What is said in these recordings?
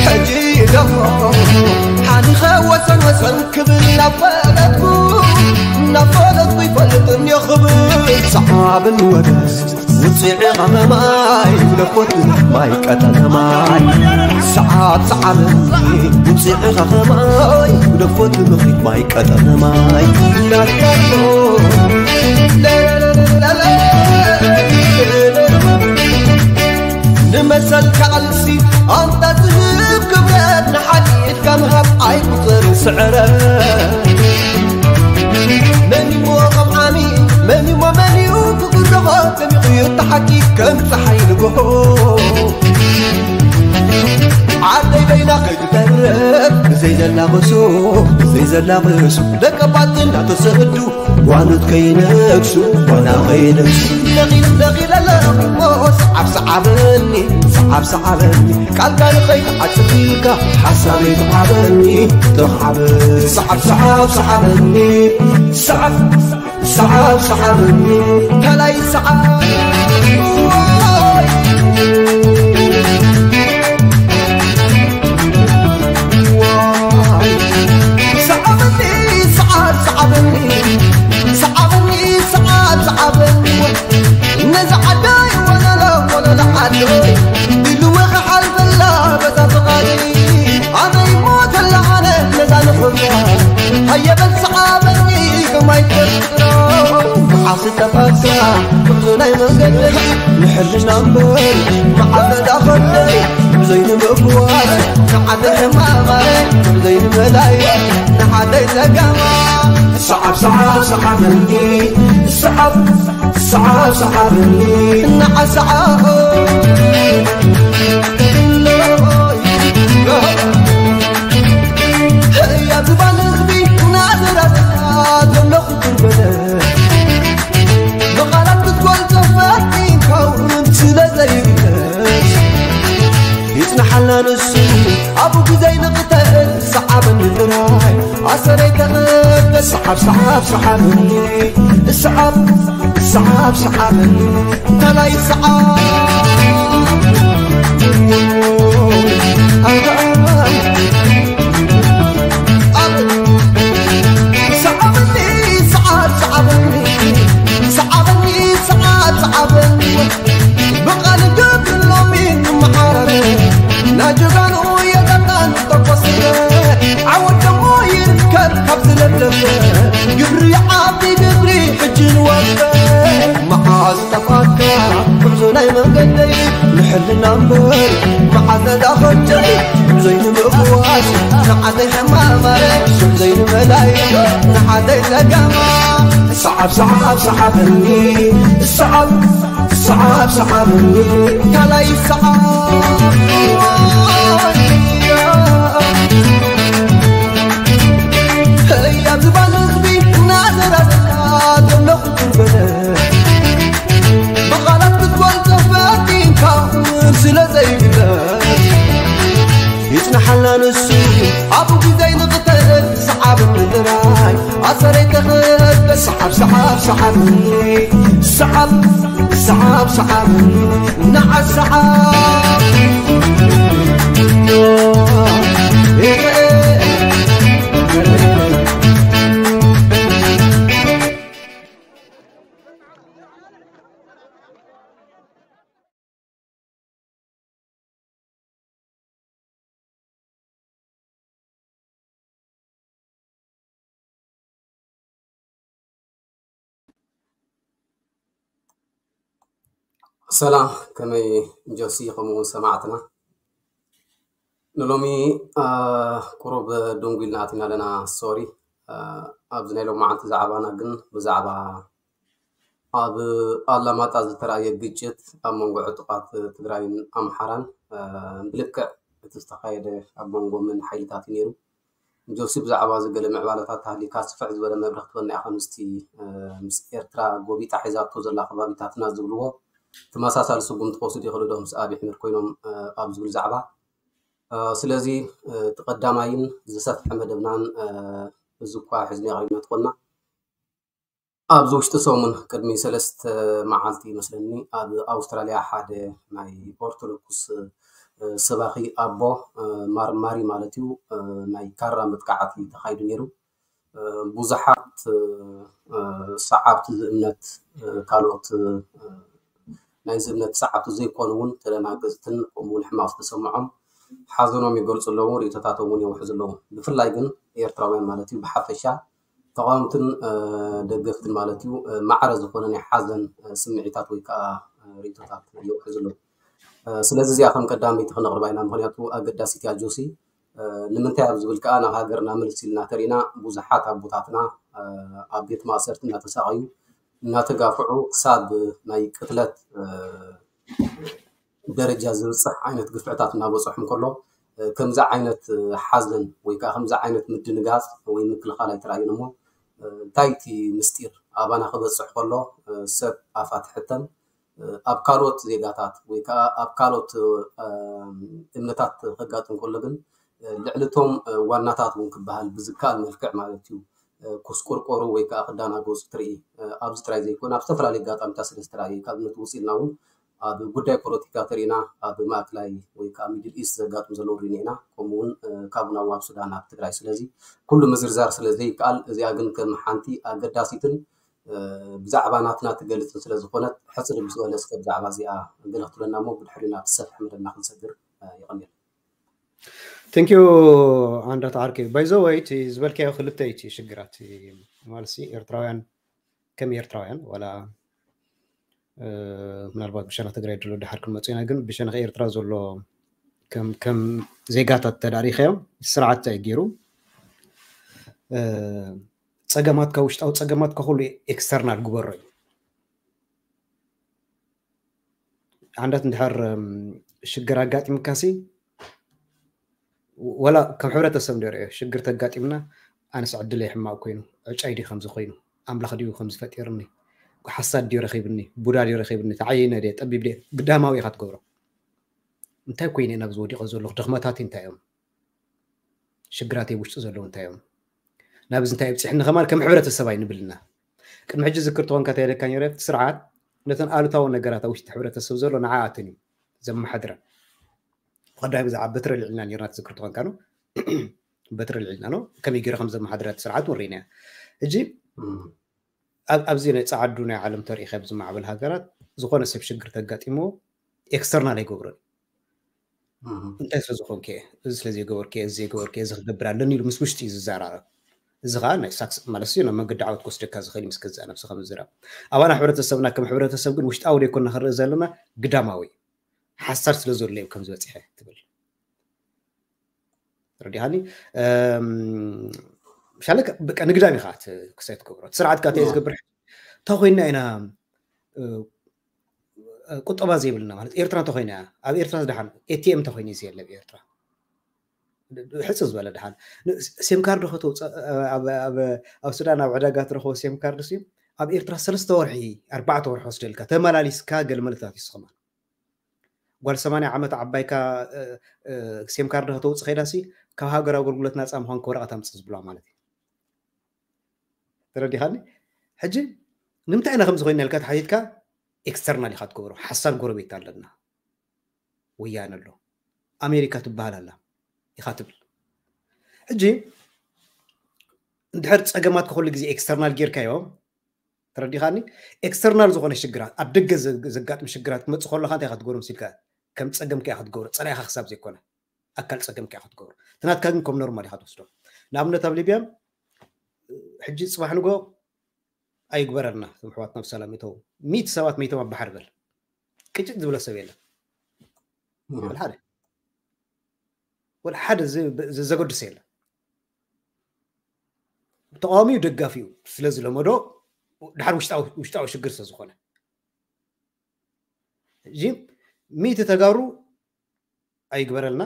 ሕጂ ደሞ ሓኒኸ ወሰን ወሰን ክብል ናብ ፈለጥኩ፣ ናብ ፈለጥኩ ይፈልጥ እንዮ ክብል ሰሓብን ወደስ ውፅዒ ኸመማይ ለኮት ማይ ቀጠነ ማይ ሰዓብ ሰዓብ ውፅዒ ኸኸማይ ለኮት ምኽሪት ማይ ቀጠነ ማይ ንመሰል ካልሲ ኣንታ ዝህብ ክብረት ንሓድሕድካ ምሃብ ኣይቁፅርን ስዕረት መን እሞ ከም ዓሚ መን እሞ መን እዩ ክጉረኾ ደሚቑ እዩ እቲ ሓቂ ከም ፀሓይ ንግሆ ዓደይ በይና ከይትተርፍ ብዘይ ዘላቕሱ ብዘይ ዘላቕሱ ደቀባት እናተሰዱ ጓኖት ከይነግሱ ጓና ከይነግሱ ነቒል ነቒል ኣለኹ ሰዓብ ሰዓበኒ ሰዓብ ሰዓበኒ ቃልካ ንኸይትዓጽፍ ኢልካ ሓሳበይ ተዓበኒ ተኻዕበ ሰዓብ ሰዓብ ሰዓበኒ ሰዓብ ሰዓብ ሰዓበኒ ከላይ ሰዓብ ሰዓበኒ ሰዓብ ሰዓበኒ ሰዓበኒ ሰዓብ ሰዓበኒ ነዛ ዓዳይ ወለሎ ወለሎ ዓደይ ኢልወ ክሓልፈላ በዛ ፍቓደይ ኣበይ ሞተላ ኣነ ነዛ ንኽብራ ሃየበል ሰዓበኒ ከማይ ተፍጥሮ መዓስ ጠፋሳ ጉዕዞ ናይ መንገደይ ንሕልና እምበር መዓስ ዳኸደይ ብዘይ ንምፍዋስ ንዓደ ሕማማይ ብዘይ ንመላይ ንዓደይ ጸጋማ ሰዓብ ሰዓብ ሰዓበኒ ሰዓብ ሰዓብ ሰዓበኒ ንዓሰዓብ ህያ ዝባን ህዝቢ ናዝራዝራ ዘለኹ ጉርበተ ብቓላት ክትገልጾ ፈቲንካ እውን ስለ ዘይግለጽ ይጽናሓልና ንሱ ኣብኡ ግዜ ንቕተል ሰዓበኒ ጥራይ ኣሰረይ ተቐበል ሰዓብ ሰዓብ ሰዓበኒ ሰዓብ ሰዓብ ሰዓበኒ ታላይ ሰዓብ ሰዓበኒ ሰዓብ ሰዓበኒ ሰዓበኒ ሰዓብ ሰዓበኒ ብቓል ገብርሎሚ ንመዓራረ ናጀጋኑ የጠጣን ተቆስረ ዓወት ደሞ ይርከብ ካብ ዝለብለበ ግብሪ ዓቢ ግብሪ ሕጂ ንወፈ መዓዝ ጠፋካ ጉዕዞ ናይ መንገደይ ንሕልና እምበር መዓዝ ነዳኸጀይ ዘይንምእዋስ ንዓደይ ሕማማይ ዘይንመላይ ንዓደይ ለጋማ ሰዓብ ሰዓብ ሰዓበኒ ሰዓብ ሰዓብ ሰዓበኒ ካልኣይ ሰዓብ ህያ ዝባን ህዝቢ እናዘራዘራ ዘለኹ ጉርበተ ብቓላት ክትገልጾ ፈቲንካ ስለ ዘይግለጽ ይጽናሓልና ንሱ ኣብኡ ግዜ ንቕተል ሰዓብ ምድራይ ኣሰረይ ተኸበ ሰዓብ ሰዓብ ሰዓብ ሰዓብ ሰዓብ ሰዓብ ንዓ ሰዓብ ሰላም ከመይ ጆሲ ከምኡ እውን ሰማዕትና ንሎሚ ቁሩብ ደንጉ ኢልና ኣቲና ኣለና ሶሪ ኣብዚ ናይ ሎማዓንቲ ዛዕባና ግን ብዛዕባ ኣብ ኣላማጣ ዝተራእየ ግጭት ኣብ መንጎ ዕጡቓት ትግራይን ኣምሓራን ብልክዕ እቲ ዝተኻየደ ኣብ መንጎ መን ሓይልታት እዩ ነይሩ ጆሲ ብዛዕባ እዚ ገለ ምዕባለታት ተሃሊካ ስፍሕ ዝበለ መብርህ ክትበና ኢኻ ምስቲ ምስ ኤርትራ ጎቢጣ ሒዛቶ ዘላ ከባቢታትና ዝብልዎ ተመሳሳሊ ስጉምቲ ክወስዱ ይኽእሉ ዶ ምስ ኣብይ ኣሕመድ ኮይኖም ኣብ ዝብል ዛዕባ ስለዚ እቲ ቀዳማይን ዝሰፍሐ መደብናን እዚ እኳ ሕዝኒ ኣቕሪብና ትኾንና ኣብዚ ውሽጢ ሰሙን ቅድሚ ሰለስተ መዓልቲ ይመስለኒ ኣብ ኣውስትራልያ ሓደ ናይ ኦርቶዶክስ ሰባኺ ኣቦ ማርማሪ ማለት እዩ ናይ ካራ መጥቃዕቲ ተኻይዱ ነይሩ። ብዙሓት ሰዓብቲ ዝእምነት ካልኦት ናይዚ እምነት ሰዓብቲ ዘይኮኑ እውን ተደናገፅትን ከምኡ እውን ሕማቕ ዝተሰምዖም ሓዘኖም ይገልፁ ኣለዉ፣ ርእቶታቶም እውን የውሕዙ ኣለዉ። ብፍላይ ግን ኤርትራውያን ማለት እዩ ብሓፈሻ ተቓወምትን ደገፍትን ማለት እዩ ማዕረ ዝኾነ ናይ ሓዘን ስምዒታት ወይ ከዓ ርእቶታት የውሕዙ ኣለዉ። ስለዚ እዚኣ ከም ቀዳመይቲ ክነቕርባ ኢና፣ ምክንያቱ ኣገዳሲት እያ ጆሲ። ንምንታይ ኣብ ዝብል ከዓ ናብ ሃገርና ምልስ ኢልና ተሪእና ብዙሓት ኣቦታትና ኣብ ቤት ማእሰርቲ እናተሳቐዩ እናተጋፍዑ ክሳብ ናይ ቅትለት ደረጃ ዝብፅሕ ዓይነት ግፍዕታት እናበፅሖም ከሎ ከምዚ ዓይነት ሓዘን ወይ ከዓ ከምዚ ዓይነት ምድንጋፅ ወይ ምክልኻል ኣይተራእዩን እሞ እንታይ እቲ ምስጢር ኣባና ክበፅሕ ከሎ ሰብ ኣፋ ትሕተም ኣብ ካልኦት ዜጋታት ወይ ከዓ ኣብ ካልኦት እምነታት ከጋጥም ከሎ ግን ልዕሊ እቶም ዋናታት እውን ክበሃል ብዝከኣል መልክዕ ማለት እዩ ክስቆርቆሩ ወይ ከዓ ክዳናገፁ ትርኢ። ኣብዚ ጥራይ ዘይኮነ ኣብ ዝተፈላለዩ ኣጋጣሚታት ስለ ዝተራእየ ካብ እምነት ውፅእ ኢልና እውን ኣብ ጉዳይ ፖለቲካ ተሪእና ኣብ ማእከላይ ወይ ከዓ ሚድል ኢስት ዘጋጥም ዘለዉ ሪኢና ኢና፣ ከምኡ እውን ካብ ናዋብ ሱዳን ኣብ ትግራይ። ስለዚ ኩሉ ምዝርዛር ስለ ዘይከኣል እዚኣ ግን ከም ሓንቲ ኣገዳሲትን ብዛዕባ ናትና ትገልፅን ስለ ዝኾነት ሕፅር ብዝበለ እስከ ብዛዕባ እዚኣ ገለ ክትብለና እሞ ብድሕሪኡ ናብቲ ሰፍሒ መደብና ክንሰግር። ይቐንየልና። Thank you ኣንዳት ዓርከይ። By the way እቲ ዝበልካዮ ክልተ እዩ እቲ ሽግራት ማለት ሲ ኤርትራውያን ከም ኤርትራውያን ዋላ ምናልባት ብሸነኽ ትግራይ ድሎ ድሓር ክንመፁ ኢና፣ ግን ብሸነኽ ኤርትራ ዘሎ ከም ዜጋታት ተዳሪኸዮም ስርዓት እንታይ ገይሩ ፀገማትካ ውሽጣዊ ፀገማትካ ኩሉ ኤክስተርናል ግበሮ እዩ። ዓንዳት እንድሕር ሽግር ኣጋጢምካሲ ወላ ከም ሕብረተሰብ ንሪኦ ሽግር ተጋጢምና ኣነስ ዕድለይ ሕማቕ ኮይኑ ዕጫይ ድዩ ከምዚ ኮይኑ ኣምላኽ ድዩ ከምዚ ፈጢርኒ ሓሳድ ድዩ ረኺብኒ ቡዳ ድዩ ረኺብኒ ተዓይነ ድየ ጠቢብ ድየ ግዳማዊ ኢኻ ትገብሮ እንታይ ኮይነ ናብዚ ወዲቐ ዘለኹ ድኽመታትይ እንታይ እዮም ሽግራተይ ውሽጢ ዘለዉ እንታይ እዮም ናብዚ እንታይ ኣብፅሕኒ ከማን ከም ሕብረተሰብ ኣይንብልና ቅድሚ ሕጂ ዝክር ትኾንካ ተይለካ ነረ ስርዓት ነተን ኣሉታዊ ነገራት ኣብ ውሽጢ ሕብረተሰብ ዘሎ ንዓኣትን እዩ ዘመሓድረን ብቐዳሚ ብዛዕባ በትሪ ኣልዒልና ነርና ትዝክር ትኾንካ ነው በትሪ ኣልዒልና ነው ከመይ ገይሩ ከም ዘመሓድረት ስርዓት ወሪና ሕጂ ኣብዚ ናይ ፃዓዱ ናይ ዓለም ተሪኢኻ ኣብዚ ማዕበል ሃገራት ዝኾነ ሰብ ሽግር ተጋጢሞ ኤክስተርናል ኣይገብሮን እንታይ ስለ ዝኾንከ እዚ ስለ ዘይገበርክ እዚ ዘይገበርክ እዚ ክገብር ኣለኒ ኢሉ ምስ ውሽጢ እዩ ዝዘራረብ እዚ ከዓ ናይ ሳክስ ማለት እዩ ናብ መንገዲ ዓወት ክወስደካ ዝኽእል እዩ ምስ ገዛእ ነብስኻ ምዝራብ ኣባና ሕብረተሰብና ከም ሕብረተሰብ ግን ውሽጣዊ ዘይኮንና ክንርኢ ዘለና ግዳማዊ ሓሳድ ስለ ዘሎ እዩ ከም ዝበፅሐ ትብል ረዲኻኒ ሻለ በቃ ንግዳም ኢኻ ክሳይ ትገብሮ ስርዓት ካተ ዝገብር እንተ ኮይና ኢና ቁጠባ ዘይብልና ማለት ኤርትራ እንተኮይና ኣብ ኤርትራ ዝደሓን ኤቲኤም እንተኮይኑ እዚ የለ ኤርትራ ሕፅ ዝበለ ደሓን ሴም ካርድ ከተውፅእ ኣብ ሱዳን ኣብ ዕዳጋ ትረክቦ ሴም ካርድ ሲ ኣብ ኤርትራ ሰለስተ ወርሒ ኣርባዕተ ወርሒ ወስደልካ ተመላሊስካ ገለ መለታት ይስኸማል ጓል ሰማንያ ዓመት ዓባይካ ሴም ካርድ ከተውፅእ ከይዳ ሲ ካብ ሃገር ኣገልግሎት ናፃ ምኳንካ ወረቐት ኣምፅእ ዝብላ ማለት እዩ ተረዲኻኒ ሕጂ ንምንታይ ኢና ከምዚ ኮይና ኢልካ ተሓቲትካ ኤክስተርናል ኢኻ ትገብሮ ሓሳድ ጎረቤት ኣለና ወያነ ኣሎ ኣሜሪካ ትበሃል ኣላ ኢኻ ትብል ሕጂ እንድሕር ፀገማት ከኩሉ ግዜ ኤክስተርናል ጌርካዮ ተረዲኻኒ ኤክስተርናል ዝኾነ ሽግራት ኣብ ደገ ዘጋጥም ሽግራት ክመፅእ ከለካ እንታይ ኢኻ ትገብሮ ምስልካ ከም ፀገምካ ኢኻ ትገብሮ ፀላኢኻ ክሳብ ዘይኮነ ኣካል ፀገምካ ኢኻ ትገብሮ ትናትካ ግን ከም ኖርማል ኢኻ ትወስዶ ንኣብነት ኣብ ሊብያ ሕጂ ፅባሕ ንጎ ኣይግበረልና እቶም ኣሕዋትና ብሰላም ይተው ሚእቲ ሰባት መይቶም ኣብ ባሕሪ በል ቅጭት ዝብለ ሰብ የለን ወላ ሓደ ወላ ሓደ ዘገድስ የለን ተቃዋሚኡ ደጋፊኡ ስለ ዝለመዶ ድሓር ውሽጣዊ ሽግር ስለ ዝኾነ እዚ ሚእቲ ተጋሩ ኣይግበረልና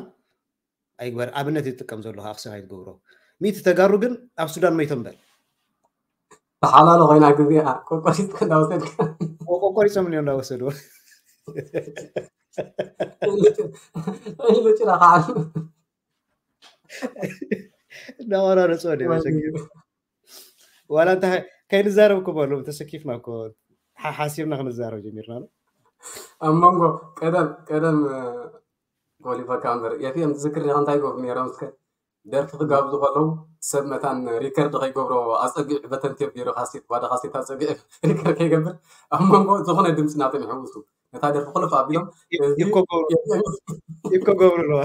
ኣይግበር ኣብነት ይጥቀም ዘሎ ኣክሲ ኣይትገብሮ ሚእቲ ተጋሩ ግን ኣብ ሱዳን መይቶም በል ተሓላሎ ኮይና ግዜ ቆቆሪፅካ እንዳወሰድካ ቆቆሪፆም እዮም እንዳወሰድዎ ኢሉ ጭራ ከዓ እንዳቆራረፅዎ ደ ዋላ እንታይ ከይንዛረብ እኮ በሉ፣ ተሰኪፍና እኮ፣ ሓ-፣ ሓሲብና ክንዛረብ ጀሚርና ኣሎ። ኣብ መንጎ ቀደም ቀደም ኮሊፈካ እምበር፣ ኤፍኤም ትዝክር ዲኻ እንታይ ይገብሩ ነይሮም? እስከ ደርፊ ክጋብዙ ከለዉ ሰብ መታን ሪከርድ ከይገብሮ ኣጸጊዑ በተን ቴፕ ገይሩ ካሴት፣ ባዶ ካሴት ኣጸጊዑ ሪከርድ ከይገብር ኣብ መንጎ ዝኾነ ድምፂ ናቶም ይሕውሱ። ነታ ደርፊ ክልፍ ኣቢሎም፣ እዚ ይኮ ገብሩ ኣለዋ።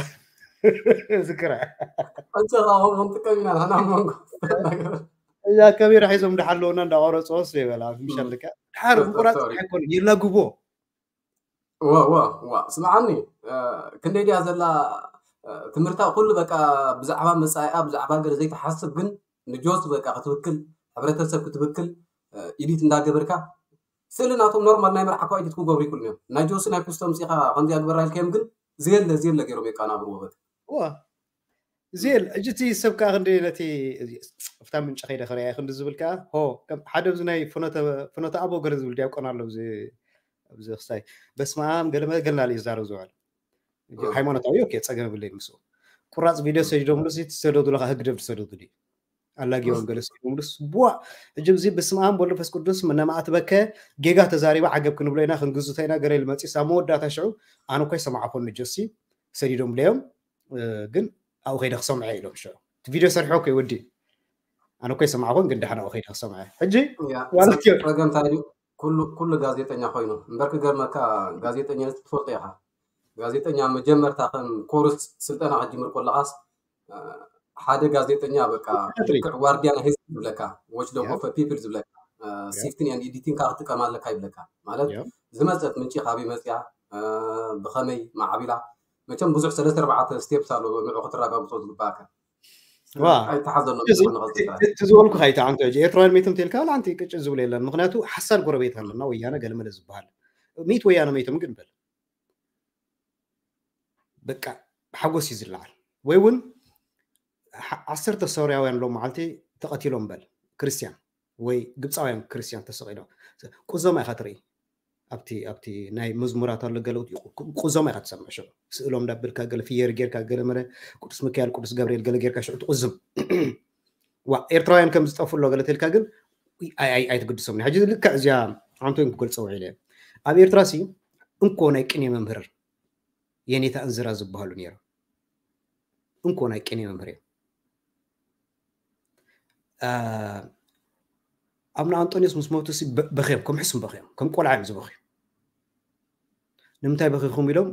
ዝክራ ኣንተ ኸምኡ ክንጥቀም ኢና ንሕና ኣብ መንጎ። እዛ ካሜራ ሒዞም እንዳሓለውና እንዳቆረፅዎ ስ ይበላ ምሻልካ ድሓር ምቁራፅ ኣይኮነ የላግቦ። ዋ ዋ ዋ፣ ስምዓኒ፣ ክንደይ ድያ ዘላ ትምህርታ? ኩሉ በቃ ብዛዕባ መጻኢኣ ብዛዕባ ገለ ዘይትሓስብ፣ ግን ንጆስ በቃ ክትብክል፣ ሕብረተሰብ ክትብክል፣ ኢዲት እንዳገበርካ ስእሊ ናቶም ኖርማል ናይ መርዓ እኳ ኢዲት ክገብሩ ይክእሉ እዮም። ናይ ጆሲ ናይ ኩስቶም ፂኻ ከምዚ ኣግበራ ኢልካዮም፣ ግን ዘየለ ዘየለ ገይሮም የቃናብርዎ በቃ። ዋ ዜል እጅ እቲ ሰብ ከዓ ክንዲ ነቲ እፍታ ምንጭ ከይደ ክርያ ክንዲ ዝብል ከዓ ሆ ከም ሓደ ኣብዚ ናይ ፍኖተ ፍኖተ ኣቦ ገለ ዝብል ዲያቆን ኣሎ ኣብዚ ኣብዚ ክስታይ በስመ ኣብ ገለ መለ ገለ ናለ እዩ ዝዛረብ ዝውዕል። ሃይማኖታዊ ኦኬ፣ ፀገም የብለይ ምስኡ። ቁራፅ ቪድዮ ሰዲዶምሉ ሲ ትሰደዱሉ ከዓ ህግደፍ ዝሰደዱ ድዩ ኣላጊቦም ገለ ሰዲዶምሉስ ቡዋ። እጅ እዚ በስመ ኣብ ወወልድ ወመንፈስ ቅዱስ ነማእትበከ ጌጋ ተዛሪባ ዓገብ ክንብሎ ኢና ክንግዝቶ ኢና ገለ ልመፂስ ኣብ መወዳእታ ሽዑ ኣነ እኮ ይሰማዕኮ ንጆሲ ሰዲዶምለዮም ግን ኣብኡ ከይደ ክሰምዐ ኢሎም ሽዑ እቲ ቪድዮ ሰርሖ እኮ ይወዲ ኣነ እኮ ይሰማዕኮን ግን ደሓን ኣብኡ ከይደ ክሰምዐ ሕጂ ዋላ ጸገም እንታይ ድዩ? ኩሉ ኩሉ ጋዜጠኛ ኮይኑ እምበር ክገርመካ፣ ጋዜጠኛ ትፈልጦ ኢኻ። ጋዜጠኛ መጀመርታ ከም ኮርስ ስልጠና ክትጅምር ከለኻስ ሓደ ጋዜጠኛ በቃ ልክዕ ዋርድያ ናይ ህዝቢ ዝብለካ፣ ዎች ዶግ ኦፍ ፒፕል ዝብለካ፣ ሲፍትን ኤንድ ኤዲቲንግ ክትጥቀም ኣለካ ይብለካ። ማለት ዝመፀት ምንጪ ካበይ መፅያ፣ ብኸመይ ማዕቢላ፣ መቸም ብዙሕ ሰለስተ ኣርባዕተ ስቴፕስ ኣሎ ንዑ ክትረጋግፆ ዝግባእካ። ኣይተሓዘሎ። እቲ ዝበልኩ ካይታ ኣንተ ኤርትራውያን ሜቶም ተልካ ኣንቲ ቅጭ ዝብሎ የለን። ምክንያቱ ሓሳድ ጎረቤት ኣለና ወያነ ገለመለ ዝበሃል ሚት ወያነ ሜቶም ግን በል በቃ ሓጎስ እዩ ዝለዓል። ወይ እውን ዓሰርተ ሶርያውያን ሎም መዓልቲ ተቐቲሎም በል ክርስቲያን ወይ ግብፃውያን ክርስቲያን ተሰቒሎም ቁዞማ ኢኻ ትርኢ። ኣብቲ ኣብቲ ናይ መዝሙራት ኣሎ ገለ ቁዞማ ኢኻ ትሰምዕ። ሽዑ ስእሎም እንዳበልካ ገለ ፍየር ጌርካ ገለ መለ ቅዱስ ሚካኤል ቅዱስ ገብርኤል ገለ ጌርካ ሽዑ ትቁዝም። ዋ ኤርትራውያን ከም ዝጠፉ ኣሎ ገለ ተልካ ግን ኣይትግድሶም። ሕጂ ልክዕ እዚኣ ኣንቶን ክገልፀ ውዒለ ኣብ ኤርትራ ሲ እንኮ ናይ ቅኔ መምህር የኔታ እንዝራ ዝበሃሉ ነይሮም። እንኮ ናይ ቅኔ መምህር እዮም። ኣብነ ኣንጦኒዮስ ምስ ሞቱ በኽዮም ከም ሕሱም በኽዮም ከም ቆልዓ እዮም ዝበኽዩ። ንምንታይ በኺኹም ኢሎም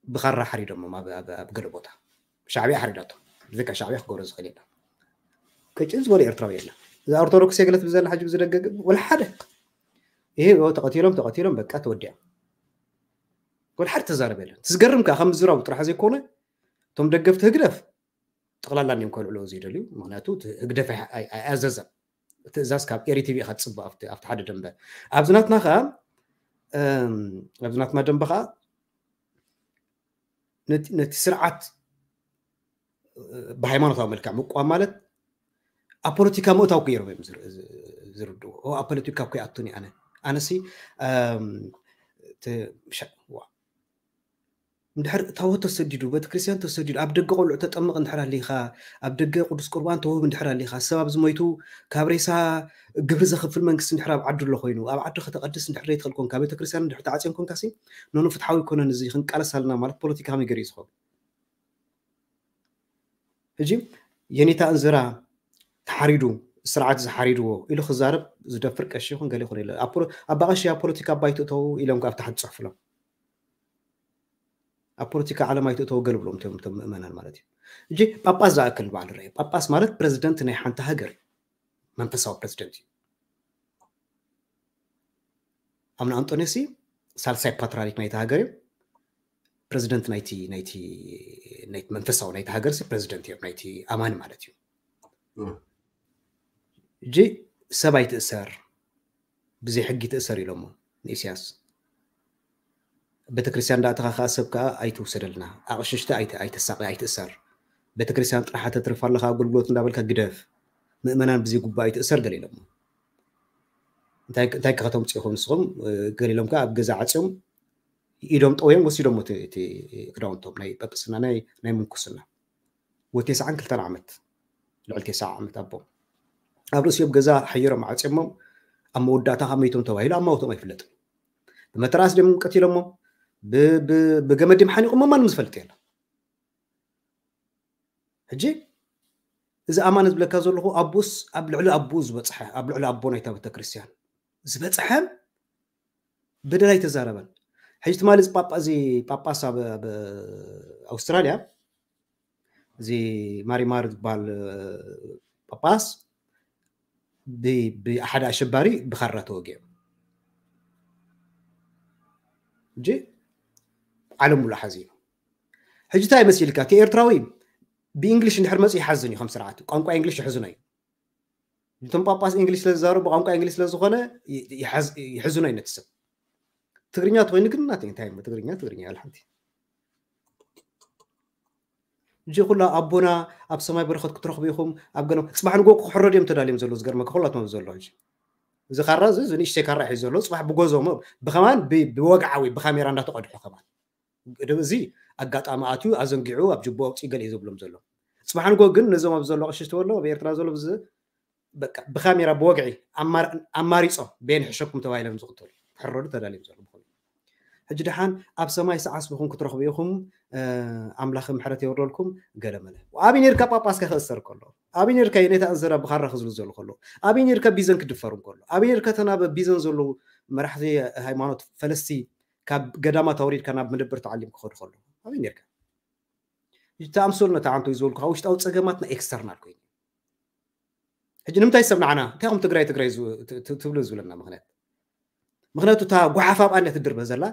ብኻራ ሓሪዶሞም ኣብ ገለ ቦታ ሻዕብያ ሓሪዳቶም። ብዘካ ሻዕብያ ክገብሮ ዝኽእል የለ። ቅጭን ዝበሉ ኤርትራዊ የለ። እዛ ኦርቶዶክስ የግለት ብዘላ ሕጂ ብዝደገግ ወላ ሓደ ይሄ ተቐቲሎም ተቐቲሎም በቃ ተወዲያ። ወላ ሓደ ተዛረበ የለን። ትዝገርም ከዓ ከም ዝራቡ ጥራሕ ዘይኮነ እቶም ደገፍቲ ህግደፍ ጠቕላላ እንዲም ከልዕሎ ዘይደልዩ። ምክንያቱ ህግደፍ ኣያዘዘ ትእዛዝ ካብ ኤሪ ቲቪ ኢካ ትፅበ ኣብቲ ሓደ ደንበ ኣብዚ ናትና ከዓ ኣብዚ ናትና ደንበ ከዓ ነቲ ስርዓት ብሃይማኖታዊ መልክዕ ምቋም ማለት ኣብ ፖለቲካ ምእታው ገይሮም እዮም ዝርድኡ። ኣብ ፖለቲካ እኮ ይኣቱን ኣነ ኣነሲ እንድሕር ታቦት ተሰዲዱ ቤተክርስትያን ተሰዲዱ ኣብ ደገ ቆልዑ ተጠምቕ እንድሕር ኣሊኻ ኣብ ደገ ቅዱስ ቁርባን ተውህብ እንድሕር ኣሊኻ ሰብ ኣብዚ ሞይቱ ካብ ሬሳ ግብሪ ዘኽፍል መንግስቲ እንድሕር ኣብ ዓዱ ኣሎ ኮይኑ ኣብ ዓዱ ከተቐድስ እንድሕር ዘይትኽእል ኮንካ ቤተክርስትያን እንድሕር ተዓፅዮም ኮንካ ሲ ኖኖ ፍትሓዊ ኣይኮነን እዚ ክንቃለስ ኣለና ማለት ፖለቲካ ከመይ ገይሩ እዩ ዝኸውን? ሕጂ የኔታ እንዝራ ተሓሪዱ ስርዓት ዝሓሪድዎ ኢሉ ክዛረብ ዝደፍር ቀሺ ይኹን ገለ ይኹን የለ። ኣባ ቀሺ ኣብ ፖለቲካ ኣባይ ትእተው ኢሎም ካብ ታሕቲ ፅሑፍሎም ኣብ ፖለቲካ ዓለም ኣይትእተው ገለ ብሎም ቶም ምእመናን ማለት እዩ። ሕጂ ጳጳስ ዝኣክል ንባዕሉ ርአ። ጳጳስ ማለት ፕረዚደንት ናይ ሓንቲ ሃገር እዩ። መንፈሳዊ ፕረዚደንት እዩ። ኣምነ ኣንጦንዮስ ሳልሳይ ፓትርያርክ ናይቲ ሃገር እዮም። ፕረዚደንት ናይቲ ናይቲ ናይቲ መንፈሳዊ ናይቲ ሃገር ሲ ፕረዚደንት እዮም ናይቲ ኣማኒ ማለት እዩ። እጂ ሰብ ኣይትእሰር ብዘይ ሕጊ ትእሰር ኢሎሞ ንኢሳያስ። ቤተክርስትያን ዳእተኻ ከዓ ሰብ ከዓ ኣይትውሰደልና ኣቕሽሽቲ ኣይተሳቂ ኣይትእሰር። ቤተክርስትያን ጥራሓ ተትርፍ ኣለካ ኣገልግሎት እንዳበልካ ግደፍ። ምእመናን ብዘይ ጉባእ ኣይትእሰር ገለ ኢሎሞ። እንታይ ከተምፅኡ ንስኹም ገሊሎም ከዓ ኣብ ገዛ ዓፅዮም ኢዶም ጠውዮም ወሲዶም እቲ ክዳውንቶም ናይ ጳጳስና ናይ ምንኩስና ወቴስዓን ክልተን ዓመት ልዕሊ ቴስዓ ዓመት ኣቦ ኣብ ርእሲኦም ገዛ ሓይሮም ዓፅዮሞም ኣብ መወዳእታ ካብ መይቶም ተባሂሉ ኣብ ማውቶም ኣይፍለጥን። ብመተራስ ድም ቀቲሎሞ፣ ብገመድ ድም ሓኒቆሞ ማንም ዝፈልጥ የለ። ሕጂ እዚ ኣማን ዝብለካ ዘለኹ ኣቡስ ኣብ ልዕሊ ኣቡ ዝበፅሐ፣ ኣብ ልዕሊ ኣቦ ናይታ ቤተክርስትያን ዝበፅሐ በደል ኣይተዛረበን። ሕጂ ትማሊ እዚ ጳጳ እዚ ጳጳስ ኣብ ኣውስትራልያ እዚ ማሪማር ዝበሃል ጳጳስ ብሓደ ኣሸባሪ ብኻራ ተወጊዑ። ሕጂ ዓለም ሙሉ ሓዚኑ። ሕጂ እንታይ መሲልካ? እቲ ኤርትራዊ ብእንግሊሽ እንድሕር መፅኡ ይሓዝን እዩ። ከም ስርዓት ቋንቋ እንግሊሽ ይሕዝኖ እዩ። እቶም ጳጳስ እንግሊሽ ስለዝዛረቡ ብቋንቋ እንግሊሽ ስለዝኾነ ይሕዝኖ እዩ ነቲ ሰብ። ትግርኛ ተኮይኑ ግን ናተይ እንታይ ትግርኛ ትግርኛ ያለ ሓንቲ። እጂ ኩላ ኣቦና ኣብ ሰማይ በረኸት ክትረኽቡ ኢኹም ኣብ ገለ ፅባሕ ንጎ ክሕረዱ እዮም ተዳልዮም ዘለዉ። ዝገርመካ ኩላቶም ዘሎ ሕጂ እዚ ካራ እዚ ንእሽተይ ካራ ሒዙ ዘሎ ፅባሕ ብጎዞሞ ብኸማን ብወግዓዊ ብካሜራ እንዳተቐድሑ ከማን እዚ ኣጋጣሚ ኣትዩ ኣዘንጊዑ ኣብ ጅቦ ኣውፅኡ ገለ እዩ ዘብሎም ዘሎ። ፅባሕ ንጎ ግን ነዞም ኣብ ዘሎ ቅሽሽ ተበሎ ኣብ ኤርትራ ዘሎ ብካሜራ ብወግዒ ኣማሪፆም ቤን ሕሸኩም ተባሂሎም ዝቕተሉ ክሕረዱ ተዳልዮም ዘሎ ምኾኑ። ሕጂ ደሓን ኣብ ሰማይ ሰዓስብኹም ክትረኽቡ ኢኹም ኣምላኽ ምሕረት የወርደልኩም ገለ መለ። ኣብይ ነርካ ጳጳስካ ክእሰር ከሎ ኣብይ ነርካ ነታ እንዘራ ብኻራ ክዝሉ ዘሉ ከሎ ኣብይ ነርካ ቢዘን ክድፈሩ ከሎ ኣብይ ነርካ ተናበ ቢዘን ዘለዉ መራሕቲ ሃይማኖት ፈለስቲ ካብ ገዳማት ኣውሪድካ ናብ መደበር ተዓሊም ክኸዱ ከሎ ኣብይ ነርካ። ተኣምሰሉ ነታ ዓንቶ ዝበልኩ ውሽጣዊ ፀገማትና ኤክስተርናል ኮይኑ ሕጂ ንምንታይ ሰብ ንዓና እንታይ ከም ትግራይ ትግራይ ትብሉ ዝብለና ምክንያት ምክንያቱ እታ ጓሓፍ ኣብኣ እያ ትድርበ ዘላ።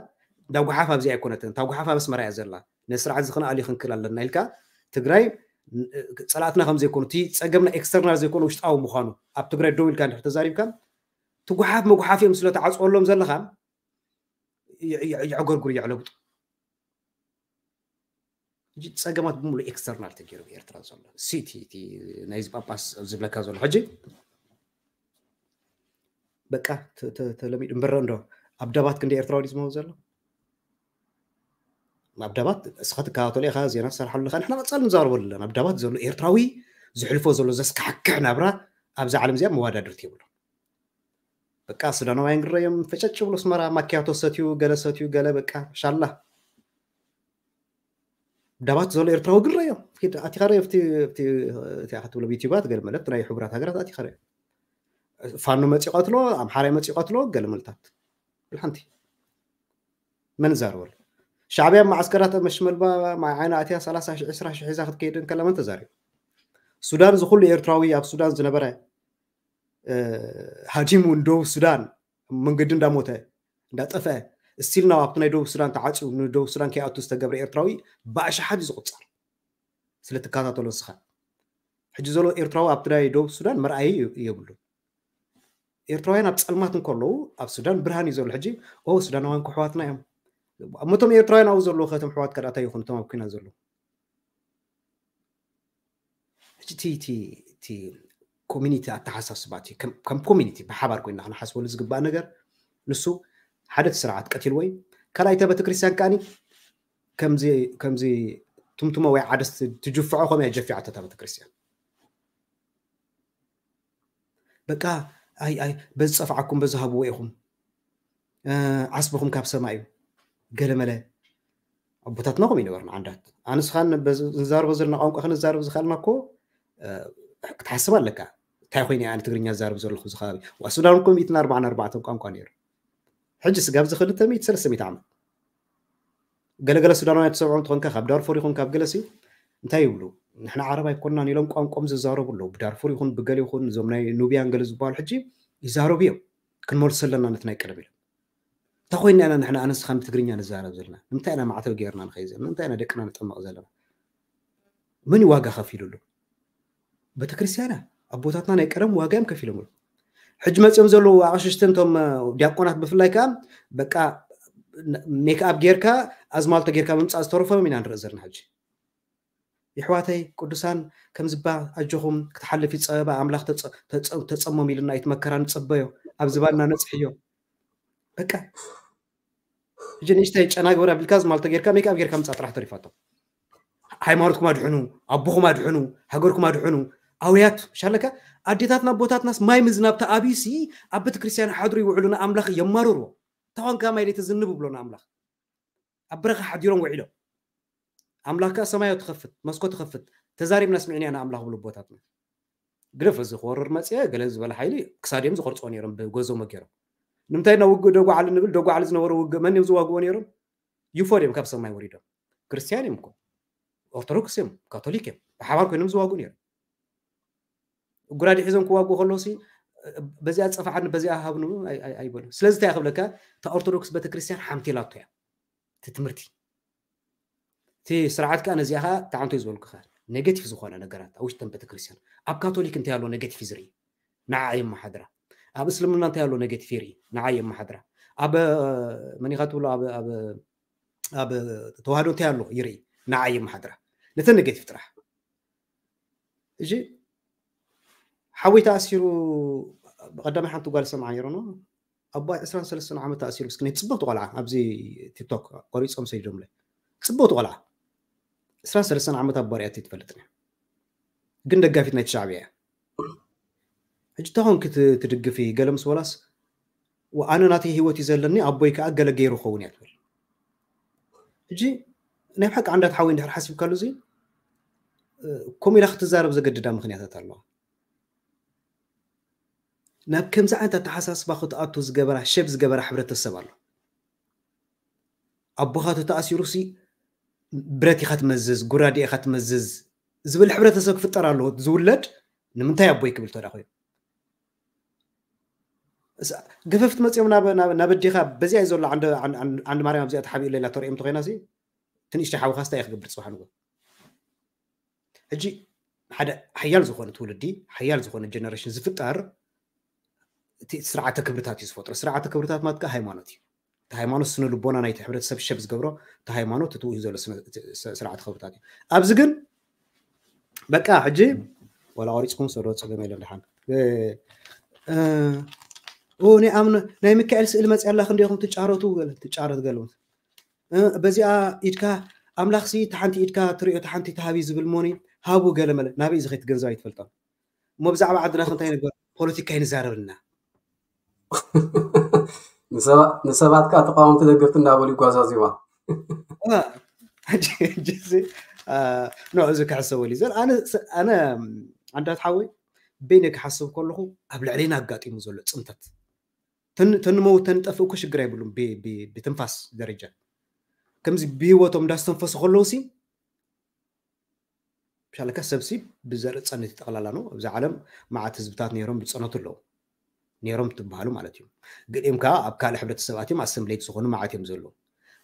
እንዳ ጓሓፍ ኣብዚ ኣይኮነትን እታ ጓሓፍ ኣብ ኣስመራ እያ ዘላ። ነዚ ስርዓት እዚ ክንኣሊ ክንክል ኣለና ኢልካ ትግራይ ፀላእትና ከም ዘይኮኑ እቲ ፀገምና ኤክስተርናል ዘይኮነ ውሽጣዊ ምኳኑ ኣብ ትግራይ ደው ኢልካ እንድሕር ተዛሪብካ እቲ ጓሓፍ መጉሓፍ እዮም ስለ ተዓፅወሎም ዘለካ የዕጎርጉር የዕለብጡ። ሕጂ ፀገማት ብምሉእ ኤክስተርናል ተገይሩ ብኤርትራ ዘሎ ሲቲ ናይዚ ጳጳስ ዝብለካ ዘሎ ሕጂ በቃ ተለሚዱ እምበረ እንዶ ኣብ ደባት ክንደ ኤርትራዊ ዝመው ዘሎ ኣብ ደባት እስኻ ትከታተሎ ኢኻ ዜና ትሰርሓሉ ኢኻ ንሕና ቀፃሊ ንዛረበሉ ኣለና ኣብ ደባት ዘሎ ኤርትራዊ ዝሕልፎ ዘሎ ዘስካሕክሕ ናብራ ኣብዛ ዓለም እዚኣ መወዳድርቲ የብሉ በቃ ሱዳናውያን ግረዮም ፈጨጭ ብሎ ስመራ ማኪያቶ ሰትዩ ገለ ሰትዩ ገለ በቃ ሻላ ዳባት ዘሎ ኤርትራዊ ግረዮም ኣቲኻ ረ ኣብቲ ክትብሎ ዩቲባት ገለ መለት ናይ ሕቡራት ሃገራት ኣቲኻ ረ ፋኖ መፂ ቀትሎ ኣምሓራይ መፂ ቀትሎ ገለ መልታት ሓንቲ መን ዛረበሉ ሻዕብያ ማዓስከራት መሽመልባ ማይ ዓይና ኣትያ ሰላሳ ሺሕ ዕስራ ሺሕ ሒዛ ክትከይድ እንከላ መን ተዛሪቡ ሱዳን ዝኩሉ ኤርትራዊ ኣብ ሱዳን ዝነበረ ሃዲሙ ንደቡብ ሱዳን መንገዲ እንዳሞተ እንዳጠፍአ ስቲል ናው ኣብቲ ናይ ደቡብ ሱዳን ተዓፅዩ ንደቡብ ሱዳን ከይኣቱ ዝተገብረ ኤርትራዊ ብኣሽሓት እዩ ዝቁፀር ስለትከታተሎ ንስኻ ሕጂ ዘሎ ኤርትራዊ ኣብቲ ናይ ደቡብ ሱዳን መርኣይ የብሉ ኤርትራውያን ኣብ ፀልማት እንከለዉ ኣብ ሱዳን ብርሃን እዩ ዘሎ ሕጂ ኦ ሱዳናውያን ክሕዋትና እዮም እሞቶም ኤርትራውያን ኣብኡ ዘለዉ ከቶም ሕዋት ከዳታ ይኹን እቶም ኣብ ኩና ዘለዉ ሕጂ እቲ ኮሚኒቲ ኣተሓሳስባ እቲ ከም ኮሚኒቲ ብሓባር ኮይና ክንሓስበሉ ዝግባእ ነገር ንሱ ሓደ እቲ ስርዓት ቀቲልዎ እዩ ካልኣይ እታ ቤተክርስትያን ከዓኒ ከምዚ ከምዚ ትምትሞ ወይ ዓደስ ትጅፍዖ ከምኡ እያ ጀፊዓቶ እታ ቤተክርስትያን በቃ ኣይ ኣይ በዚ ፀፍዓኩም በዚ ሃብዎ ኢኹም ዓስብኹም ካብ ሰማይ እዩ ገለመለ ኣቦታትና ከም ይነበርና ዓንዳት ኣንስኻን ንዛረቦ ዘለና ቋንቋ ክንዛረብ ዝኽኣልና እኮ ክትሓስብ ኣለካ እንታይ ኮይነ ኣነ ትግርኛ ዝዛረብ ዘለኹ እዚ ከባቢ ዋ ሱዳን እኮ ሚእትን ኣርባዓን ኣርባዕተን ቋንቋ ነይሩ ሕጂ ስጋብ እዚ ክልተ ሚእቲ ሰለስተ ሚእቲ ዓመት ገለገለ ሱዳናውያን ትሰምዖም ትኾንካ ካብ ዳርፎር ይኹን ካብ ገለሲ እንታይ ይብሉ ንሕና ዓረብ ኣይኮንናን ኢሎም ቋንቋም ዝዛረቡ ኣለዉ ብዳርፉር ይኹን ብገል ይኹን እዞም ናይ ኑብያን ገለ ዝበሃሉ ሕጂ ይዛረቡ እዮም ክንመልሶ ኣለና ነቲ ናይ ቀደም ኢሎም እንታይ ኮይና ኢና ንሕና ኣነስኻን ብትግርኛ ንዛረብ ዘለና ንምንታይ ኢና ማዕተብ ገይርና ንኸይ ዘለና እንታይ ኢና ደቅና ንጠመቕ ዘለና መን ዋጋ ከፊሉሉ ቤተክርስትያና ኣቦታትና ናይ ቀደም ዋጋ እዮም ከፊሎምሉ ሕጂ መፅኦም ዘለዉ ኣቕሽሽትን ቶም ዲያቆናት ብፍላይ ከዓ በቃ ሜክኣፕ ጌርካ ኣዝማልቶ ጌርካ ምምፃእ ዝተረፎም ኢና ንርኢ ዘለና ሕጂ ይሕዋተይ ቅዱሳን ከምዝባ ኣጆኹም ክትሓልፍ ይፀበባ ኣምላኽ ተፀሞም ኢልና ኣይትመከራ ንፀበዮ ኣብ ዝባና ነፅሕዮ በቃ ሕጂ ንእሽተይ ጨና ግበር ኣቢልካ ዝማልቶ ጌርካ ሜክኣፕ ጌርካ ምፃ ጥራሕ ተሪፋቶ ሃይማኖትኩም ኣድሕኑ ኣቦኹም ኣድሕኑ ሃገርኩም ኣድሕኑ ኣውያት ሻለካ ኣዴታትና ኣቦታትናስ ማይ ምዝናብ ተኣብዩሲ ኣብ ቤተክርስትያን ሓድሩ ይውዕሉ ንኣምላኽ የማርርዎ። ተኾንካ ማይ ለይቲ ዝንብ ብሎ ንኣምላኽ ኣብ በረኻ ሓዲሮም ውዒሎም። ኣምላኽ ከኣ ሰማዮ ትኸፍት መስኮ ትኸፍት ተዛሪብና ስሚዕና ኢና ኣምላኽ ብሉ ኣቦታትና። ግደፍ እዚ ክወርር መፅአ ገለ ዝበለ ሓይሊ ክሳድዮም ዝቆርፅዎ ነይሮም ብጎዞሞ ገይሮም። ንምንታይ ና ውግእ ደጓዓሊ ንብል? ደጓዓሊ ዝነበረ ውግእ መን እዮም ዝዋግዎ ነይሮም? ዩፎ ድዮም ካብ ሰማይ ወሪዶም? ክርስትያን እዮም እኮ፣ ኦርቶዶክስ እዮም፣ ካቶሊክ እዮም፣ ብሓባር ኮይኖም ዝዋግኡ ነይሮም። ጉራዲ ሒዞም ክዋግኡ ከለውሲ በዚኣ ፀፋዓኒ በዚኣ ሃብኑ ኣይበሉ። ስለዚ እንታይ ክብለካ፣ እታ ኦርቶዶክስ ቤተክርስትያን ሓምቲላቶ እያ እቲ ትምህርቲ። እቲ ስርዓት ከዓ ነዚኣ ከዓ ተዓንቶ ዝበልኩ ከዓ ኔጌቲቭ ዝኾነ ነገራት ኣብ ውሽጠን ቤተክርስትያን። ኣብ ካቶሊክ እንታይ ኣሎ ኔጌቲቭ ዝርኢ ንዓ የመሓድራ። ኣብ እስልምና እንታይ ኣሎ ኔጌቲቭ ይርኢ ንዓ የመሓድራ። ኣብ መኒኻ ትብሎ ኣብ ተዋህዶ እንታይ ኣሎ ይርኢ ንዓ የመሓድራ። ነተን ኔጌቲቭ ጥራሕ። እሺ፣ ሓወይ ተኣሲሩ ብቐዳማይ ሓንቲ ጓል ሰምዓ ነይሩ ነው። ኣቦይ ዕስራን ሰለስተን ዓመት ተኣሲሩ፣ ምስኪን ናይ ጽብቕቲ ቆልዓ ኣብዚ ቲክቶክ ቆሪጾም ሰዲዶምለ። ጽብቕቲ ቆልዓ ዕስራን ሰለስተን ዓመት ኣቦ ሪኣቶ ትፈልጥን እያ። ግን ደጋፊት ናይቲ ሻዕብያ እያ። ሕጂ ተኾንኪ ትድግፊ ገለ ምስ ወላስ ኣነ ናተይ ህይወት እዩ ዘለኒ ኣቦይ ከዓ ገለ ገይሩ ኸውን እያ ትብል። ሕጂ ናይ ብሓቂ ዓንዳት ሓወይ እንድሕር ሓሲብካሉ እዚ ከምኡ ኢላ ክትዛረብ ዘገድዳ ምክንያታት ኣለዋ። ናብ ከምዚ ዓይነት ኣተሓሳስባ ክትኣቱ ዝገበራ ሸብ ዝገበራ ሕብረተሰብ ኣሎ። ኣቦኻ ተተኣሲሩሲ ብረት ኢኻ ትመዝዝ፣ ጉራዴ ኢኻ ትመዝዝ ዝብል ሕብረተሰብ ክፍጠር ኣለዎ። ዝውለድ ንምንታይ ኣቦይ ክብል ተዳ ኮይኑ ገፈፍቲ መፅኦም ናብ ኣዴኻ በዚኣ እዩ ዘሎ። ዓንዲ ማርያም ኣብዚኣ ተሓቢኡ ሌላ ተሪኦም እንተኮይና ትንእሽተይ ሓውኻስ እንታይ ክገብር ፅባሕ ንጎ? ሕጂ ሓደ ሓያል ዝኾነ ትውልዲ ሓያል ዝኾነ ጀነሬሽን ዝፍጠር እቲ ስርዓተ ክብርታት እዩ ዝፈጥሮ። ስርዓተ ክብርታት ማለት ከዓ ሃይማኖት እዩ። እቲ ሃይማኖት ስነ ልቦና ናይቲ ሕብረተሰብ ሸብ ዝገብሮ እቲ ሃይማኖት እቲ ውሂ ዘሎ ስርዓተ ክብርታት እዩ። ኣብዚ ግን በቃ ሕጂ ወላ ቆሪፅኩም ሰዶ ፀገም የለን። ደሓን ናይ ኣምነ ናይ ሚካኤል ስእሊ መፅያ ኣላ ክንዲኹም ትጫረቱ ገለ ትጫረት ገለ በዚኣ ኢድካ ኣምላኽሲ ተሓንቲ ኢድካ ትሪኦ ተሓንቲ ተሃቢ ዝብል ሞኒ ሃቡ ገለ መለ ናበይ እዚ ከይትገንዘብ ኣይትፈልጦም። እሞ ብዛዕባ ዓድና ክንታይ ነገር ፖለቲካ ይንዛረብልና። ንሰባት ከዓ ተቃወምቲ ደገፍቲ እንዳበሉ ይጓዛዝዋ። ኖ እዚ ክሕሰበሉ እዩ ዘል ኣነ ኣነ ኣንዳት ሓወይ በይነ ክሓስብ ከለኹ ኣብ ልዕለና ኣጋጢሙ ዘሎ ፅንተት ተንመውት ተንጠፍእ እኮ ሽግር ኣይብሉም። ብትንፋስ ደረጃ ከምዚ ብህይወቶም እንዳስተንፈሱ ከለውሲ ሻለካ ሰብሲ ብዘርኢ ፀነት ጠቕላላ ነው። ኣብዚ ዓለም መዓት ህዝብታት ነይሮም ዝፀነቱ ኣለዉ ነይሮም ትበሃሉ ማለት እዩ። ገሊኦም ከዓ ኣብ ካልእ ሕብረተሰብ ኣትዮም ኣሰምብሌት ዝኾኑ መዓት እዮም ዘለዉ።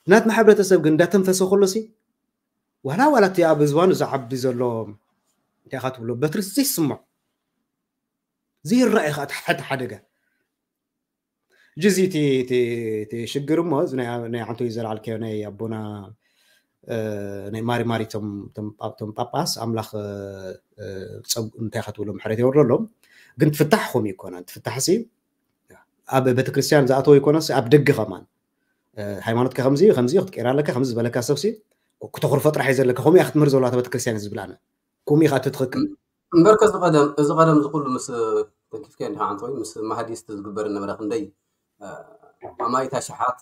ናትና ሕብረተሰብ ግን እንዳተንፈሰ ከሎሲ ዋላ ዋላ እቲ ኣብ ዝባኑ ዝዓቢ ዘሎ እንታይ ኢኻ ትብሎ በትሪ ዘይስምዖ ዘይረኣይ ከዓ እቲ ሓደጋ ሕጂ እዚ እቲ ሽግር እሞ እዚ ናይ ሓንቶ እዩ ዘልዓልካዮ ናይ ኣቦና ናይ ማሪ ማሪ ቶም ጳጳስ ኣምላኽ እንታይ ከትብሎ ምሕረት የወርደሎም። ግን ትፍታሕ ከምኡ ይኮና ትፍታሕ ሲ ኣብ ቤተክርስትያን ዝኣተወ ይኮነስ ኣብ ደገ ከማን ሃይማኖትካ ከምዚ ከምዚ ክትቀይር ኣለካ ከምዚ ዝበለካ ሰብሲ ክተኹርፎ ጥራሕ እዩ ዘለካ። ከምኡ እያ ክትምህር ዘለዋ ቤተክርስትያን ዝብል ኣነ ከምኡ ኢኻ ትትኽክል። እምበርከ እዚ ቀደም እዚ ቀደም ዝኩሉ ምስ ተንኪፍከ እንዲኻ ዓንተወይ ምስ ማህዲስቲ ዝግበር ነበረ ክንደይ ኣማኢት ኣሽሓት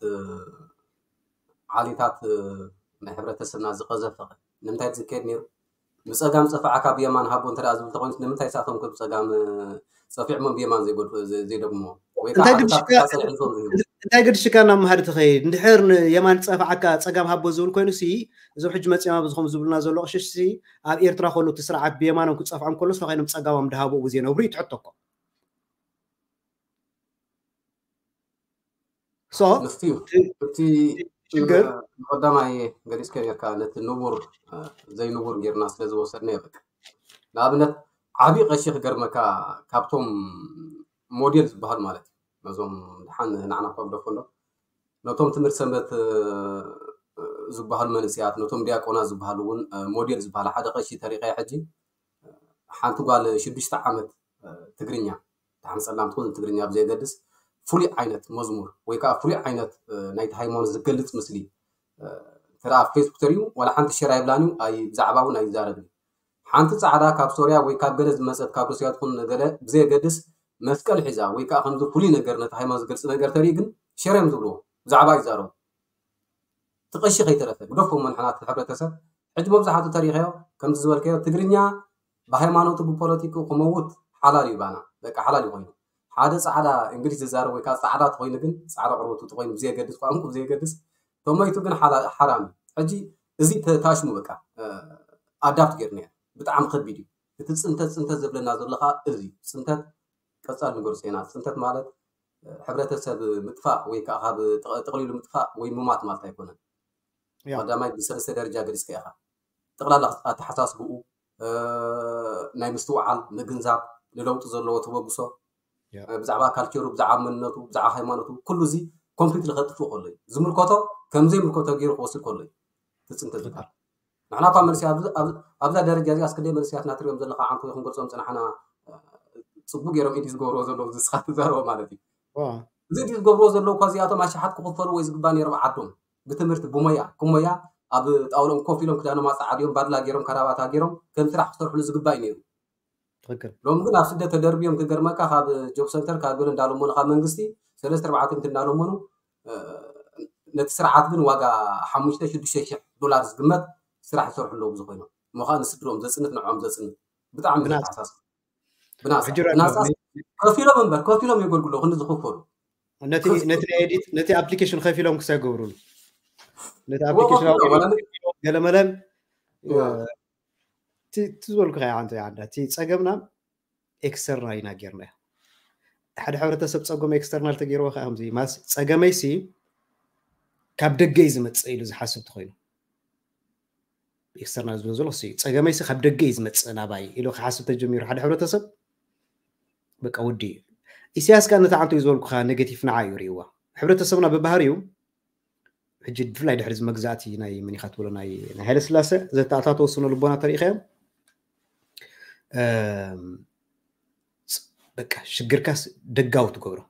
ዓሊታት ናይ ሕብረተሰብና ዝቀዘፈ ንምንታይ ዝካየድ ነይሩ? ብፀጋም ፀፋዕካ ብየማን ሃቦ እንተ ዝብል ተኮይኑ ንምንታይ ሳቶም ከ ብፀጋም ፀፊዕሞም ብየማን ዘይደግሞ ወይ እንታይ ግድሽካ ናብ መሃዲ ትኸይድ እንድሕር የማን ፀፋዕካ ፀጋም ሃቦ ዝብል ኮይኑ ሲ እዞም ሕጂ መፂኦም ኣብዚ ከም ዝብሉና ዘሎ ቅሽሽ ሲ ኣብ ኤርትራ ከሎ እቲ ስርዓት ብየማኖም ክፀፍዖም ከሎ ስለ ኮይኖም ፀጋሞም ድሃቦ ብዘይነብሩ ይትሕተኮ እቲ ሽግር ንቀዳማይ ገሊፅከ ጌርካ ነቲ ንቡር ዘይንቡር ጌርና ስለ ዝወሰድና የበቅ ንኣብነት ዓብዪ ቀሺ ክገርመካ ካብቶም ሞዴል ዝበሃሉ ማለት እዩ ነዞም ድሓን ንዓና ከብደፎ ኣሎ ነቶም ትምህርቲ ሰንበት ዝበሃሉ መንእስያት ነቶም ዲያቆናት ዝበሃሉ እውን ሞዴል ዝበሃሉ ሓደ ቀሺ ተሪቀ ሕጂ ሓንቲ ጓል ሽዱሽተ ዓመት ትግርኛ ተሓንፀላም ትኹን ትግርኛ ብዘየገድስ ፍሉይ ዓይነት መዝሙር ወይ ከዓ ፍሉይ ዓይነት ናይቲ ሃይማኖት ዝገልፅ ምስሊ እንተ ኣብ ፌስቡክ ተሪኡ ዋላ ሓንቲ ሸር ኣይብላን እዩ ብዛዕባ እውን ኣይዛረብን ሓንቲ ጻዕዳ ካብ ሶርያ ወይ ካብ ገለ ዝመጸት ካብ ሩስያ ትኹን ገለ ብዘየገድስ መስቀል ሒዛ ወይ ከዓ ከምዚ ፍሉይ ነገር ነቲ ሃይማኖት ዝገልጽ ነገር ተርኢ ግን ሸር እዮም ዝብልዎ፣ ብዛዕባ ይዛረቡ። ትቐሺ ከይተረፈ ግደፎ እሞ ንሕና እቲ ሕብረተሰብ ሕጂ መብዛሕቱ ተሪኸዮ ከምዚ ዝበልከዮ ትግርኛ ብሃይማኖቱ ብፖለቲኩ ክመውት ሓላል እዩ ባና በቃ ሓላል እዩ ኮይኑ ሓደ ጻዕዳ እንግሊዝ ዝዛረብ ወይ ከዓ ጻዕዳ ተኮይኑ ግን ጻዕዳ ቆርበቱ ተኮይኑ ብዘየገድስ ቋንቁ ብዘየገድስ ተሞይቱ ግን ሓላ- ሓራም እዩ። ሕጂ እዚ ተ- ታሽሙ በቃ ኣዳፕት ገይርና ብጣዕሚ ከቢድ እዩ። እቲ ፅንተት ፅንተት ዘብለና ዘሎ ከዓ እዚ እዩ። ፅንተት ቀፃል ንገርሶ ኢና። ፅንተት ማለት ሕብረተሰብ ምጥፋእ ወይ ከዓ ካብ ጠቕሊሉ ምጥፋእ ወይ ምማት ማለት ኣይኮነን። ቀዳማይ ብሰለስተ ደረጃ ገሊፅካ ኢኻ። ጠቕላላ ኣተሓሳስብኡ ናይ ምስትውዓል ምግንዛብ ንለውጢ ዘለዎ ተበግሶ ብዛዕባ ካልቸሩ ብዛዕባ መንነቱ ብዛዕባ ሃይማኖቱ ኩሉ እዚ ኮምፕሊትሊ ከጥፍእ ከሎ እዩ ዝምልከቶ። ከም ዘይምልከቶ ገይሩ ክወስድ ከሎ እዩ ትፅንተ ዝበሃል። ንሕና እኳ መንስያ ኣብዛ ደረጃ እዚኣ እስክንደይ መንስያትና ትሪኦም ዘለካ ዓንቶ ይኹን ገርፆም ፅናሕና ፅቡቅ ገይሮም ኢዲ ዝገብርዎ ዘለዉ ዝስኻ ትዛረቦ ማለት እዩ። እዚ ኢዲ ዝገብርዎ ዘለዉ እኳ እዚኣቶም ኣሽሓት ክኽፈሉ ወይ ዝግባ ነይሮም ዓዶም ብትምህርቲ ብሞያ ክሞያ ኣብ ጣውሎም ኮፍ ኢሎም ክዳኖም ኣፀዓዲዮም ባድላ ገይሮም ካራባታ ገይሮም ከም ስራሕ ክሰርሕሉ ዝግባእ እዩ ነይሩ። ሎሚ ግን ኣብ ስደት ተደርብዮም ክገርመካ ካብ ጆብ ሰንተር ካብ ገለ እንዳለመኑ ካብ መንግስቲ ሰለስተ ኣርባዕተ ሚእቲ እንዳለመኑ ነቲ ስርዓት ግን ዋጋ ሓሙሽተ ሽዱሽተ ሽሕ ዶላር ዝግመት ስራሕ ይሰርሑ ኣለዉ ብዝኮይኖም እሞ ከዓ ንስድሮም ዘፅንት ንዕኦም ዘፅንት ብጣዕሚ ብናፃ። ዘተሓሳስብ ብናፃ ከፊሎም እምበር ከፊሎም የገልግሎ ክንዲ ዝኽፈሉ ነቲ ኤዲት ነቲ ኣፕሊኬሽን ከፊሎም ክሰገብሩን ነቲ ኣፕሊኬሽን ገለመለን እቲ ዝበልኩ ከ ዓንተ ዓንዳ እቲ ፀገምና ኤክስተርናል ኢና ጌርናዮ። ሓደ ሕብረተሰብ ፀገሙ ኤክስተርናል ተገይርዎ ከዓ ከምዚ ማለት ፀገመይሲ ካብ ደገ እዩ ዝመፅእ ኢሉ ዝሓስብ ተኮይኑ ኤክስተርናል ዝብሎ ዘሎ እሱ እዩ። ፀገመይሲ ካብ ደገ እዩ ዝመፅእ ናባይ ኢሉ ክሓስብ ተጀሚሩ ሓደ ሕብረተሰብ በቃ ውዲ እዩ። ኢሳያስ ከዓ ነቲ ዓንቶ እዩ ዝበልኩካ ኔጌቲቭ ንዓ እዩ ርእይዋ። ሕብረተሰብና ብባህሪኡ ሕጂ ብፍላይ ድሕሪ እዚ መግዛእቲ ናይ መኒኻ ትብሎ ናይ ናይ ሃይለ ስላሰ ዘተኣታተወ ስነ ልቦና ተሪኢኻዮም በቃ ሽግርካስ ደጋዊ ትገብሮ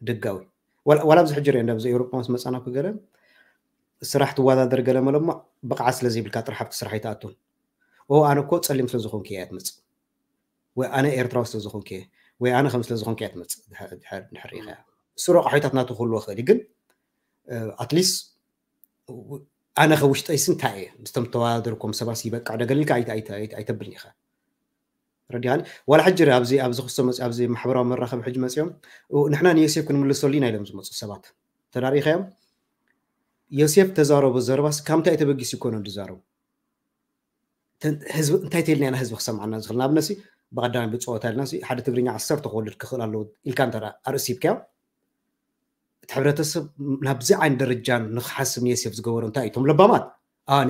ደጋዊ ዋላ ኣብዚ ሕጂ ሪኦ ኣብዚ ኤውሮጳ ምስ መፃና ክገለ ስራሕ ትወዳደር ገለ መለሞ ብቕዓት ስለ ዘይብልካ ጥራሕ ኣብቲ ስራሕ ኣይትኣቱን ኦ ኣነ እኮ ፀሊም ስለ ዝኾንኩ እያ ትመፅእ ወይ ኣነ ኤርትራዊ ስለ ዝኾንኩ ወይ ኣነ ከም ስለ ዝኾንኩ እያ ትመፅእ ድሕር ሪኢኻ እሱ ረቋሒታት ናቱ ክህልዎ ክእል ግን ኣትሊስ ኣነ ከ ውሽጠይስ እንታይ እየ ምስቶም ተወዳደርኩም ሰባስ ይበቃ ደገልልካ ኣይተብልን ኢኻ ረዲኻኒ ዋላ ሕጂ ኣብዚ ኣብዚ ክስቶ መፂ ኣብዚ ማሕበራዊ መራኸቢ ሕጂ መፂኦም ንሕና ንዮሴፍ ክንምልሰሉ ኢና ኢሎም ዝመፁ ሰባት ተዳሪኸዮም ዮሴፍ ተዛረቦ ዘረባስ ካብ ምንታይ ተበጊሱ ይኮነ ዝዛረቡ ህዝቢ እንታይ ተልና ኢና ህዝቢ ክሰምዓና ዝኽእል ንኣብነት ብቀዳማይ ብፀወታ ኢልና ሓደ ትግርኛ ዓሰርተ ክወልድ ክኽእል ኣለዎ ኢልካ እንተ ኣርእሲብካዮ እቲ ሕብረተሰብ ናብዚ ዓይነት ደረጃ ንክሓስብ ንየሴፍ ዝገበሩ እንታይ እቶም ለባማት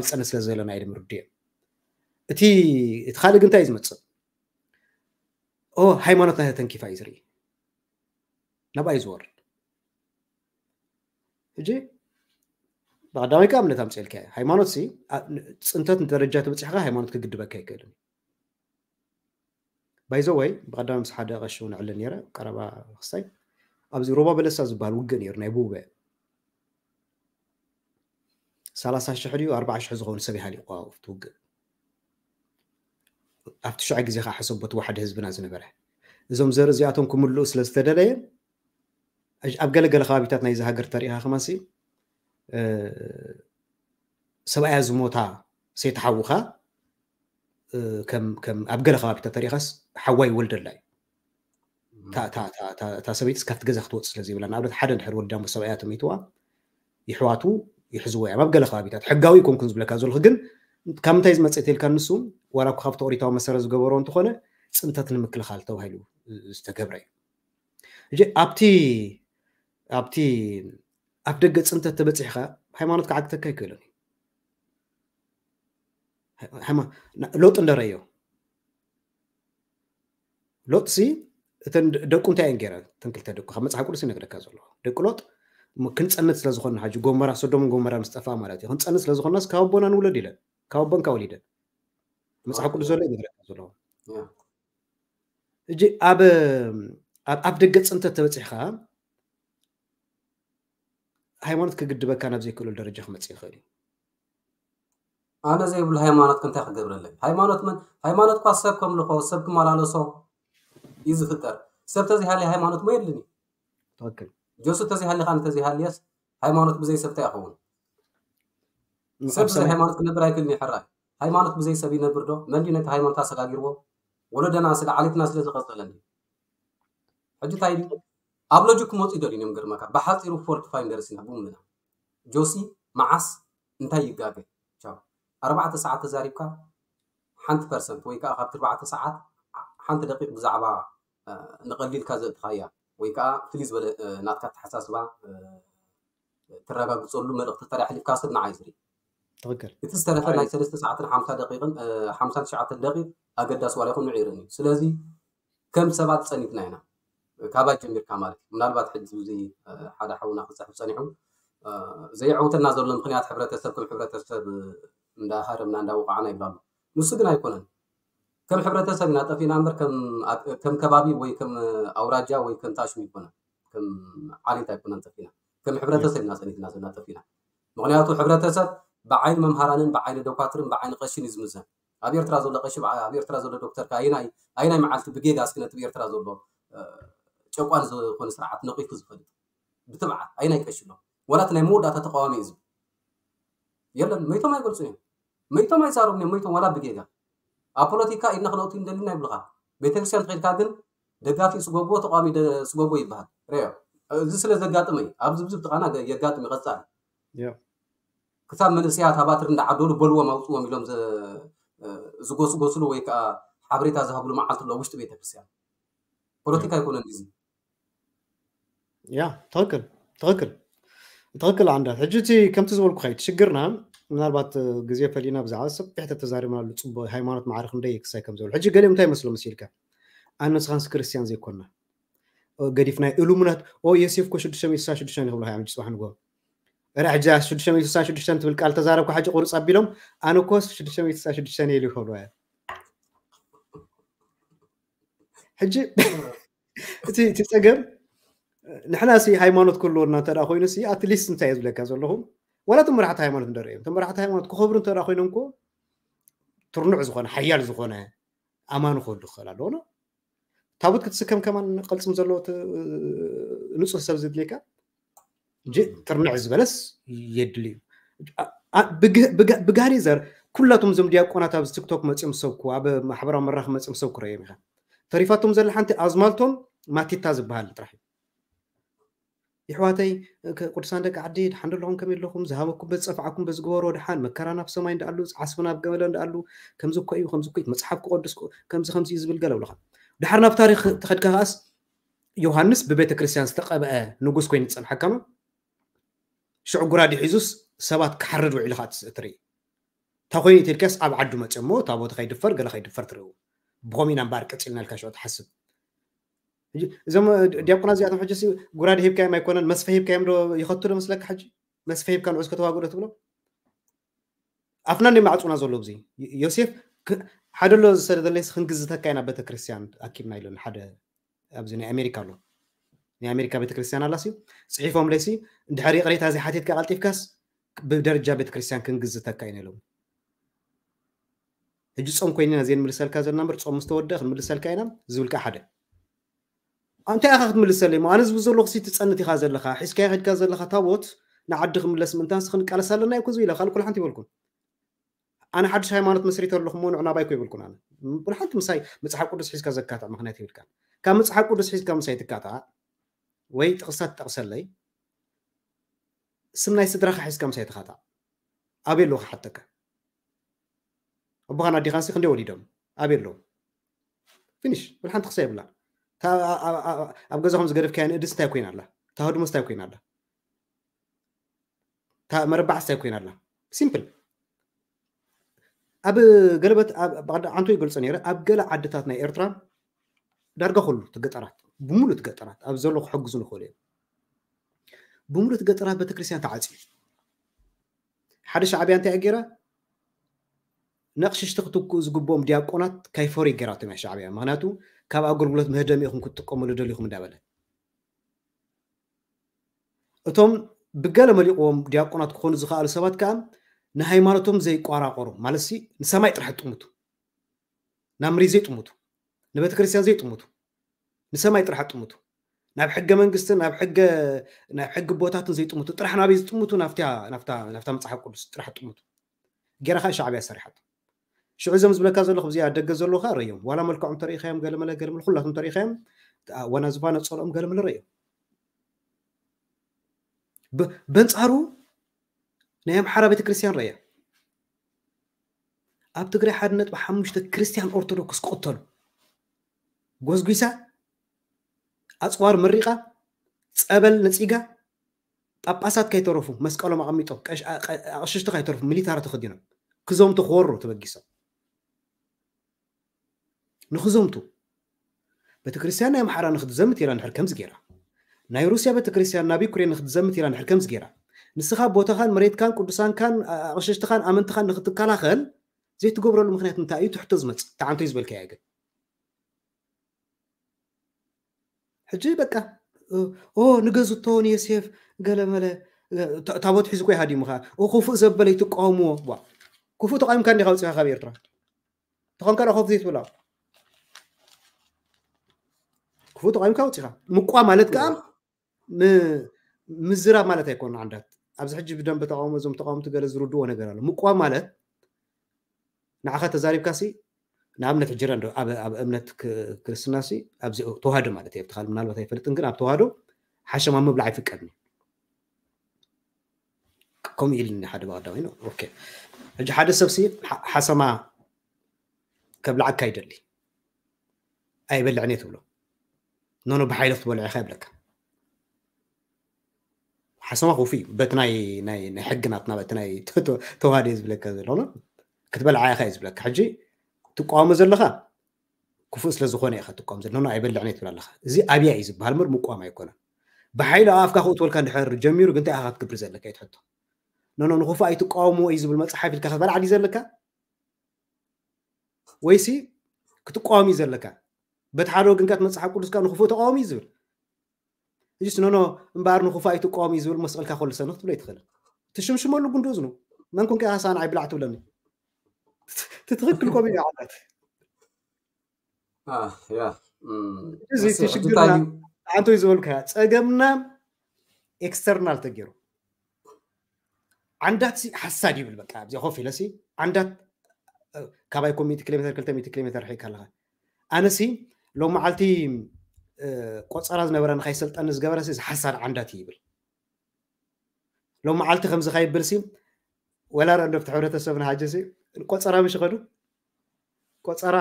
ንፀነ ስለ ዘለና ኢሎም ርድዮ እቲ እቲ ካልእ ግን እንታይ እዩ ዝመፅእ ሃይማኖት ናይ ተንኪፋ እዩ ዝርኢ ናብኣ እዩ ዝወርድ ሕጂ ብቀዳማይ ከዓ እምነት ኣምፅልካ ሃይማኖት ሲ ፅንተት ንደረጃ ተበፂሕካ ሃይማኖት ክግድበካ ይክእልን ባይዘወይ ብቀዳሚ ምስ ሓደ ቀሺ እውን ዕለ ነረ ቀረባ ክስታይ ኣብዚ ሮባ በለሳ ዝበሃል ውግእ ነይሩ ናይ ቡበ ሰላሳ ሽሕ ድዩ ኣርባዓ ሽሕ ዝኾኑ ሰብ ይሃሊቑ ኣብቲ ውግእ ኣብቲ ሽዑ ግዜ ከዓ ሕሰቦ እቲ ዋሕዲ ህዝብና ዝነበረ እዞም ዘርኢ እዚኣቶም ክምልኡ ስለ ዝተደለየ ኣብ ገለገለ ከባቢታት ናይዚ ሃገር ተሪኢኻ ከማሲ ሰብኣያ ዝሞታ ሰይቲ ሓውኻ ከም ኣብ ገለ ከባቢታት ተሪኢኻስ ሓዋ ይወልደላ እዩ እታ ሰበይቲ ካብቲ ገዛ ክትወፅእ ስለ ዘይብላ ንኣብነት ሓደ ድሕር ወልዳ ሞ ሰብኣያ ተመይትዋ ይሕዋቱ ይሕዝዎ እዮም ኣብ ገለ ከባቢታት ሕጋዊ ይኮንኩን ዝብለካ ዘለኹ ግን ካብ ምንታይ ዝመፅእ ተልካ ንሱ ዋላ እኮ ካብቲ ኦሪታዊ መሰረት ዝገበሮ እንትኾነ ፅንተት ንምክልኻል ተባሂሉ ዝተገብረ እዩ እጂ ኣብቲ ኣብቲ ኣብ ደገ ፅንተት ተበፂሕካ ሃይማኖት ክዓግተካ ይክእልን ሎጥ እንደረዮ ሎጥሲ እተን ደቁ እንታይ እየን ገይረን እተን ክልተ ደቁ ካብ መፅሓፍ ቅዱስ ይነግረካ ዘሎ ደቂ ሎጥ ክንፀንት ስለ ዝኾንና ሕጂ ጎመራ ሶዶምን ጎመራ ምስ ጠፋ ማለት እዩ ክንፀንት ስለ ዝኾንናስ ካብ ኣቦና ንውለድ ኢለን ካብ ኣቦን ካብ ወሊደን መፅሓፍ ቅዱስ ዘሎ ይነግረካ ዘሎ ሕጂ ኣብ ኣብ ደገ ፅንተት ተበፂሕካ ሃይማኖት ክግድበካ ናብ ዘይክእሉ ደረጃ ክመፅእ ይኽእል እዩ ኣነ ዘይብሉ ሃይማኖት ከ እንታይ ክገብረለይ? ሃይማኖት መን? ሃይማኖት እኳ ሰብ ከምልኾ፣ ሰብ ክመላለሶ እዩ ዝፍጠር። ሰብ ተዘይሃልዩ ሃይማኖት ሞ የድልን እዩ። ትኽክል። ጆሱ ተዘይሃልዩ፣ ኣነ ተዘይሃልየስ ሃይማኖት ብዘይ ሰብ እንታይ ይኸውን? ሰብ ብዘይ ሃይማኖት ክነብር ኣይክእልን እዩ። ሕራይ ሃይማኖት ብዘይ ሰብ ይነብር ዶ? መን ድዩ ነቲ ሃይማኖት ኣሰጋጊርዎ? ወለዶና ስለ ዓሌትና ስለ ዝቐጸለ እንዲ ሕጂ እንታይ ድዩ ኣብ ሎጂክ ክመፁ ይደልዩ እዮም። ገርመካ ብሓፂሩ ፎልት ፋይንደርስ ኢና ቡምና ጆሲ መዓስ እንታይ ይጋገ? ቻው። ኣርባዕተ ሰዓት ተዛሪብካ ሓንቲ ፐርሰንት ወይ ከዓ ካብቲ ኣርባዕተ ሰዓት ሓንቲ ደቂቕ ብዛዕባ ንቐሊልካ ዘእትኻያ ወይ ከዓ ፍልይ ዝበለ ናትካ ኣተሓሳስባ ተረጋግፀሉ መልእኽቲ ተሪያ ሕሊፍካ ሰብ ንዓይ ዝርኢ። ትኽክል። እቲ ዝተረፈ ናይ ሰለስተ ሰዓትን ሓምሳ ደቂቕን ሓምሳን ትሽዓተን ደቂቕ ኣገዳሲ ዋላ ይኹን ንዑ ይርእን እዩ። ስለዚ ከም ሰባት ፀኒትና ኢና ካባይ ጀሚርካ ማለት እዩ። ምናልባት ሕጂ እዚ ሓደ ሓውና ክፅሕፍ ፀኒሑ ዘየዕውተና ዘሎ ምክንያት ሕብረተሰብ ከም ሕብረተሰብ እንዳሃረምና እንዳወቃዕና ይብላ ኣሎ። ንሱ ግን ኣይኮነን። ከም ሕብረተሰብ ኢና ጠፊና እምበር ከም ከባቢ ወይ ከም ኣውራጃ ወይ ከም ታሽም ይኮነን። ከም ዓሌት ኣይኮነን ጠፊና። ከም ሕብረተሰብ ኢና ፀኒትና ዘለና ጠፊና። ምክንያቱ ሕብረተሰብ ብዓይኒ መምሃራንን ብዓይኒ ዶኳትርን ብዓይኒ ቀሽን እዩ ዝምዘን። ኣብ ኤርትራ ዘሎ ቀሺ ኣብ ኤርትራ ዘሎ ዶክተር ከ ኣይናይ ኣይናይ መዓልቲ ብጌጋ እስኪ ነቲ ብኤርትራ ዘሎ ጨቋን ዝኾነ ስርዓት ነቂፉ ዝፈልጥ ብትብዓት ኣይናይ ቀሺ ኣሎ። ወላ እቲ ናይ መወዳእታ ተቃዋሚ እዩ ዝብል የለን። መይቶም ኣይገልጹን እዮም። መይቶም ኣይዛረቡን እዮም። መይቶም ዋላ ብጌጋ ኣብ ፖለቲካ ኢድና ክነእቱ እንደልና ይብልኻ። ቤተክርስትያን ተኸድካ ግን ደጋፊ ስጎጎ ተቃዋሚ ስጎጎ ይበሃል። ሪኦ እዚ ስለ ዘጋጥመ እዩ። ኣብዚ ብዙ ጥቃና የጋጥም ይቐጻል። ክሳብ መንእሰያት ኣባትር እንዳዓደሉ በልዎም ኣውፅዎም ኢሎም ዝጎስጎስሉ ወይ ከዓ ሓበሬታ ዝሃብሉ መዓልቲ ኣሎ ውሽጢ ቤተክርስትያን። ፖለቲካ ኣይኮነን እዚ። ያ ትኽክል ትኽክል ትኽክል። ኣንዳ ሕጂ እቲ ከምቲ ዝበልኩ ከይድ ሽግርና ምናልባት ግዜ ፈሊና ብዛዕባ ሰፊሕ ተተዛሪብናሉ ፅቡቅ ሃይማኖት ማዕረ ክንደይ ክሳይ ከም ዝብል ሕጂ ገሊኦም እንታይ መስሎ መሲልካ ኣነ ንስኻንስ ክርስትያን ዘይኮና ገዲፍና ኢሉሙናት ኦ የሴፍ ኮ ሽዱሽተ ሚእቲ ስሳ ሽዱሽተ ይኽብሉ ሃያ ምጭ ጽባሕ ንጎ ረ ሕጂ ሽዱሽተ ሚእቲ ስሳ ሽዱሽተ ትብል ቃል ተዛረብኩ ሕጂ ቁርጽ ኣቢሎም ኣነ ኮ ሽዱሽተ ሚእቲ ስሳ ሽዱሽተ ኢሉ ይኽብሉ ሕጂ እቲ እቲ ጸገም ንሕና ሲ ሃይማኖት ክህልወና እንተ ኮይኑ ሲ ኣትሊስት እንታይ ዝብለካ ዘለኹ ዋላ እቶም መራሕቲ ሃይማኖት እንደርእዮም እቶም መራሕቲ ሃይማኖት ክኸብሩ እንተ ኮይኖም ኮ ትርኑዕ ዝኾነ ሓያል ዝኾነ ኣማኑ ክህሉ ክኽእል ኣለዎ ታቦት ክትስከም ከማን ቅልፅም ዘለዎ ንፁህ ሰብ ዝድልየካ ትርንዕ ዝበለስ የድሊ እዩ። ብጋሪ ዘር ኩላቶም እዞም ዲያቆናት ኣብዚ ቲክቶክ መፅኦም ሰብኩ ኣብ ማሕበራዊ መራኽ መፅኦም ሰብኩ ረዮም ኢኻ ተሪፋቶም ዘላ ሓንቲ ኣዝማልቶን ማቲታ ዝበሃል ጥራሕ እዩ። ይሕዋተይ ቅዱሳን ደቂ ዓዲ ድሓን ደለኹም ከመይ ኣለኹም ዝሃበኩም በዝፀፍዓኩም በዝገበሮ ድሓን መከራ ናብ ሰማይ እንዳኣሉ ዓስቢ ናብ ገመለ እንዳኣሉ ከምዚ እኮ እዩ ከምዚ እኮ መፅሓፍ ክቆድስ ከምዚ ከምዚ እዩ ዝብል ገለ ብለኻ ድሓር ናብ ታሪክ ተኸድካ ከኣስ ዮሃንስ ብቤተ ክርስቲያን ዝተቐብአ ንጉስ ኮይኑ ዝፀንሐካ ማ ሽዑ ጉራዲ ሒዙስ ሰባት ክሓርድ ውዒሉ ከዓ ትርኢ እንታይ ኮይኑ ኢትልካስ ኣብ ዓዱ መፅሞ ታቦት ከይድፈር ገለ ከይድፈር ትርእው ብኸምኡ ኢና እምበኣር ቀፂልና ኢልካ ሽዑ ትሓስብ እዞም ዲያቆና እዚኣቶም ሕጂ ጉራዲ ሂብካዮም ኣይኮነን መስፈ ሂብካዮም ዶ ይኸቱ ዶ መስለካ ሕጂ መስፈ ሂብካ ንዑስ ከተዋግዶ ትብሎ ኣፍና እንደ ማዕፁና ዘሎ እዚ ዮሴፍ ሓደ ኣሎ ዝሰደለይስ ክንግዝተካ ኢና ቤተክርስትያን ኣኪብና ኢሉን ሓደ ኣብዚ ናይ ኣሜሪካ ኣሎ ናይ ኣሜሪካ ቤተክርስትያን ኣላሲ ፅሒፎም ለይሲ እንድሕር ይቅሬታ ዘይሓቲትካ ቀልጢፍካስ ብደረጃ ቤተክርስትያን ክንግዝተካ ኢና ኢሎም ሕጂ ፆም ኮይንና ዘይንምልሰልካ ዘለና ምር ፆም ምስተወደ ክንምልሰልካ ኢና ዝብል ከዓ ሓደ እንታይ ኢኻ ክትምልሰለይ ሞ ኣነ ዝብል ዘለኹ ሲ ትፀንት ኢኻ ዘለኻ ሒዝካዮ ከድካ ዘለኻ ታቦት ንዓዲ ክምለስ ምእንታንስ ክንቃለስ ኣለና ይኮ ዝብለ ካልእ ኩሉ ሓንቲ ይበልኩን ኣነ ሓድሽ ሃይማኖት መስሪተ ኣለኹ ሞ ንዑ ናባይ ኮ ይበልኩን ኣነ ኩሉ ሓንቲ ምሳይ መፅሓፍ ቅዱስ ሒዝካ ዘካትዕ ምክንያት ይብልካ ካብ መፅሓፍ ቅዱስ ሒዝካ ምሳይ ትካትዓ ወይ ጥቕስታት ትጠቕሰለይ ስም ናይ ስድራኻ ሒዝካ ምሳይ ትኻታዕ ኣበይ ኣለዉ ክሓተካ ኣቦኻን ኣዴኻንሲ ክንደይ ወሊዶም ኣበይ ኣለዉ ፊኒሽ ብልሓንቲ ክሳ የብላ ኣብ ገዛኹም ዝገደፍካያ ንእድስ እንታይ ኮይና ኣላ እታ ህድሞስ እንታይ ኮይና ኣላ እታ መረባዕ እንታይ ኮይና ኣላ ሲምፕል ኣብ ገለበት ዓንቶ ይገልፆ ነረ ኣብ ገለ ዓድታት ናይ ኤርትራ ዳርጋ ኩሉ ትገጠራት ብሙሉእ ትገጠራት ኣብ ዘሎ ክሕግዙ ንኽእሉ እዮም ብሙሉእ ትገጠራት ቤተክርስትያን ተዓፅዩ ሓደ ሻዕብያ እንታይ ገይራ ነቕሽሽቲ ክትክኡ ዝግብኦም ዲያቆናት ካይፈሪ ገይራቶም እያ ሻዕብያ ምክንያቱ ካብ ኣገልግሎት ምህደሚ ኢኹም ክትጥቀሙሉ ደሊኹም እንዳበለ እቶም ብገለ መሊቕዎም ዲያቆናት ክኾኑ ዝኽኣሉ ሰባት ከዓ ንሃይማኖቶም ዘይቋራቆሩ ማለት ሲ ንሰማይ ጥራሕ ጥምቱ፣ ናብ መሬት ዘይጥምቱ፣ ንቤተ ክርስቲያን ዘይጥምቱ፣ ንሰማይ ጥራሕ ጥምቱ፣ ናብ ሕገ መንግስትን ናብ ሕገ ናብ ሕጊ ቦታትን ዘይጥምቱ፣ ጥራሕ ናበይ ዝጥምቱ? ናብታ ናብታ ናብታ መጽሓፍ ቅዱስ ጥራሕ ጥምቱ። ገይራ ከዓ ሻዕብያ ሰሪሓቶ። ሽዑ እዞም ዝብለካ ዘለኹ እዚኣ ደገ ዘለዉ ከዓ ረዮም፣ ዋላ መልክዖም ተሪኢኻዮም፣ ገለመለ ገለመለ ኩላቶም ተሪኢኻዮም፣ ወና ዝፋነ ጸልኦም ገለመለ ረዮም። በንጻሩ ናይ ኣምሓራ ቤተክርስትያን ረያ። ኣብ ትግራይ ሓደ ነጥቢ ሓሙሽተ ክርስትያን ኦርቶዶክስ ክቕተሉ፣ ጎዝጒሳ፣ ኣፅዋር መሪቓ፣ ጸበል ነፂጋ፣ ጳጳሳት ከይተረፉ መስቀሎም ኣቐሚጦም፣ ኣቕሽሽቲ ከይተረፉ ሚሊታሪ ተኸዲኖም ክዘምቱ ክወሩ ተበጊሶም። ንክዘምቱ፣ ቤተክርስትያን ናይ ኣምሓራ ንክትዘምት ኢላ እንድሕር ከምዚ ገይራ፣ ናይ ሩስያ ቤተክርስትያን ናብ ዩክሬን ንክትዘምት ኢላ እንድሕር ከምዚ ገይራ፣ ንስኻ ቦታኻን መሬትካን ቅዱሳንካን ኣቕሽሽትኻን ኣመንትኻን ንክትከላኸል ዘይትገብረሉ ምክንያት እንታይ እዩ? ትሕቶ ዝመፅእ ተዓንቶ እዩ ዝበልካያ ግን ሕጂ በቃ ኦ ንገዝቶ ንዮሴፍ ገለመለ ታቦት ሒዙ ኮይ ሃዲሙ ከዓ ክፉእ ዘበለ ይትቃወምዎ። ክፉእ ተቃዊምካ እንዲካ ውፅኻ ካብ ኤርትራ ተኾንካ ዳ ኮፍ ዘይትብላ ክፉእ ተቃዊምካ ውፅኻ ምቋ ማለት ከዓ ምዝራብ ማለት ኣይኮነ። ዓንዳት ኣብዚ ሕጂ ብደንብ ተቃውሞ እዞም ተቃውምቲ ገለ ዝርድዎ ነገር ኣሎ። ምቋ ማለት ንዓኻ ተዛሪብካ ሲ ንኣብነት ሕጂ ረ ኣብ እምነት ክርስትና ሲ ኣብዚ ተዋህዶ ማለት እየ ብትኻል ምናልባት ኣይፈልጥን ግን ኣብ ተዋህዶ ሓሸማ ምብላዕ ኣይፍቀድን እዩ። ከምኡ ኢልኒ ሓደ ብቀዳማይ ነው። ኦኬ ሕጂ ሓደ ሰብ ሲ ሓሰማ ከብልዓካ ይደሊ ኣይበልዕን እየ ትብሎ ኖኖ ብሓይሊ ክትበልዖ ኢኻ ይብለካ። ሓሰማ ክፉ እዩ በቲ ናይ ናይ ናይ ሕጊ ናትና በቲ ናይ ተዋህዶ እዩ ዝብለካ ዘሎ ክትበልዓ ኢኻ እዩ ዝብለካ። ሕጂ ትቃወሞ ዘለኻ ክፉእ ስለ ዝኾነ ኢኻ ትቃወም ዘሎ ኖኖ ኣይበልዕን እየ ትብል ኣለኻ። እዚ ኣብያ እዩ ዝበሃል ምር ምቋም ኣይኮነን። ብሓይሊ ኣብ ኣፍካ ክእትወልካ እንድሕር ጀሚሩ ግን እንታይ ኢኻ ክትገብር ዘለካ እዩ ትሕቶ። ኖኖ ንክፉእ ኣይትቃወምዎ እዩ ዝብል መፅሓፍ ኢልካ ክትበልዓ ድዩ ዘለካ? ወይሲ ክትቃወም እዩ ዘለካ? በቲ ሓደ ወገንካ እቲ መፅሓፍ ቅዱስካ ንክፉእ ተቃወም እዩ ዝብል እጅስ ኖኖ እምበኣር ንክፉእ ኣይትቃወም እዩ ዝብል መስቀልካ ከሉ ሰንኽ ትብሎ ይትኽእል ትሽምሽመሉ ጉንዱ እዝኑ መን ኮንካ ኢኻ ሳና ኣይብላዕ ትብለኒ ትትኽክል ኮም እዩ ዓላት ያ እዚ ሽግርና ኣንቶ እዩ ዝበልካ ፀገምና ኤክስተርናል ተገይሩ ዓንዳት ሓሳድ ይብል በቃ ኣብዚ ኮፍ ኢለሲ ዓንዳት ካባይ ኮም ሚእቲ ኪሎ ሜትር ክልተ ሚእቲ ኪሎ ሜትር ርሒካ ኣለኻ ኣነሲ ሎም መዓልቲ ቆፀራ ዝነበረ ንካይሰልጠኒ ዝገበረ እዚ ሓሳድ ዓንዳት ይብል ሎም መዓልቲ ከምዚ ካይብል ሲ ወላ ረንዶ ብቲ ሕብረተሰብና ሓጀሲ ቆፀራ ምሽ ይኸዱ ቆፀራ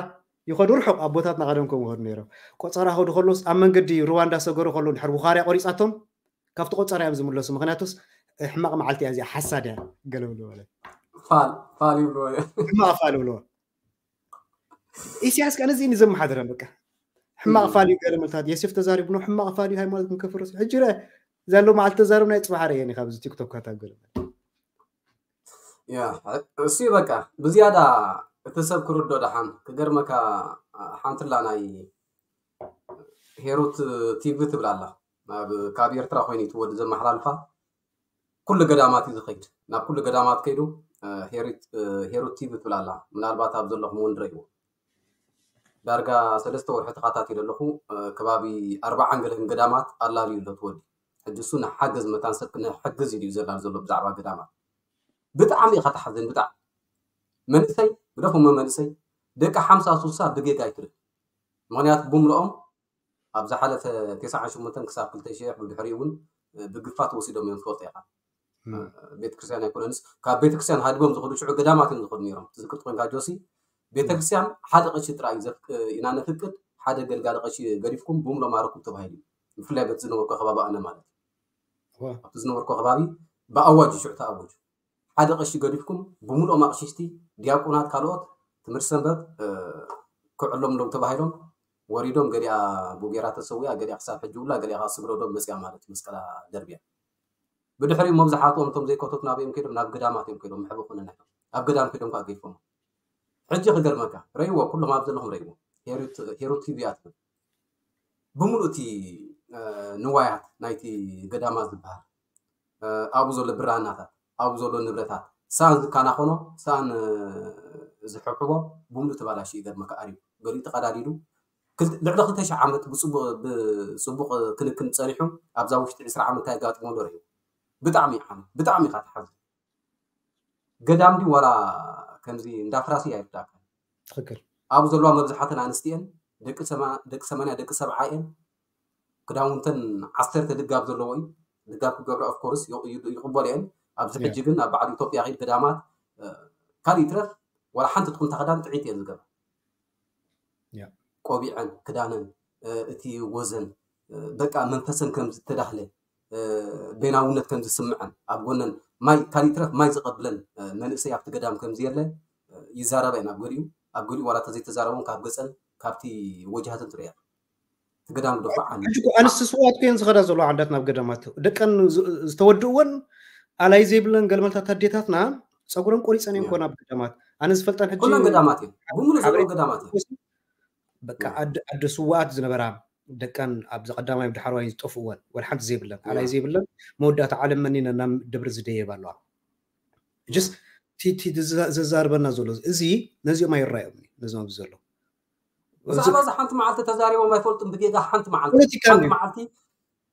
ይኸዱ ርሑቕ ኣቦታትና ቀደም ከምኡ ይኸዱ ነይሮም ቆፀራ ከዱ ከሎስ ኣብ መንገዲ ሩዋንዳ ሰገሩ ከሎ ድሕር ውኻርያ ቆሪፃቶም ካብቲ ቆፀራ እዮም ዝምለሱ ምክንያቱስ ሕማቕ መዓልቲ እያ እዚኣ ሓሳድ እያ ገለ ብሉ ማለት ፋል ፋል ይብልዎ እዮም ሕማቕ ፋል ይብልዎ ኢሳያስ ከ ነዚ እዩ ዘመሓድረን በቃ ሕማቕ ፋል እዩ ገለ መልታት የሴፍ ተዛሪቡ ነው ሕማቕ ፋል እዩ ሃይማኖት ክንከፍርስ ሕጂ ረ ዘሎ መዓልቲ ተዛረብ ናይ ፅባሕ ረ የኒ ካብዚ ቲክቶክ ካታ ገለ ያ እሱ በቃ ብዝያዳ እቲ ሰብ ክርዶ ደሓን ክገርመካ ሓንትላ ናይ ሄሩት ቲቪ ትብል ኣላ ናብ ካብ ኤርትራ ኮይኑ እቲ ወዲ ዘመሓላልፋ ኩሉ ገዳማት እዩ ዝኸይድ ናብ ኩሉ ገዳማት ከይዱ ሄሩት ቲቪ ትብል ኣላ ምናልባት ኣብ ዘለኹም እውን ንረእይዎ ዳርጋ ሰለስተ ወርሒ ተኸታቲለ ኣለኹ ከባቢ ኣርባዓን ገለን ገዳማት ኣላልዩ ኣሎ ትወዲ ሕጂ እሱ ንሓገዝ መታን ሰብ ክነሕግዝ ኢሉ እዩ ዘላል ዘሎ ብዛዕባ ገዳማት ብጣዕሚ ኢኻ ተሓዝን ብጣዕሚ መንእሰይ ግደፎሞ መንእሰይ ደቂ ሓምሳ ሱሳ ብጌጋ ኣይትርኢ ምኽንያቱ ብምልኦም ኣብ ዝሓለፈ ተስዓን ሽሞንተን ክሳብ ክልተ ሽሕ ብድሕሪኡ እውን ብግፋ ተወሲዶም እዮም ትፈልጦ ኢኻ ቤተክርስትያን ኣይኮነንስ ካብ ቤተክርስትያን ሃዲቦም ዝኸዱ ሽዑ ገዳማት እዮም ዝኸዱ ነይሮም ትዝክር ኮይንካ ጆሲ ቤተክርስትያን ሓደ ቀሺ ጥራይ ኢና ነፍቅድ ሓደ ገልጋሊ ቀሺ ገዲፍኩም ብሙሎ ማረኩም ተባሂሉ ብፍላይ በቲ ዝነበርኩ ከባቢ ኣነ ማለት ኣብቲ ዝነበርኩ ከባቢ ብኣዋጅ ሽዑ ተኣወጁ ሓደ ቀሺ ገዲፍኩም ብምልኦም ኣቕሽሽቲ ዲያቆናት ካልኦት ትምህርቲ ሰንበት ክዕሎም ሎም ተባሂሎም ወሪዶም ገሊኣ ቡጌራ ተሰዊኣ ገሊኣ ክሳብ ሕጂ ውላ ገሊኣ ከዓ ስግረዶም መፅያ ማለት መስቀላ ደርብያ ብድሕሪኡ መብዛሕትኦም እቶም ዘይከተቱ ናበዮም ከይዶም ናብ ገዳማት እዮም ከይዶም ምሕበ ኮነና ኢሎም ኣብ ገዳም ከይዶም ከዓ ገይፎም ሕጂ ክገርመካ ረይዎ ኩሎም ኣብ ዘለኹም ረይዎ ሄሩት ቲቪ እያ ትብል ብምሉእ እቲ ንዋያት ናይቲ ገዳማት ዝበሃል ኣብኡ ዘሎ ብራናታት ኣብኡ ዘሎ ንብረታት ሳን ዝከናኸኖ ሳን ዝሕብሕቦ ብምሉእ ተባላሽዩ ይገርመካ ኣርዩ ገሊኡ ተቐዳዲዱ ልዕሊ ክልተ ሽሕ ዓመት ብፅቡቕ ክንክን ፀኒሑ ኣብዛ ውሽጢ ዕስራ ዓመት ኣጋጥሞ ዶ ርዩ ብጣዕሚ ዓም ብጣዕሚ ኢኻ ትሓዝን ገዳም ድዩ ዋላ ከምዚ እንዳፍራሲ ኣይርዳእካ ትክክል ኣብኡ ዘለዋ መብዝሓተን ኣንስቲ እየን ደቂ ሰማንያ ደቂ ሰብዓ እየን ክዳውንተን ዓሰርተ ልጋብ ዘለዎ እዩ ልጋብ ክገብራ ኦፍኮርስ ይቕበል እየን ኣብዚ ሕጂ ግን ኣብ በዓል ኢትዮጵያ ኸይድ ገዳማት ካልእ ይትረፍ ዋላ ሓንቲ ትኹንታ ክዳን ጥዒት እየን ዝገብራ ቆቢዐን ክዳነን እቲ ወዘን በቃ መንፈሰን ከም ዝተዳህለ ቤናውነት ከም ዝስምዐን ኣብ ጎነን ማይ ካልእ ይትረፍ ማይ ዝቐብለን መንእሰይ ኣብቲ ገዳም ከም ዝየለ ይዛረባ እየን ኣብ ገሊኡ ኣብ ገሊኡ ዋላ ተዘይተዛረቦም ካብ ገፀን ካብቲ ወጃሃተን ትርእያ እቲ ገዳም ግደፎ ዓኒ ሕጂ እኮ ኣንስቲ ስውኣት እኮ እየን ዝኸዳ ዘለዋ ዓዳት ናብ ገዳማት ደቀን ዝተወድእወን ኣላይ ዘይብለን ገልመልታት ኣዴታትና ፀጉረን ቆሪፀን እየን ኮ ናብ ገዳማት ኣነ ዝፈልጠን ሕጂ ኩለን ገዳማት እየን ብምሉእ ዘለዋ ገዳማት እየን በቃ ኣደ ስውኣት ዝነበራ ደቀን ኣብዚ ቀዳማይ ዳሕረዋይ ዝጠፍእወን ወላ ሓንቲ ዘይብለን ኣላይ ዘይብለን መወዳእታ ዓለም መኒነ ናብ ደብሪ ዝደየብ ኣለዋ ጅስ ዘዛርበና ዘሎ እዚ ነዚኦም ኣይረኣዮም ነዚኦም ኣብዚ ዘሎ ብዛዕባ እዚ ሓንቲ መዓልቲ ተዛሪቦም ኣይፈልጡን ብጌጋ ሓንቲ መዓልቲ ሓንቲ መዓልቲ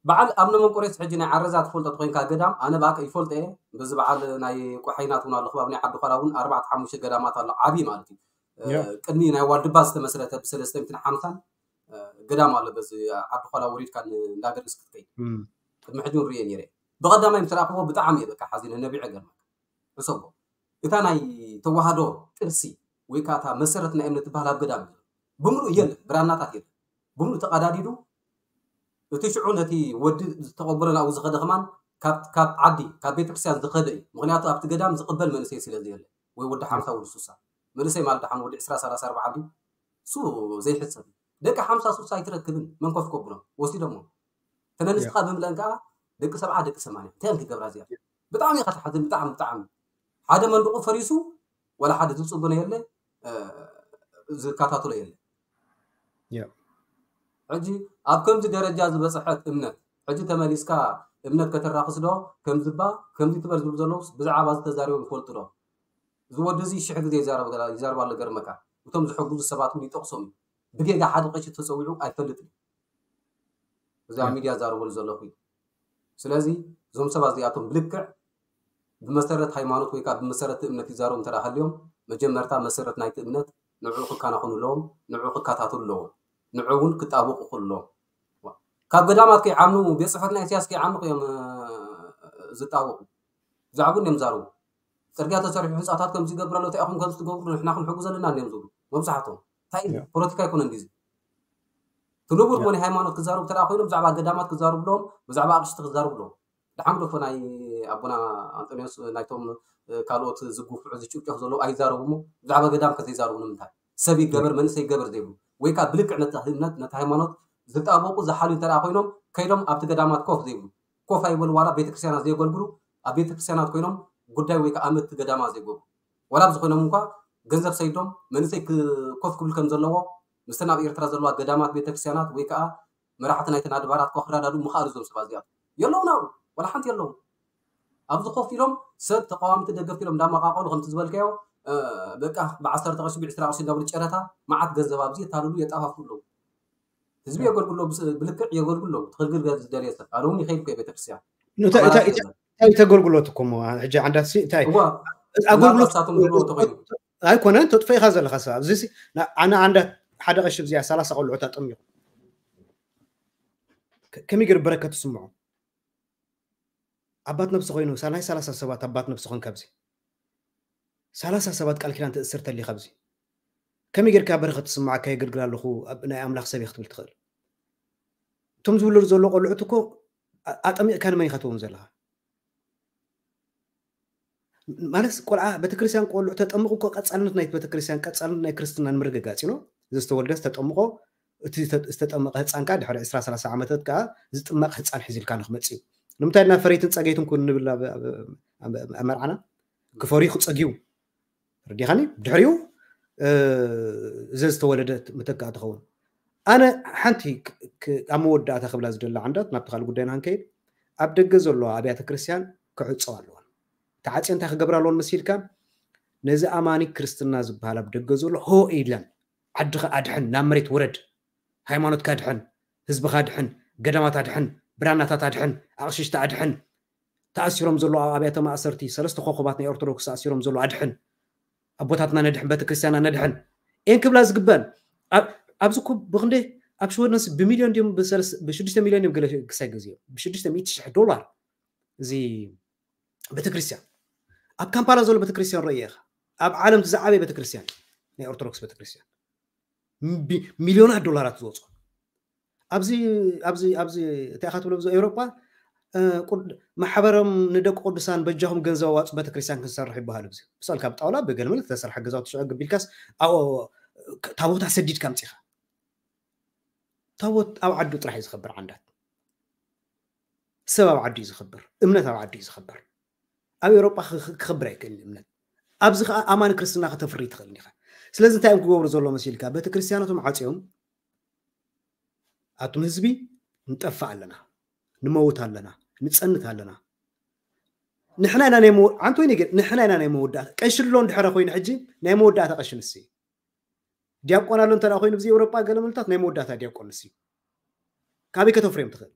በዓል ኣብነ መንቆሬስ ሕጂ ናይ ዓረዛ ትፈልጦ ኮይንካ ገዳም ኣነ ብኣከ ይፈልጦ እየ በዚ በዓል ናይ ቆሓይናት እውን ኣሎ ከባቢ ናይ ዓዲ ኳላ እውን ኣርባዕተ ሓሙሽተ ገዳማት ኣሎ ዓብዪ ማለት እዩ ቅድሚ ናይ ዋልድባ ዝተመስረተ ብሰለስተ ሚትን ሓምሳን ገዳም ኣሎ በዚ ዓዲ ኳላ ወሪድካ እንዳገርግስ ክትከይድ ቅድሚ ሕጂ ንርእየ ነይረ ብቐዳማይ ምስ ረኣኽዎ ብጣዕሚ እየ በቃ ሓዚነ ነቢዐ ገርመካ ሕሰቦ እታ ናይ ተዋህዶ ቅርሲ ወይ ከዓ እታ መሰረት ናይ እምነት ትበሃል ኣብ ገዳም እዩ ብምሉእ የለን ብራናታት የለን ብምሉእ ተቐዳዲዱ እቲ ሽዑ ነቲ ወዲ ዝተቐበሎ ናብኡ ዝኸደ ከማን ካብ ዓዲ ካብ ቤተክርስትያን ዝኸደ እዩ ምክንያቱ ኣብቲ ገዳም ዝቕበል መንእሰይ ስለ ዘየለ ወይ ወዲ ሓምሳ ወዲ ሱሳ መንእሰይ ማለት ደሓን ወዲ ዕስራ ሰላሳ ኣርባዓ ድዩ እሱ ዘይሕሰብ ደቂ ሓምሳ ሱሳ ኣይትረክብን መንኮፍ ከብሎም ወሲዶሞ ተነንስኻ ብምለን ከዓ ደቂ ሰብዓ ደቂ ሰማንያ እንታይ ክገብራ እዚኣ ብጣዕሚ ኢኻ ትሓዝን ብጣዕሚ ብጣዕሚ ሓደ መንድቑ ፈሪሱ ወላ ሓደ ዝፅጉነ የለ ዝከታተሎ የለ ሕጂ ኣብ ከምዚ ደረጃ ዝበፅሐት እምነት ሕጂ ተመሊስካ እምነት ከተራክስ ዶ ከምዝባ ከምዚ ትበል ዝብሉ ዘለውስ ብዛዕባ ዝተዛሪቦም ይፈልጡ ዶ ዝወዲ እዚ ሽሕ ግዜ ይዛረብ ኣሎ ገርመካ እቶም ዝሕግዙ ሰባት እውን ይጠቕሶም እዩ ብጌጋ ሓደ ቀሺ ተፀዊዑ ኣይፈልጥን እዩ እዚ ኣብ ሚድያ ዛረበሉ ዘለኹ እዩ ስለዚ እዞም ሰባት እዚኣቶም ብልክዕ ብመሰረት ሃይማኖት ወይ ከዓ ብመሰረት እምነት ይዛረቡ እንተ ሃልዮም መጀመርታ መሰረት ናይቲ እምነት ንዕኡ ክከናኸኑ ኣለዎም ንዕኡ ክከታተሉ ኣለዎም ንዕኡ እውን ክጣብቑ ክእሉ ኣለዎም ካብ ገዳማት ከይዓኑ ቤት ፅሕፈት ናይ ኢሳያስ ከይዓኑ እዮም ዝጣብቑ ብዛዕባ እዮም ዛረቡ ፅርግያ ተሰሪሑ ህንፃታት ከምዚ ይገብር ኣሎ እንታይ ኢኹም ከምዚ ትገብሩ ንሕና ክንሕጉ ዘለና እዮም ዝብሉ መብዛሕትኦም እንታይ ፖለቲካ ኣይኮነን ዲዚ ትንቡር ሞ ሃይማኖት ክዛረቡ ተደኣ ኮይኖም ብዛዕባ ገዳማት ክዛረቡ ኣለዎም ብዛዕባ ኣቅሽቲ ክዛረቡ ኣለዎም ድሓን ግደፎ ናይ ኣቦና ኣንጦኒዎስ ናይቶም ካልኦት ዝጉፍዑ ዝጭፍጨፉ ዘለዉ ኣይዛረቡ ሞ ብዛዕባ ገዳም ከዘይዛረቡ ንምንታይ ሰብ ይገበር መንእሰይ ይገበር ዘይብሉ ወይ ከዓ ብልክዕ ነቲ እምነት ነቲ ሃይማኖት ዝጣበቁ ዝሓልዩ እንተ ኮይኖም ከይዶም ኣብቲ ገዳማት ኮፍ ዘይብሉ ኮፍ ኣይበሉ ዋላ ቤተክርስትያናት ዘየገልግሉ ኣብ ቤተክርስትያናት ኮይኖም ጉዳይ ወይ ከዓ ኣመትቲ ገዳማ ዘይገብሩ ዋላ ብዝኮይኖም እንኳ ገንዘብ ሰይዶም መንእሰይ ኮፍ ክብል ከም ዘለዎ ምስተን ኣብ ኤርትራ ዘለዋ ገዳማት ቤተክርስትያናት ወይ ከዓ መራሕቲ ናይተን ኣድባራት ኮ ክረዳድኡ ምኽኣሉ እዞም ሰባት እዚኣቶም የለውን ኣብኡ ዋላ ሓንቲ የለውን ኣብዚ ኮፍ ኢሎም ሰብ ተቃዋምቲ ደገፍቲ ኢሎም እንዳመቃቀሉ ከምቲ ዝበልካዮ በቃ ብዓሰርተ ቅርሺ ብዕስራ ቅርሺ እንዳብሉ ጨረታ መዓት ገንዘብ ኣብዚ የታልሉ የጣፋፍኡ ኣለዉ ህዝቢ የገልግሎ ብልክዕ የገልግሎ ትክልግል ዝደልየ ሰብ ኣነ እውን ይኸይድ ኮ ቤተክርስትያን እንታይ ተገልግሎት እኮ ሕጂ ዓንዳት እንታይ ኣገልግሎት ኣይኮነን ተጥፈኢካ ዘለካ ሰብ ኣብዚ ኣነ ዓንዳት ሓደ ቀሺ እዚኣ ሰላሳ ቆልዑት ኣጠሚቑ ከመይ ገይሩ በረከት ትስምዖ ኣባት ነብሲ ኮይኑ ናይ ሰላሳ ሰባት ኣባት ነብሲ ኮን ካብዚ ሰላሳ ሰባት ቃል ኪዳን ትእስር ተሊ ካብዚ ከመይ ጌርካ በረከት ትስምዓካ የገልግል ኣለኹ ናይ ኣምላኽ ሰብ ክትብል ትኽእል እቶም ዝውለዱ ዘሎ ቆልዑት እኮ ኣጠሚቕካ ንመን ኢኻ ትውን ዘለኻ ማለት ቆልዓ ቤተክርስትያን ቆልዑ ተጠምቁ እኮ ቀፃልነት ናይ ቤተክርስትያን ቀፃልነት ናይ ክርስትና ንምርግጋፅ ኢኖ ዝተወልደ ዝተጠምቆ እቲ ዝተጠመቀ ህፃን ከዓ ድሕሪ ዕስራ ሰላሳ ዓመታት ከዓ ዝጥመቅ ህፃን ሒዙልካ ንክመፅእ እዩ ንምንታይ ድና ፈረይትን ፀገይትን ኩን ንብል ኣብ መርዓና ክፈርዩ ክፀግዩ ርዲኻኒ ድሕሪኡ እዘ ዝተወለደ ምተካእ ትኸውን ኣነ ሓንቲ ኣብ መወዳእታ ክብላ ዝደላ ዓንዳት ናብቲ ካልእ ጉዳይና ክንከይድ ኣብ ደገ ዘለዋ ኣብያተ ክርስትያን ክዕፀው ኣለዎን ተዓፅዮ እንታይ ክገብራ ኣለዎን መሲልካ? ነዚ ኣማኒ ክርስትና ዝበሃል ኣብ ደገ ዘሎ ሆ ኢለን፣ ዓድኻ ኣድሕን፣ ናብ መሬት ውረድ፣ ሃይማኖትካ ኣድሕን፣ ህዝብኻ ኣድሕን፣ ገዳማት ኣድሕን፣ ብራናታት ኣድሕን፣ ኣቕሽሽቲ ኣድሕን፣ ተኣሲሮም ዘለዉ ኣብ ኣብያተ ማእሰርቲ ሰለስተ ኮኾባት ናይ ኦርቶዶክስ ተኣሲሮም ዘለዉ ኣድሕን፣ ኣቦታትና ነድሕን፣ ቤተክርስትያና ነድሕን እየን ክብላ ዝግበን። ኣብ- ኣብዚ እኮ ብክንደይ ኣብ ሽወደንስ ብሚልዮን ድዮም ብሰለስ- ብሽዱሽተ ሚልዮን እዮም ገለ ክሳይ ግዜ ብሽዱሽተ ሚእቲ ሽሕ ዶላር እዚ ቤተክርስትያን። ኣብ ካምፓላ ዘሎ ቤተክርስትያን ረእየ ኢኻ። ኣብ ዓለም ዝዓበየ ቤተክርስትያን፣ ናይ ኦርቶዶክስ ቤተክርስትያን፣ ቢ- ሚልዮናት ዶላራት ዝወፁ። ኣብዚ ኣብዚ ኣብዚ እንታይ ኢኻ ትብሎ? ኣብዚ ኤውሮጳ እ፣ ቁድ- ማሕበሮም ንደቂ ቅዱሳን በጃኹም ገንዘብ ኣዋፁ ቤተክርስትያን ክንሰርሕ ይበሃል። እዚ ብሰል ካብ ጣውላ ብገልመል ዝተሰርሐ ገዛውቲ ሽዑ ግቢልካስ ኣብኡ ታቦታ ሰዲድካ ኣምፂኻ። ታቦት ኣብ ዓዱ ጥራሕ እዩ ዝኸብር። ዓንዳት ሰብ ኣብ ዓዱ እዩ ዝኸብር። እምነት ኣብ ዓዱ እዩ ዝኸብር። ኣብ ኤውሮጳ ክኽ- ክኸብር ኣይክእልን እምነት። ኣብዚ ከዓ ኣማኒ ክርስትና ከተፍሪ ትኽእል ኢኻ። ስለዚ እንታይ እዮም ክገብሩ ዘሎ መሲልካ? ቤተክርስትያናቶም ዓፅዮም ኣቱም ህዝቢ ንጠፍእ ኣለና፣ ንመውት ኣለና፣ ንፀንት ኣለና። ንሕና ኢና ናይ መወ- ዓንቶ ይነገር ንሕና ኢና ናይ መወዳእታ ቀሽሎ እንድሕረ ኮይኑ ሕጂ ናይ መወዳእታ ቀሽንሲ ዲያቆን ኣሎ እንተ ኮይኑ ብዚ ኤውሮጳ ገለ ምልታት ናይ መወዳእታ ዲያቆን ንሲ ካበይ ከተፍርዮም ትኽእል?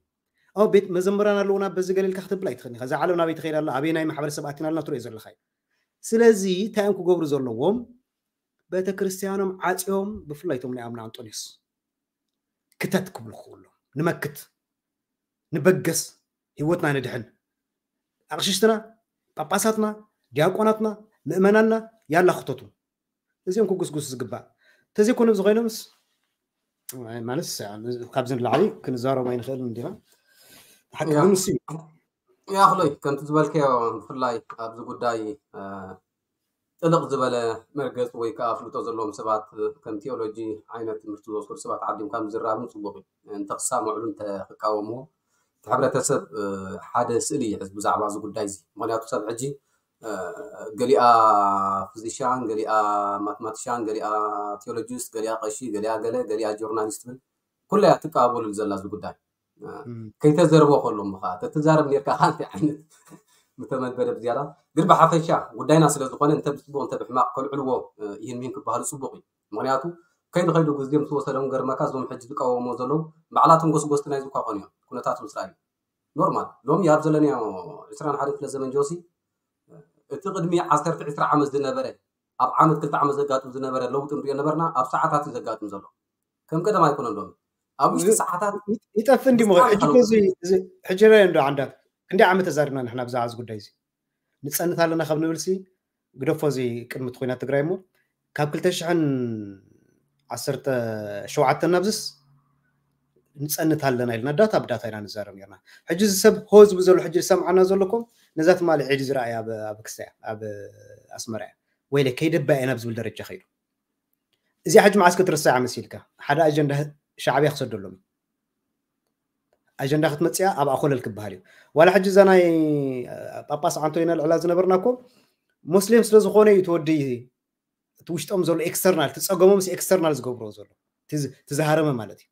ኣብ ቤት መዘምራን ኣለውና በዚ ገለ ኢልካ ክትብል ኣይትኽእል ኢኻ። እዛ ዓለም ናበይ ትኸይድ ኣላ? ኣበይ ናይ ማሕበረሰብ ኣቲና ኣለና ትሪኦ ዘለኻ እዩ። ስለዚ እንታይ እዮም ክገብሩ ዘለዎም? ቤተክርስትያኖም ዓፅዮም ብፍላይ እቶም ናይ ኣምና ኣንጦንዮስ ክተት ክብሉ ክኽእሉ ንመክት ንበገስ ህይወትና ንድሕን ኣቕሽሽትና ጳጳሳትና ዲያቆናትና ምእመናንና ያላ ክተቱ እዚኦም ክጉስጉስ ዝግባእ ተዘይኮነ እዚ ኮይኖምስ ማለት ካብዚ ንላዕሊ ክንዛረቡ ኣይንኽእልን እንዲና ሓቂ ግን ንሱ እዩ ያኽሎይ ከምቲ ዝበልከዮ ብፍላይ ኣብዚ ጉዳይ ጥልቕ ዝበለ መርገፂ ወይ ከዓ ፍልጦ ዘለዎም ሰባት ከም ቴዎሎጂ ዓይነት ትምህርቲ ዝወሰዱ ሰባት ዓዲምካ ምዝራብን ፅቡቅ እዩ። እንተክሳምዕሉ እንተክቃወምዎ እቲ ሕብረተሰብ ሓደ ስእሊ ይሕዝ ብዛዕባ እዚ ጉዳይ እዚ። ምክንያቱ ሰብ ሕጂ ገሊኣ ፊዚሽያን፣ ገሊኣ ማትማቲሽያን፣ ገሊኣ ቴዎሎጂስት፣ ገሊኣ ቀሺ፣ ገሊኣ ገለ፣ ገሊኣ ጆርናሊስት ትብል ኩላ እያ ትቀባበሉሉ ዘላ እዚ ጉዳይ። ከይተዘርቦ ከሎ ምኻ ተትዛረብ ኔርካ ካንቲ ዓይነት ምተመልበደ ብዝያዳ ግን ብሓፈሻ ጉዳይና ስለ ዝኾነ እንተ ብፅቡቅ እንተ ብሕማቅ ከልዕልዎ ይህን ሚን ክበሃሉ ፅቡቅ እዩ። ምክንያቱ ከይዱ ከይዱ ግዜ ምስ ወሰዶም ገርመካ እዞም ሕጂ ዝቃወሞ ዘለዉ ባዕላቶም ጎስጎስቲ ናይ ዝኳ ኮኑ እዮም። ኩነታት ምስ ረኣዩ ኖርማል ሎሚ ኣብ ዘለናዮ ዕስራን ሓደን ክፍለ ዘመን ጆሲ እቲ ቅድሚ ዓሰርተ ዕስራ ዓመት ዝነበረ ኣብ ዓመት ክልተ ዓመት ዘጋጥም ዝነበረ ለውጢ ንሪኦ ነበርና ኣብ ሰዓታት እዩ ዘጋጥም ዘሎ። ከም ቀደም ኣይኮነን ሎሚ ኣብ ውሽጢ ሰዓታት ይጠፍእ እንዲ ምኸ ሕጂ እኮ እዚ እዚ ሕጂ ረ እንዶ ዓንዳት ክንደይ ዓመት ተዛሪብና ንሕና ብዛዕባ እዚ ጉዳይ እዚ ንፀንት ኣለና ካብ ንብል ሲ ግደፎ እዚ ቅድሚ እቲ ኩናት ትግራይ እሞ ካብ ክልተ ሽሕን ዓሰርተ ሸውዓተን ናብዝስ ንፀንት ኣለና ኢልና ዳታ ብዳታ ኢና ንዛረብ ነርና። ሕጂ እዚ ሰብ ሆ ዝብል ዘሎ ሕጂ ዝሰምዓና ዘለኩም ነዛ ትማሊ ዒድ ዝረኣየ ኣብ ኣብ ክስታይ ኣብ ኣስመራ እያ ወይለ ከይደባ እየ ናብ ዝብል ደረጃ ከይዱ። እዚኣ ሕጂ መዓስ ክትርሳዕ መሲልካ ሓደ ኣጀንዳ ሻዕብያ ክሰደሎም እዩ። ኣጀንዳ ክትመፅያ ኣብ ኣኮለል ክበሃል እዩ። ዋላ ሕጂ እዛ ናይ ጳጳስ ዓንቶይና ልዕላ ዝነበርና እኮ ሙስሊም ስለ ዝኾነ እዩ ተወዲ እቲ ውሽጦም ዘሎ ኤክስተርናል ትፀገሞም ሲ ኤክስተርናል ዝገብሮ ዘሎ ትዝሃረመ ማለት እዩ።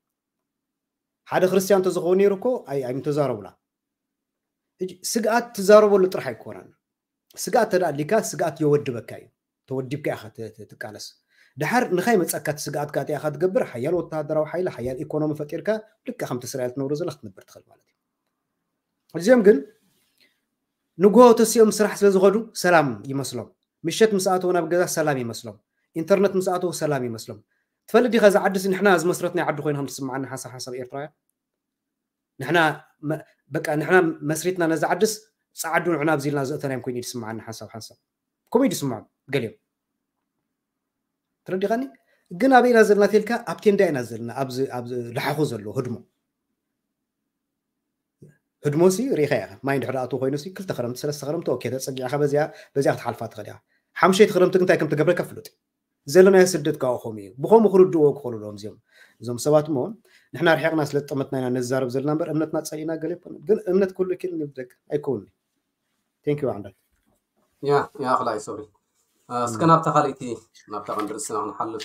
ሓደ ክርስቲያን ተዝኸውን ነይሩ እኮ ኣይምተዛረቡላ። ስግኣት ትዛረበሉ ጥራሕ ኣይኮነን። ስግኣት ተዳሊካ ስግኣት የወድበካ እዩ። ተወዲብካ ኢኻ ትቃለስ። ድሓር ንኻይ መፀካ እቲ ስግኣትካ እቲኣ ኢኻ ትገብር ሓያል ወተሃደራዊ ሓይሊ ሓያል ኢኮኖሚ ፈጢርካ ልክዕ ከምቲ እስራኤል ትነብሮ ዘላ ክትነብር ትኽእል ማለት እዩ። እዚኦም ግን ንጎሆ ተሲኦም ስራሕ ስለ ዝኸዱ ሰላም ይመስሎም። ምሸት ምስ ኣተው ናብ ገዛ ሰላም ይመስሎም። ኢንተርነት ምስ ኣተው ሰላም ይመስሎም። ትፈልጥ ዲኻ እዚ ዓድስ ንሕና ዝመስረትናይ ዓዲ ኮይኑ ከም ትስምዓኒ ሓንሳብ ሓንሳብ ኤርትራውያን ንሕና በቃ ንሕና መስሪትና ነዚ ዓድስ ፃዓዱ ንዕና ኣብዚልና ዘእተናዮም ኮይኑ ይስምዓኒ ሓንሳብ ሓንሳብ ከምኡ ይስምዖም ገሊኦም ተረዲኻኒ። ግን ኣበይ ኢና ዘለና ተልካ ኣብ ቴንዳ ኢና ዘለና ኣብዚ ኣብዚ ላሓኹ ዘሎ ህድሞ ህድሞ ሲ ርኢኻ ኢኻ ማይ እንድሕር ኣቱ ኮይኑ ሲ ክልተ ክረምቲ ሰለስተ ክረምቲ ኦኬ ተፀጊዕኻ በዚኣ በዚኣ ክትሓልፋ ትኽእል ኢኻ። ሓምሸይቲ ክረምቲ ግን እንታይ ከም ትገብረካ ፍሉጥ እዩ። ዘለናዮ ስደት ካብኡ ከምኡ እዩ። ብኸምኡ ክርድእዎ ክኽእሉ ኣለዎም እዚኦም እዞም ሰባት እሞ ንሕና ርሒቕና ስለ ዝጠመትና ኢና ነዛረብ ዘለና እምበር እምነትና ፀሊእና ገለ ኣይኮነን። ግን እምነት ኩሉ ኪል ንብደግ ኣይከውንኒ። Thank you ዓንዳት። ያ ያ ኣኽላይ ሶሪ እስከ ናብታ ካልእቲ ናብታ ቀንዲ ርእስና ክንሓልፍ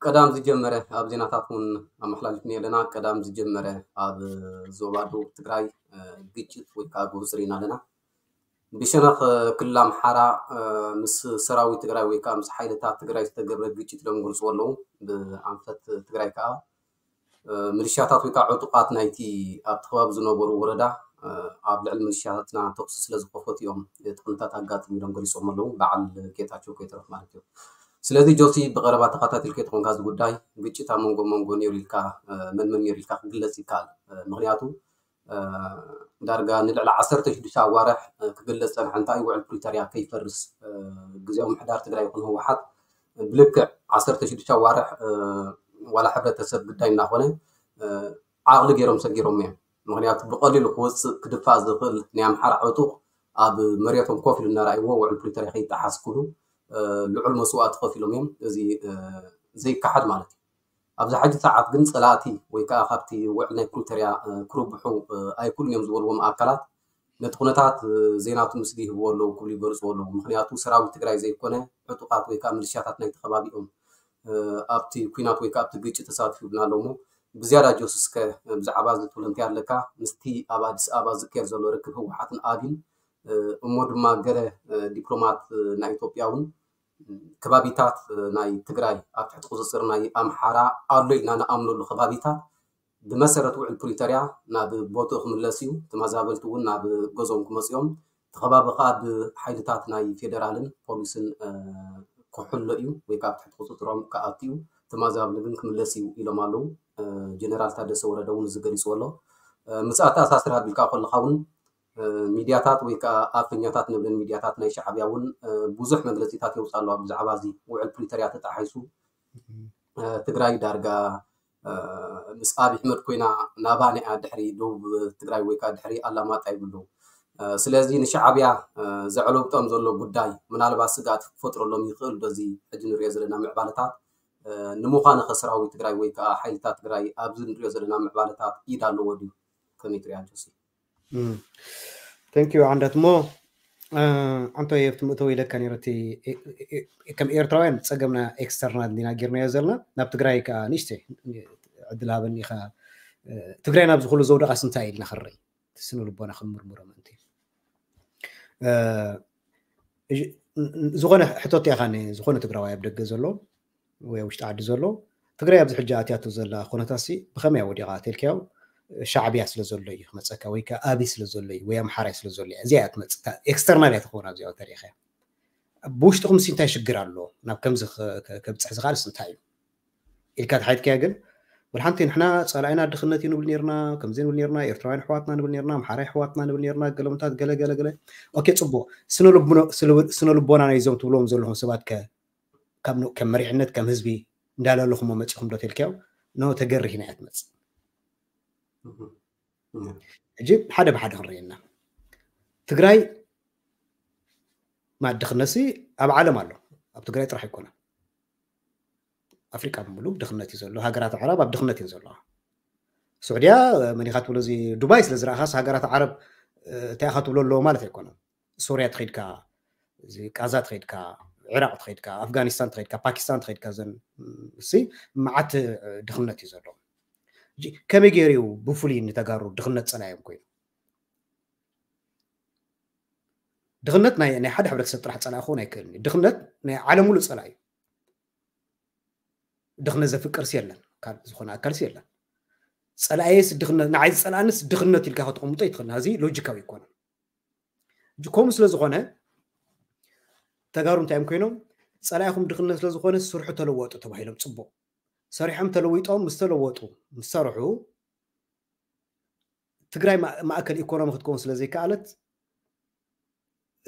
ቀዳም ዝጀመረ ኣብ ዜናታት እውን ኣመሓላሊፍኒ ኣለና። ቀዳም ዝጀመረ ኣብ ዞባ ደቡብ ትግራይ ግጭት ወይ ከዓ ግሁፅ ርኢና ኣለና። ብሸነኽ ክልል ኣምሓራ ምስ ሰራዊት ትግራይ ወይ ከዓ ምስ ሓይልታት ትግራይ ዝተገብረ ግጭት ኢሎም ይገልፅዎ ኣለዉ። ብኣንፈት ትግራይ ከዓ ምልሻታት ወይ ከዓ ዕጡቓት ናይቲ ኣብቲ ከባቢ ዝነበሩ ወረዳ ኣብ ልዕሊ ምልሻታትና ተኩሲ ስለ ዝከፈቱ እዮም እቲ ኩነታት ኣጋጢሙ ኢሎም ገሊፆም ኣለዉ። በዓል ጌታቸው ከይተረፍ ማለት እዩ። ስለዚ ጆሲ ብቐረባ ተኸታቲልካ ተኾንካ እዚ ጉዳይ ግጭት ኣብ መንጎ መንጎ ነይሩ ኢልካ መን መን ነይሩ ኢልካ ክግለፅ ይከኣል። ምክንያቱ ዳርጋ ንልዕሊ ዓሰርተ ሽዱሽተ ኣዋርሕ ክግለፅ ፀንሐ እንታይ ውዕል ፕሪቶርያ ከይፈርስ ግዜያዊ ምሕዳር ትግራይ ይኹን ህወሓት ብልክዕ ዓሰርተ ሽዱሽተ ኣዋርሕ ዋላ ሕብረተሰብ ግዳይ እናኾነ ዓቕሊ ገይሮም ሰጊሮም እዮም። ምክንያቱ ብቐሊሉ ክወፅእ ክድፋእ ዝኽእል ናይ ኣምሓራ ዕጡቕ ኣብ መሬቶም ኮፍ ኢሉ እናረኣይዎ ውዕል ፕሪቶርያ ከይጠሓስ ክብሉ ልዑል መስዋእቲ ከፊሎም እዮም። እዚ ዘይከሓድ ማለት እዩ። ኣብዚ ሕጂ ሰዓት ግን ፀላእቲ ወይ ከዓ ካብቲ ውዕል ናይ ፕሪቶርያ ክርብሑ ኣይክእሉን እዮም ዝበልዎም ኣካላት ነቲ ኩነታት ዜናቱ ምስሊ ይህብዎ ኣለዉ ክብሉ ይገልፅዎ ኣለዉ። ምክንያቱ ሰራዊት ትግራይ ዘይኮነ ዕጡቓት ወይ ከዓ ምልሻታት ናይቲ ከባቢኦም ኣብቲ ኩናት ወይ ከዓ ኣብቲ ግጭት ተሳትፉ ይብልና ኣሎ እሞ ብዝያዳ ጆስስከ ብዛዕባ እዚ ትብል እንታይ ኣለካ? ምስቲ ኣብ ኣዲስ ኣበባ ዝካየድ ዘሎ ርክብ ህወሓትን ኣብን እሞ ድማ ገለ ዲፕሎማት ናይ ኢትዮጵያ እውን ከባቢታት ናይ ትግራይ ኣብ ትሕቲ ቁፅፅር ናይ ኣምሓራ ኣሎ ኢልና ንኣምነሉ ከባቢታት ብመሰረት ውዕል ፕሪቶርያ ናብ ቦትኡ ክምለስ እዩ። ተመዛበልቲ እውን ናብ ገዝኦም ክመፅኦም እቲ ከባቢ ከዓ ብሓይልታት ናይ ፌደራልን ፖሊስን ክሕሎ እዩ ወይ ከዓ ኣብ ትሕቲ ቁፅፅሮም ክኣቱ እዩ። ተመዛብሊ ግን ክምለስ እዩ ኢሎም ኣለዉ። ጀነራል ታደሰ ወረደ እውን እዚ ገሊፅዎ ኣሎ። ምስ ኣተኣሳስር ኣቢልካ ከለካ እውን ሚድያታት ወይ ከዓ ኣፈኛታት ንብለን ሚድያታት ናይ ሻዕብያ እውን ብዙሕ መግለፂታት የውፅእ ኣለዋ ብዛዕባ እዚ ውዕል ፕሪቶርያ ተጣሒሱ ትግራይ ዳርጋ ምስ ኣብይ ኣሕመድ ኮይና ናባና እያ ድሕሪ ደቡብ ትግራይ ወይ ከዓ ድሕሪ ኣላማጣ ይብሉ። ስለዚ ንሻዕብያ ዘዕለብጦም ዘሎ ጉዳይ ምናልባት ስግኣት ክፈጥረሎም ይኽእል ዶ እዚ ሕጂ ንሪኦ ዘለና ምዕባለታት? ንምዃኑ ከ ሰራዊት ትግራይ ወይ ከዓ ሓይልታት ትግራይ ኣብዚ ንሪኦ ዘለና ምዕባለታት ኢድ ኣለዎ ድዩ? ከመይ ትሪኣ ጆሲ? Thank you ዓንዳት እሞ ኣንቶ የብቲ ምእተው ኢለካ ነይረ እቲ ከም ኤርትራውያን ፀገምና ኤክስተርናል እንዲና ጌርናዮ ዘለና ናብ ትግራይ ከዓ ንእሽተይ ዕድል ሃበኒ ኢኻ ትግራይ ናብዚ ኩሉ ዘውደቓስ እንታይ ኢልና ክረይ ስነ ልቦና ክንምርምሮ ምእንቲ ዝኾነ ሕቶት ኢኻ ዝኾነ ትግራዋይ ኣብ ደገ ዘሎ ወይ ውሽጢ ዓዲ ዘሎ ትግራይ ኣብዚ ሕጂ ኣትያቶ ዘላ ኩነታሲ ብኸመይ ወዲቓ ተልካዮ ሻዕብያ ስለ ዘሎ እዩ ክመፀካ ወይ ከዓ ኣብይ ስለ ዘሎ እዩ ወይ ኣምሓራይ ስለ ዘሎ እዩ እዚኣ እያ ትመፅእ ኤክስተርናል እያ ትኸውን ኣብዚኣ ተሪኸያ ብውሽጥኹም ሲ እንታይ ሽግር ኣሎ ናብ ከምዚ ከብፅሕ ዝኽኣልስ እንታይ እዩ ኢልካ ተሓይትካያ ግን ወላ ሓንቲ ንሕና ፀላኢና ድኽነት እዩ ንብል ነርና ከምዚ ንብል ነርና ኤርትራውያን ኣሕዋትና ንብል ነርና ኣምሓራይ ኣሕዋትና ንብል ነርና ገለምታት ገለ ገለ ገለ ኦኬ ፅቡቅ ስነ ልቦና ናይዞም ትብልዎም ዘለኹም ሰባት ከ ከም መሪሕነት ከም ህዝቢ እንዳለለኹሞ መፂኹም ዶ ተልካዮ ኖ ተገሪህና እያ ትመፅእ ሕጂ ሓደ ብሓደ ክንርእየና ትግራይ ማድኽነሲ ኣብ ዓለም ኣሎ ኣብ ትግራይ ጥራሕ ኣይኮነን ኣፍሪቃ ብምሉ ድኽነት እዩ ዘሎ ሃገራት ዓረብ ኣብ ድኽነት እየን ዘለዋ ስዑድያ መኒኻ ትብሎ እዚ ዱባይ ስለ ዝረእኻስ ሃገራት ዓረብ እንታይ ኢኻ ትብሎ ኣለዎ ማለት ኣይኮነን ሶርያ ትኸድካ ቃዛ ትኸድካ፣ ዕራቕ ትኸድካ፣ ኣፍጋኒስታን ትኸድካ፣ ፓኪስታን ትኸድካ ዘን ሲ መዓት ድኽነት እዩ ዘሎ። ከመይ ገይሩ እዩ ብፍሉይ ንተጋሩ ድኽነት ጸላዮም ኮይኑ? ድኽነት ናይ ናይ ሓደ ሕብረተሰብ ጥራሕ ጸላኢ ክኸውን ኣይክእልን እዩ። ድኽነት ናይ ዓለም ሙሉእ ጸላኢ እዩ። ድኽነት ዘፍቅርሲ የለን፣ ካልእ ዝኾነ ኣካልሲ የለን። ጸላእየስ ድኽነት ንዓይ ዝጸላእንስ ድኽነት ኢልካ ከተቐምጦ ኣይትኽእልን። እዚ ሎጂካዊ ኣይኮነን። ከምኡ ስለ ዝኾነ ተጋሩ እንታይ እዮም ኮይኖም? ጸላኢኹም ድኽነት ስለ ዝኾነ ስርሑ ተለወጡ ተባሂሎም ጽቡቕ ሰሪሖም ተለዊጦም ምስ ተለወጡ ምስ ሰርሑ ትግራይ ማእከል ኢኮኖሚ ክትከውን ስለ ዘይከኣለት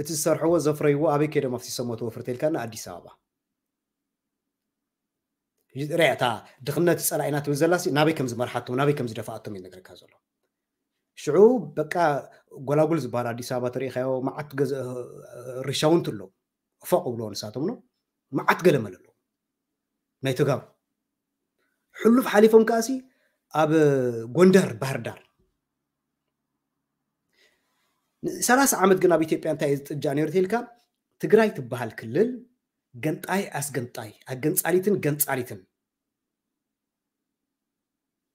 እቲ ዝሰርሕዎ ዘፍረይዎ ኣበይ ከይዶም ኣፍሲሶሞ ተወፍርተ ኢልካ ንኣዲስ ኣበባ ሪያ እታ ድኽነት ጸላኢና ትብል ዘላሲ ናበይ ከም ዝመርሓቶም ናበይ ከም ዝደፋኣቶም ይነግረካ ዘሎ ሽዑ በቃ ጎላጉል ዝበሃል ኣዲስ ኣበባ ተሪኢኻዮ መዓት ርሻውንቲ ኣለዉ ፎቕ ብሎ ንሳቶም ነው መዓት ገለመለ ኣለዉ ናይ ተጋሩ ሕሉፍ ሓሊፎም ከኣሲ ኣብ ጎንደር ባህር ዳር ሰላሳ ዓመት ግን ኣብ ኢትዮጵያ እንታይ ዝጥጃ ነይሩ ተልካ ትግራይ ትበሃል ክልል ገንጣይ ኣስገንጣይ ኣገንጻሊትን ገንጻሊትን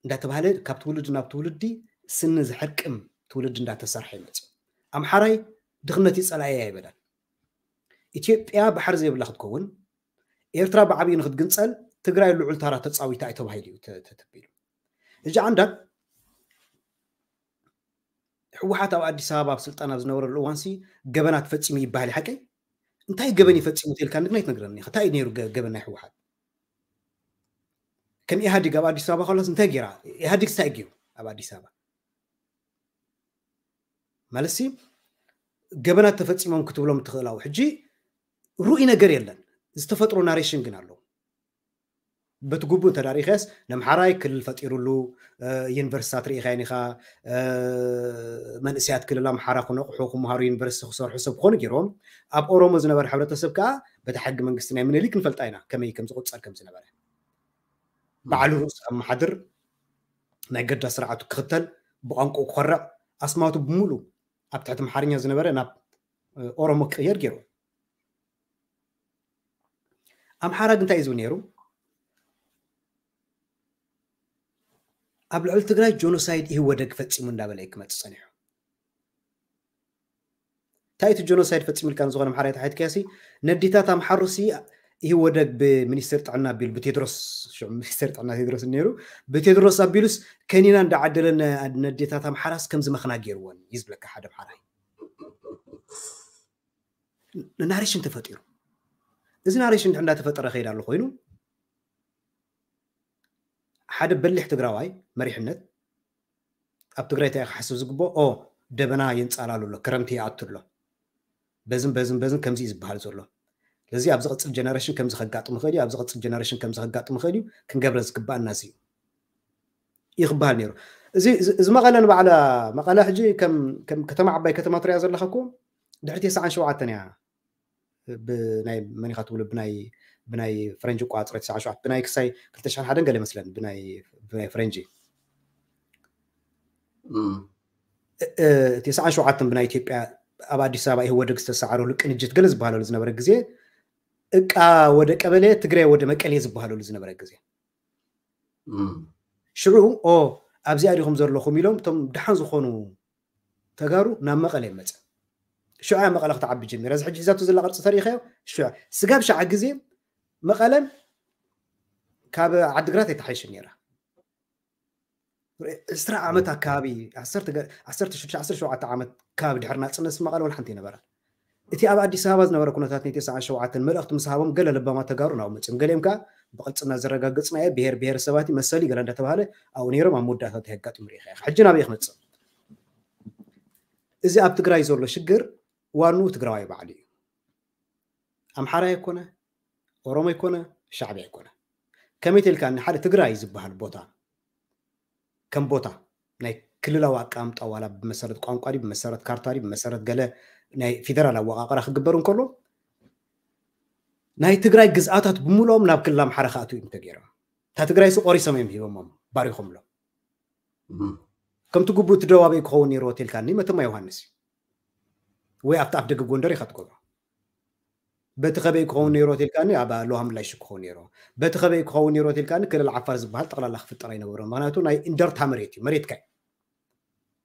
እንዳተባሃለ ካብ ትውልዲ ናብ ትውልዲ ስኒ ዝሕርቅም ትውልዲ እንዳተሰርሐ ይመፅእ ኣምሓራይ ድኽነት እዩ ጸላኢ ኣይበላን። ኢትዮጵያ ባሕሪ ዘይብላ ክትከውን፣ ኤርትራ ብዓብዩ ንክትግንጸል ትግራይ ልዑል ታራ ተጻዊታ እዩ ተባሂሉ እዩ ተ- ተ- ተቢሉ። ሕጂ ዓንዳት ህወሓት ኣብ ኣዲስ ኣበባ ኣብ ስልጣን ኣብ ዝነበረሉ እዋንሲ ገበናት ፈጺሙ ይበሃል እዩ፣ ሓቀይ? እንታይ ገበን ይፈጺሙ ተልካ ንግና ይትነግረኒ ኢኻ። እንታይ እዩ ነይሩ ገ- ገበን ናይ ህወሓት? ከም ኢህኣዲግ ኣብ ኣዲስ ኣበባ ከሎስ እንታይ ገይራ? ኢህኣዲግ እንታይ ገይሩ ኣብ ኣዲስ ኣበባ? ማለትሲ ገበናት ተፈጺሞም ክትብሎም ትኽእል ኣው። ሕጂ ርኡይ ነገር የለን፣ ዝተፈጥሮ ናሬሽን ግን ኣለዉ። በቲ ግቡእ እንተ ዳሪኸስ ነምሓራይ ክልል ፈጢሩሉ፣ ዩኒቨርሲታት ርኢኻይን ኢኻ፣ መንእሰያት ክልል ኣምሓራ ክነቕሑ ክምሃሩ ዩኒቨርሲቲ ክሰርሑ ሰብ ክኾኑ ገይሮም። ኣብ ኦሮሞ ዝነበረ ሕብረተሰብ ከዓ በቲ ሕጊ መንግስቲ ናይ ምኒልክ ንፈልጣ ኢና ከመይ ከም ዝቑጸር ከም ዝነበረ። ባዕሉ ርእሱ ከመሓድር፣ ናይ ገዳ ስርዓቱ ክኽተል፣ ብቋንቋኡ ክኾርዕ፣ ኣስማቱ ብምሉእ ኣብ ትሕቲ ኣምሓርኛ ዝነበረ ናብ ኦሮሞ ክቕየር ገይሩ። ኣምሓራ ግን እንታይ እዩ ዝብል ነይሩ? ኣብ ልዕሊ ትግራይ ጆኖሳይድ ኢህወደግ ፈጺሙ እንዳበለ እዩ ክመጽእ ጸኒሑ። እንታይ እቲ ጆኖሳይድ ፈጺሙ ኢልካ ንዝኾነ ኣምሓራይ ተሓትካሲ፣ ነዲታት ኣምሓሩሲ ኢህወደግ ብሚኒስትር ጥዕና ኣቢሉ፣ ብቴድሮስ፣ ሽዑ ሚኒስትር ጥዕና ቴድሮስ ነይሩ፣ ብቴድሮስ ኣቢሉስ ከኒና እንዳዓደለ ነ- ነዴታት ኣምሓራስ ከም ዝመኽና ገይርዎን እዩ ዝብለካ ሓደ ኣምሓራይ። ናሬሽን ተፈጢሩ። እዚ ናሬሽን እንድሕር እንዳተፈጠረ ከይድ ኣሎ ኮይኑ፣ ሓደ በሊሕ ትግራዋይ መሪሕነት ኣብ ትግራይ እንታይ ክሓስብ ዝግብኦ? ኦ፣ ደበና የንጻላሉ ኣሎ፣ ክረምቲ ይኣቱ ኣሎ፣ በዝን በዝን በዝን ከምዚ እዩ ዝበሃል ዘሎ። ስለዚ ኣብ ዝቕጽል ጀነሬሽን ከምዚ ከጋጥም ይኽእል እዩ፣ ኣብ ዝቕጽል ጀነሬሽን ከምዚ ከጋጥም ይኽእል እዩ፣ ክንገብረ ዝግባኣና እዚ እዩ እዩ ክበሃል ነይሩ። እዚ እዚ- እዚ መቐለ ንባዕላ፣ መቐለ ሕጂ ከም ከም ከተማ፣ ዓባይ ከተማ ትሪኣ ዘለኻ እኮ ድሕሪ ተስዓን ሸውዓተን እያ። ብናይ መን ኢኻ ትብሉ? ብናይ ብናይ ፈረንጂ ኣቆጻጽራ ተስዓን ሸውዓተን፣ ብናይ ክሳይ ክልተ ሽሕን ሓደን ገለ መስለን፣ ብናይ ብናይ ፈረንጂ እም፣ እ- እ- ተስዓን ሸውዓተን ብናይ ኢትዮጵያ ኣብ ኣዲስ ኣበባ ኢህወደግ ዝተሰዓረሉ ቅንጅት ገለ ዝበሃለሉ ዝነበረ ግዜ፣ እቃ ወደ ቀበሌ፣ ትግራይ ወደ መቀሌ ዝበሃለሉ ዝነበረ ግዜ፣ እም፣ ሽዑ ኦ ኣብዚኣ ዲኹም ዘለኹም ኢሎም እቶም ደሓን ዝኾኑ ተጋሩ ናብ መቐለ ይመጽእ። ሽዑ እያ መቐለ ክትዓቢ ጀሚራ። እዚ ሕጂ ሒዛቶ ዘላ ቅርጺ ተሪኢኻዮ? ሽዑ ስጋብ ሸዓ ግዜ መቐለን ካብ ዓድግራት ኣይተሓይሽን ነይራ። ዕስራ ዓመት ኣካባቢ፣ ዓሰርተ ገ- ዓሰርተ ሽዱሽተ ዓሰርተ ሸውዓተ ዓመት ከባቢ ድሕሪ ናጽነት መቐለ ወላ ሓንቲ ኣይነበራን። እቲ ኣብ ኣዲስ ኣበባ ዝነበረ ኩነታት ናይ ተስዓን ሸውዓተን መልእኽቲ ምስ ሃቦም ገለ ለባማት ተጋሩ ናብኡ መጺኦም። ገሊኦም ከኣ ብቕልጽና ዘረጋገጽናዮ ብሄር ብሄረሰባት መሰል እዩ ገለ እንዳተባሃለ ኣብኡ ነይሮም። ኣብ መወዳእታ እንታይ የጋጥም ርኢኻ ኢኻ። ሕጂ ናበይ ክመጽእ? እዚ ኣብ ትግራይ ዘሎ ሽግር ዋንኡ ትግራዋይ ባዕሉ እዩ። ኣምሓራይ ኣይኮነ፣ ኦሮሞ ኣይኮነ፣ ሻዕብያ ኣይኮነ። ከመይ ተልካ ንሓደ ትግራይ ዝበሃል ቦታ ከም ቦታ ናይ ክልላዊ ኣቀማምጣ ዋላ ብመሰረት ቋንቋ ድዩ፣ ብመሰረት ካርታ ድዩ፣ ብመሰረት ገለ ናይ ፌደራል ኣወቃቕራ ክግበር እንከሎ ናይ ትግራይ ግዝኣታት ብምልኦም ናብ ክልል ኣምሓራ ክኣትዉ እዮም ተገይሮም። እታ ትግራይ ሲ ቆሪሶም እዮም ሂቦሞም፣ ባሪኾምሎም። እም፣ ከምቲ ግቡእ እቲ ደቡባዊ ክኸውን ነይርዎ ተልካኒ መተማ ዮሃንስ እዩ። ወይ ኣብቲ ኣፍ ደገ ጎንደር ኢኻ ትገብሮ። በቲ ከበይ ክኸውን ነይርዎ ተልካኒ ኣብ ሎሃ ምላሽ ክኸውን ነይርዎ። በቲ ከበይ ክኸውን ነይርዎ ተልካኒ ክልል ዓፋር ዝበሃል ጠቕላላ ክፍጠር ኣይነበሮን። ምኽንያቱ ናይ እንደርታ መሬት እዩ፣ መሬትካ እዩ።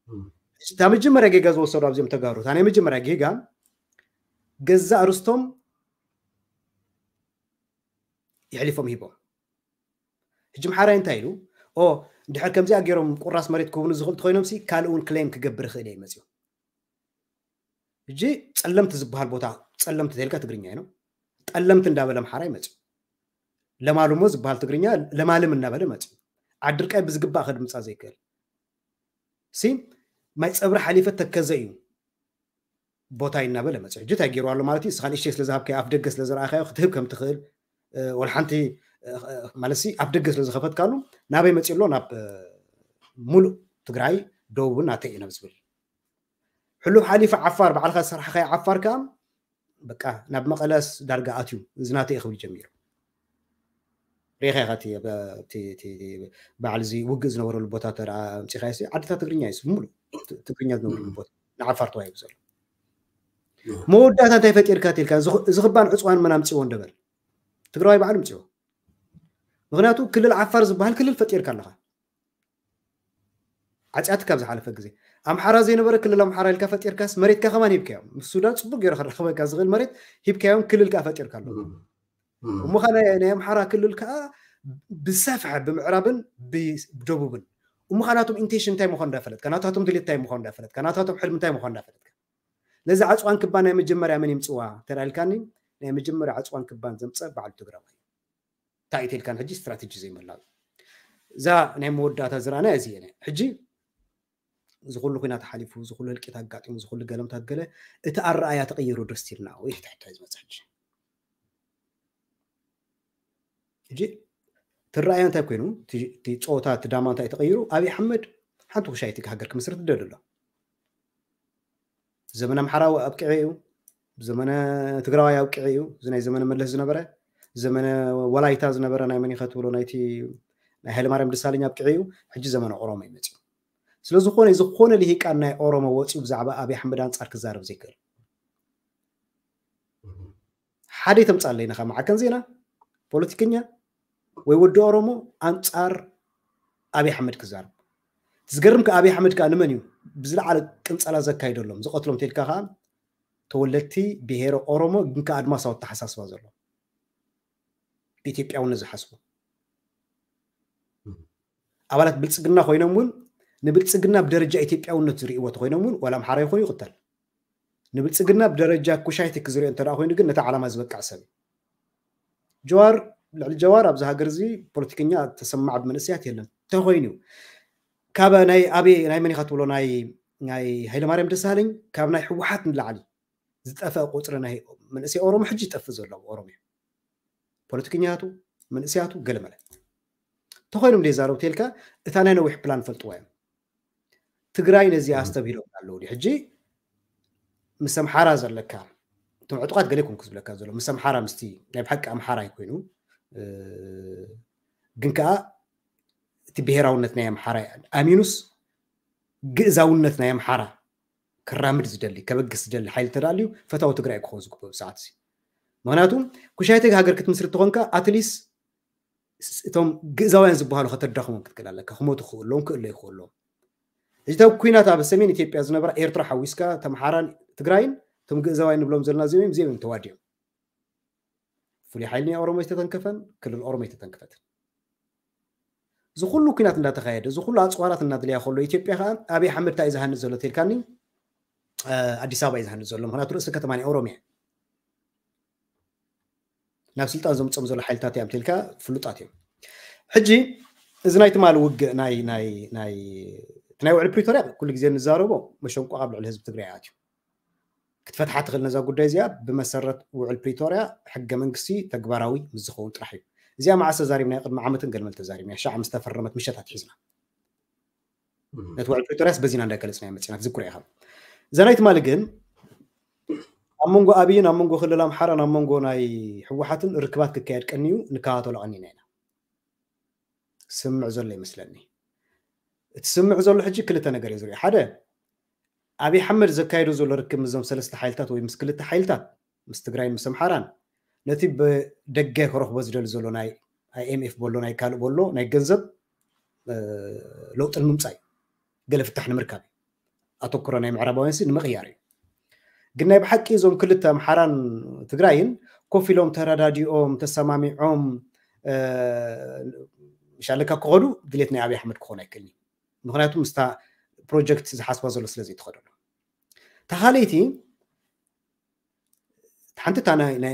እም፣ እታ መጀመርያ ጌጋ ዝወሰዱ ኣብዚኦም ተጋሩ፣ እታ ናይ መጀመርያ ጌጋ ገዛእ ርስቶም የሕሊፎም ሂቦም። ሕጂ ኣምሓራይ እንታይ ኢሉ? ኦ፣ እንድሕር ከምዚኣ ገይሮም ቁራስ መሬት ክህቡኒ ዝኽእል እንተኾይኖም ሲ ካልእ እውን ክሌም ክገብር ይኽእል እየ መፅኡ። ሕጂ ጸለምቲ ዝበሃል ቦታ፣ ጸለምቲ ተልካ ትግርኛ እዩ። ጠለምቲ እንዳበለ ኣምሓራይ መፅኡ። ለማልሞ ዝበሃል ትግርኛ ለማልም እናበለ መፅኡ። ዓድርቃይ ብዝግባእ ከድምፃ ዘይክእል ሲ ማይ ፀብሪ ሓሊፈ ተከዘ እዩ ቦታ እናበለ መፅኡ። ሕጂ እንታይ ገይሩ ኣሎ ማለት እዩ? እስኻ ንእሽተይ ስለ ዝሃብካዮ፣ ኣፍ ደገ ስለ ዝረኣኻዮ ክትህብ ከም ትኽእል፣ እ፣ ወላ ሓንቲ፣ እ፣ ማለት ሲ ኣፍ ደገ ስለ ዝኸፈትካሉ ናበይ መፅኡ ኣሎ? ናብ፣ እ፣ ሙሉእ ትግራይ ደቡብን ናተይ እዩ ናብ ዝብል። ሕሉፍ ሓሊፉ ዓፋር ባዕልኻ ዝሰርሕኻዮ ዓፋር ከዓ በቃ ናብ መቐለስ ዳርጋ ኣትዩ፣ እዚ ናተይ እዩ ክብል ጀሚሩ። ሪኢኻ ኢኻ እቲ፣ እቲ፣ እቲ በዓል እዚ ውግእ ዝነበረሉ ቦታ ተደኣ ኣምፂኻዮ ሲ ዓድታት ትግርኛ እዩ፣ ሙሉእ ት-፣ ትግርኛ ዝነብሩሉ ቦታ ንዓፋር ተዋሂቡ ዘሎ። መወዳእታ እንታይ ፈጢርካ ተልካ? እዚ ኽ-፣ እዚ ክባን ዕፅዋን መን ኣምፅዎ እንደበል? ትግራዋይ ባዕሉ ኣምፅዎ። ምኽንያቱ ክልል ዓፋር ዝበሃል ክልል ፈጢርካ ኣለኻ። ዓፅያት ካብ ዝሓለፈ ግዜ። ኣምሓራ ዘይነበረ ክልል ኣምሓራ ኢልካ ፈጢርካስ መሬትካ ከማን ሂብካዮም። ምስ ሱዳን ጽቡቅ ገይሩ ክረኸበካ ዝኽእል መሬት ሂብካዮም፣ ክልል ከኣ ፈጢርካ ኣሎ። እሞ ኸኣ ናይ ኣምሓራ ክልል ከኣ ብሰፍሐ ብምዕራብን ብደቡብን። እሞ ኸኣ ናቶም ኢንቴንሽን እንታይ ምዃኑ እንዳፈለጥካ፣ ናታቶም ድሌት እንታይ ምዃኑ እንዳፈለጥካ፣ ናታቶም ሕልሚ እንታይ ምዃኑ እንዳፈለጥካ። ነዚ ዓጽዋን ክባን ናይ መጀመርያ መን ይምጽዋ ተዳልካኒ፣ ናይ መጀመርያ ዓጽዋን ክባን ዘምጸ በዓል ትግራዋይ። እንታይ ኢልካን ሕጂ ስትራቴጂ ዘይመላው። እዛ ናይ መወዳእታ ዝረኣና እዚ እየ። ሕጂ እዚ ኩሉ ኩናት ሓሊፉ፣ እዚ ኩሉ ህልቂት ኣጋጢሙ፣ እዚ ኩሉ ገለምታት ገለ፣ እቲ ኣረኣያ ተቐይሩ ዶ ስቲልና ወይ ሕታሕታይ ዝመጽእ ሕጂ? ሕጂ ትረኣያ እንታይ ኮይኑ፣ እቲ ጾታ፣ እቲ ዳማ እንታይ ተቐይሩ? ኣብይ ኣሕመድ ሓንቲ ኩሻይቲ ሃገር ክምስርት ደሊ ኣሎ። ዘመነ ኣምሓራ ኣብቂዑ እዩ። ዘመነ ትግራዋይ ኣብቂዑ እዩ። እዚ ናይ ዘመነ መለስ ዝነበረ፣ ዘመነ ወላይታ ዝነበረ ናይ መን ኢኸ ትብሎ፣ ናይቲ ናይ ሃይለማርያም ደሳለኝ ኣብቂዑ እዩ። ሕጂ ዘመነ ኦሮሞ እዩ መጺኡ። ስለ ዝኾነ ዝኾነ ልሂቃን ናይ ኦሮሞ ወጺኡ ብዛዕባ ኣብይ ኣሕመድ ኣንጻር ክዛረብ ዘይክእል ሓደ ይተምጻለይ፣ ነኻ መዓከን ዜና፣ ፖለቲከኛ ወይ ወዲ ኦሮሞ ኣንጻር ኣብይ ኣሕመድ ክዛረብ። ዝገርም ከኣ ኣብይ ኣሕመድ ከኣ ንመን እዩ ብዝለዓለ ቅንጸላ ዘካይደሎም፣ ዝቐትሎም ተልካ ከኣ ተወለድቲ ብሄረ ኦሮሞ ግን ከኣ ኣድማሳዊ ኣተሓሳስባ ዘሎ፣ ብኢትዮጵያውነት ዝሓስቡ። ኣባላት ብልጽግና ኮይኖም እውን ንብልጽግና ብደረጃ ኢትዮጵያውነት ዝርእይዎ ተኮይኖም እውን ዋላ ኣምሓራ ይኹን ይቕተል፣ ንብልጽግና ብደረጃ ኩሻይቲ ክዝርእዮ እንተ ደኣ ኮይኑ ግን ነቲ ዓላማ ዝበቅዕ ሰብ እዩ። ጀዋር፣ ልዕሊ ጀዋር ኣብዚ ሃገር እዚ ፖለቲከኛ ተሰማዕ ብመንእሰያት የለን። ተኮይኑ ካብ ናይ ኣበይ ናይ መን ኢኻ ትብሎ ናይ ናይ ሃይለማርያም ደሳለኝ ካብ ናይ ህወሓት ንላዕሊ ዝጠፍአ ቁጽሪ ናይ መንእሰይ ኦሮሞ ሕጂ ይጠፍእ ዘሎ ኣብ ኦሮሚያ። ፖለቲከኛቱ፣ መንእሰያቱ ገለመለ ተኾይኖም ደይ ዛረቡ ተልካ እታ ናይ ነዊሕ ፕላን ፈልጥዋ እዮም። ትግራይ ነዚኣ ኣስተብሂሎም ኣለዉ ድዩ? ሕጂ ምስ ኣምሓራ ዘለካ እቶም ዕጡቓት ገለ ይኮንኩ ዝብለካ ዘሎ ምስ ኣምሓራ ምስቲ ናይ ብሓቂ ኣምሓራ ይኮይኑ ግን ከዓ እቲ ብሄራውነት ናይ ኣምሓራ ኣሚኑስ ግእዛውነት ናይ ኣምሓራ ክራምድ ዝደሊ ከበግስ ዝደሊ ሓይሊ ተዳልዩ ፈታዊ ትግራይ ክኸውን ዝግብኦ ብሰዓት እዚ። ምክንያቱ ኩሻይተ ሃገር ክትምስርት ተኾንካ ኣትሊስ እቶም ግእዛውያን ዝበሃሉ ከተዳኽሞም ክትክእል ኣለካ። ክሞቱ ክኽእሎም ክእሎ ይኽእሎም። እዚ ኩናት ኣብ ሰሜን ኢትዮጵያ ዝነበራ ኤርትራ ሓዊስካ ተምሓራን ትግራይን እቶም ግእዛውያን ንብሎም ዘለና እዚኦም እዮም፣ እዚኦም እዮም ተዋዲኦም። ፍሉይ ሓይሊ ናይ ኦሮሞ ዝተተንከፈን ክልል ኦሮሞ ዝተተንከፈትን እዚ ኩሉ ኩናት እንዳተኻየደ እዚ ኩሉ ኣፅዋራት እናድለያ ከሎ ኢትዮጵያ ከዓ ኣብይ ኣሕመድ እንታይ እዩ ዝሃንፅ ዘሎ ተልካኒ ኣዲስ ኣበባ እዩ ዝሃንፅ ዘሎ። ምክንያቱ ርእሲ ከተማ ናይ ኦሮሚያ ናብ ስልጣን ዘምፅኦም ዘሎ ሓይልታት እዮም ተልካ ፍሉጣት እዮም። ሕጂ እዚ ናይ ትማሊ ውግእ ናይ ናይ ናይ ናይ ውዕል ፕሪቶርያ ኩሉ ግዜ እንዛረቦ መሸንቆቕ ኣብ ልዕሊ ህዝቢ ትግራይ ኣትዩ ክትፈትሓ ትኽእል ነዛ ጉዳይ እዚኣ ብመሰረት ውዕል ፕሪቶርያ ሕገ መንግስቲ ተግባራዊ ምስ ዝኸውን ጥራሕ እዩ። እዚኣ መዓስ ተዛሪብና ቅድሚ ዓመትን ገልመል ተዛሪብና ሻዕ ምስ ተፈረመት ምሸት ኣትሒዝና ነቲ ውዕል ፕሪቶርያስ በዚና እንዳገለፅና መፅና ትዝክሮ ኢኻ። እዛ ናይ ትማሊ ግን ኣብ መንጎ ኣብይን ኣብ መንጎ ክልል ኣምሓራን ኣብ መንጎ ናይ ህወሓትን ርክባት ክካየድ ቀንዩ ንከታተሎ ቀኒና ኢና። ስምዕ ዘሎ ይመስለኒ። እቲ ስምዕ ዘሎ ሕጂ ክልተ ነገር እዩ ዝሪኦ። ሓደ ኣብይ ኣሕመድ ዘካየዶ ዘሎ ርክብ ምስዞም ሰለስተ ሓይልታት ወይ ምስ ክልተ ሓይልታት ምስ ትግራይን ምስ ኣምሓራን ነቲ ብደገ ክረኽቦ ዝደሊ ዘሎ ናይ ኣይኤምኤፍ በሎ ናይ ካልእ በሎ ናይ ገንዘብ ለውጢ ንምምፃእ እዩ። ገለ ፍታሕ ንምርካብ እዩ። ኣተኩሮ ናይ ምዕራባውያን ሲ ንምቕያር እዩ። ግን ናይ ብሓቂ እዞም ክልተ ኣምሓራን ትግራይን ኮፍ ኢሎም ተረዳዲኦም ተሰማሚዖም ሻለካ ክኸዱ ድሌት ናይ ኣብይ ኣሕመድ ክኾን ኣይክእልን እዩ። ምክንያቱ ምስታ ፕሮጀክት ዝሓስባ ዘሎ ስለ ዘይትኸደሉ ተኻለይቲ ሓንቲ እታ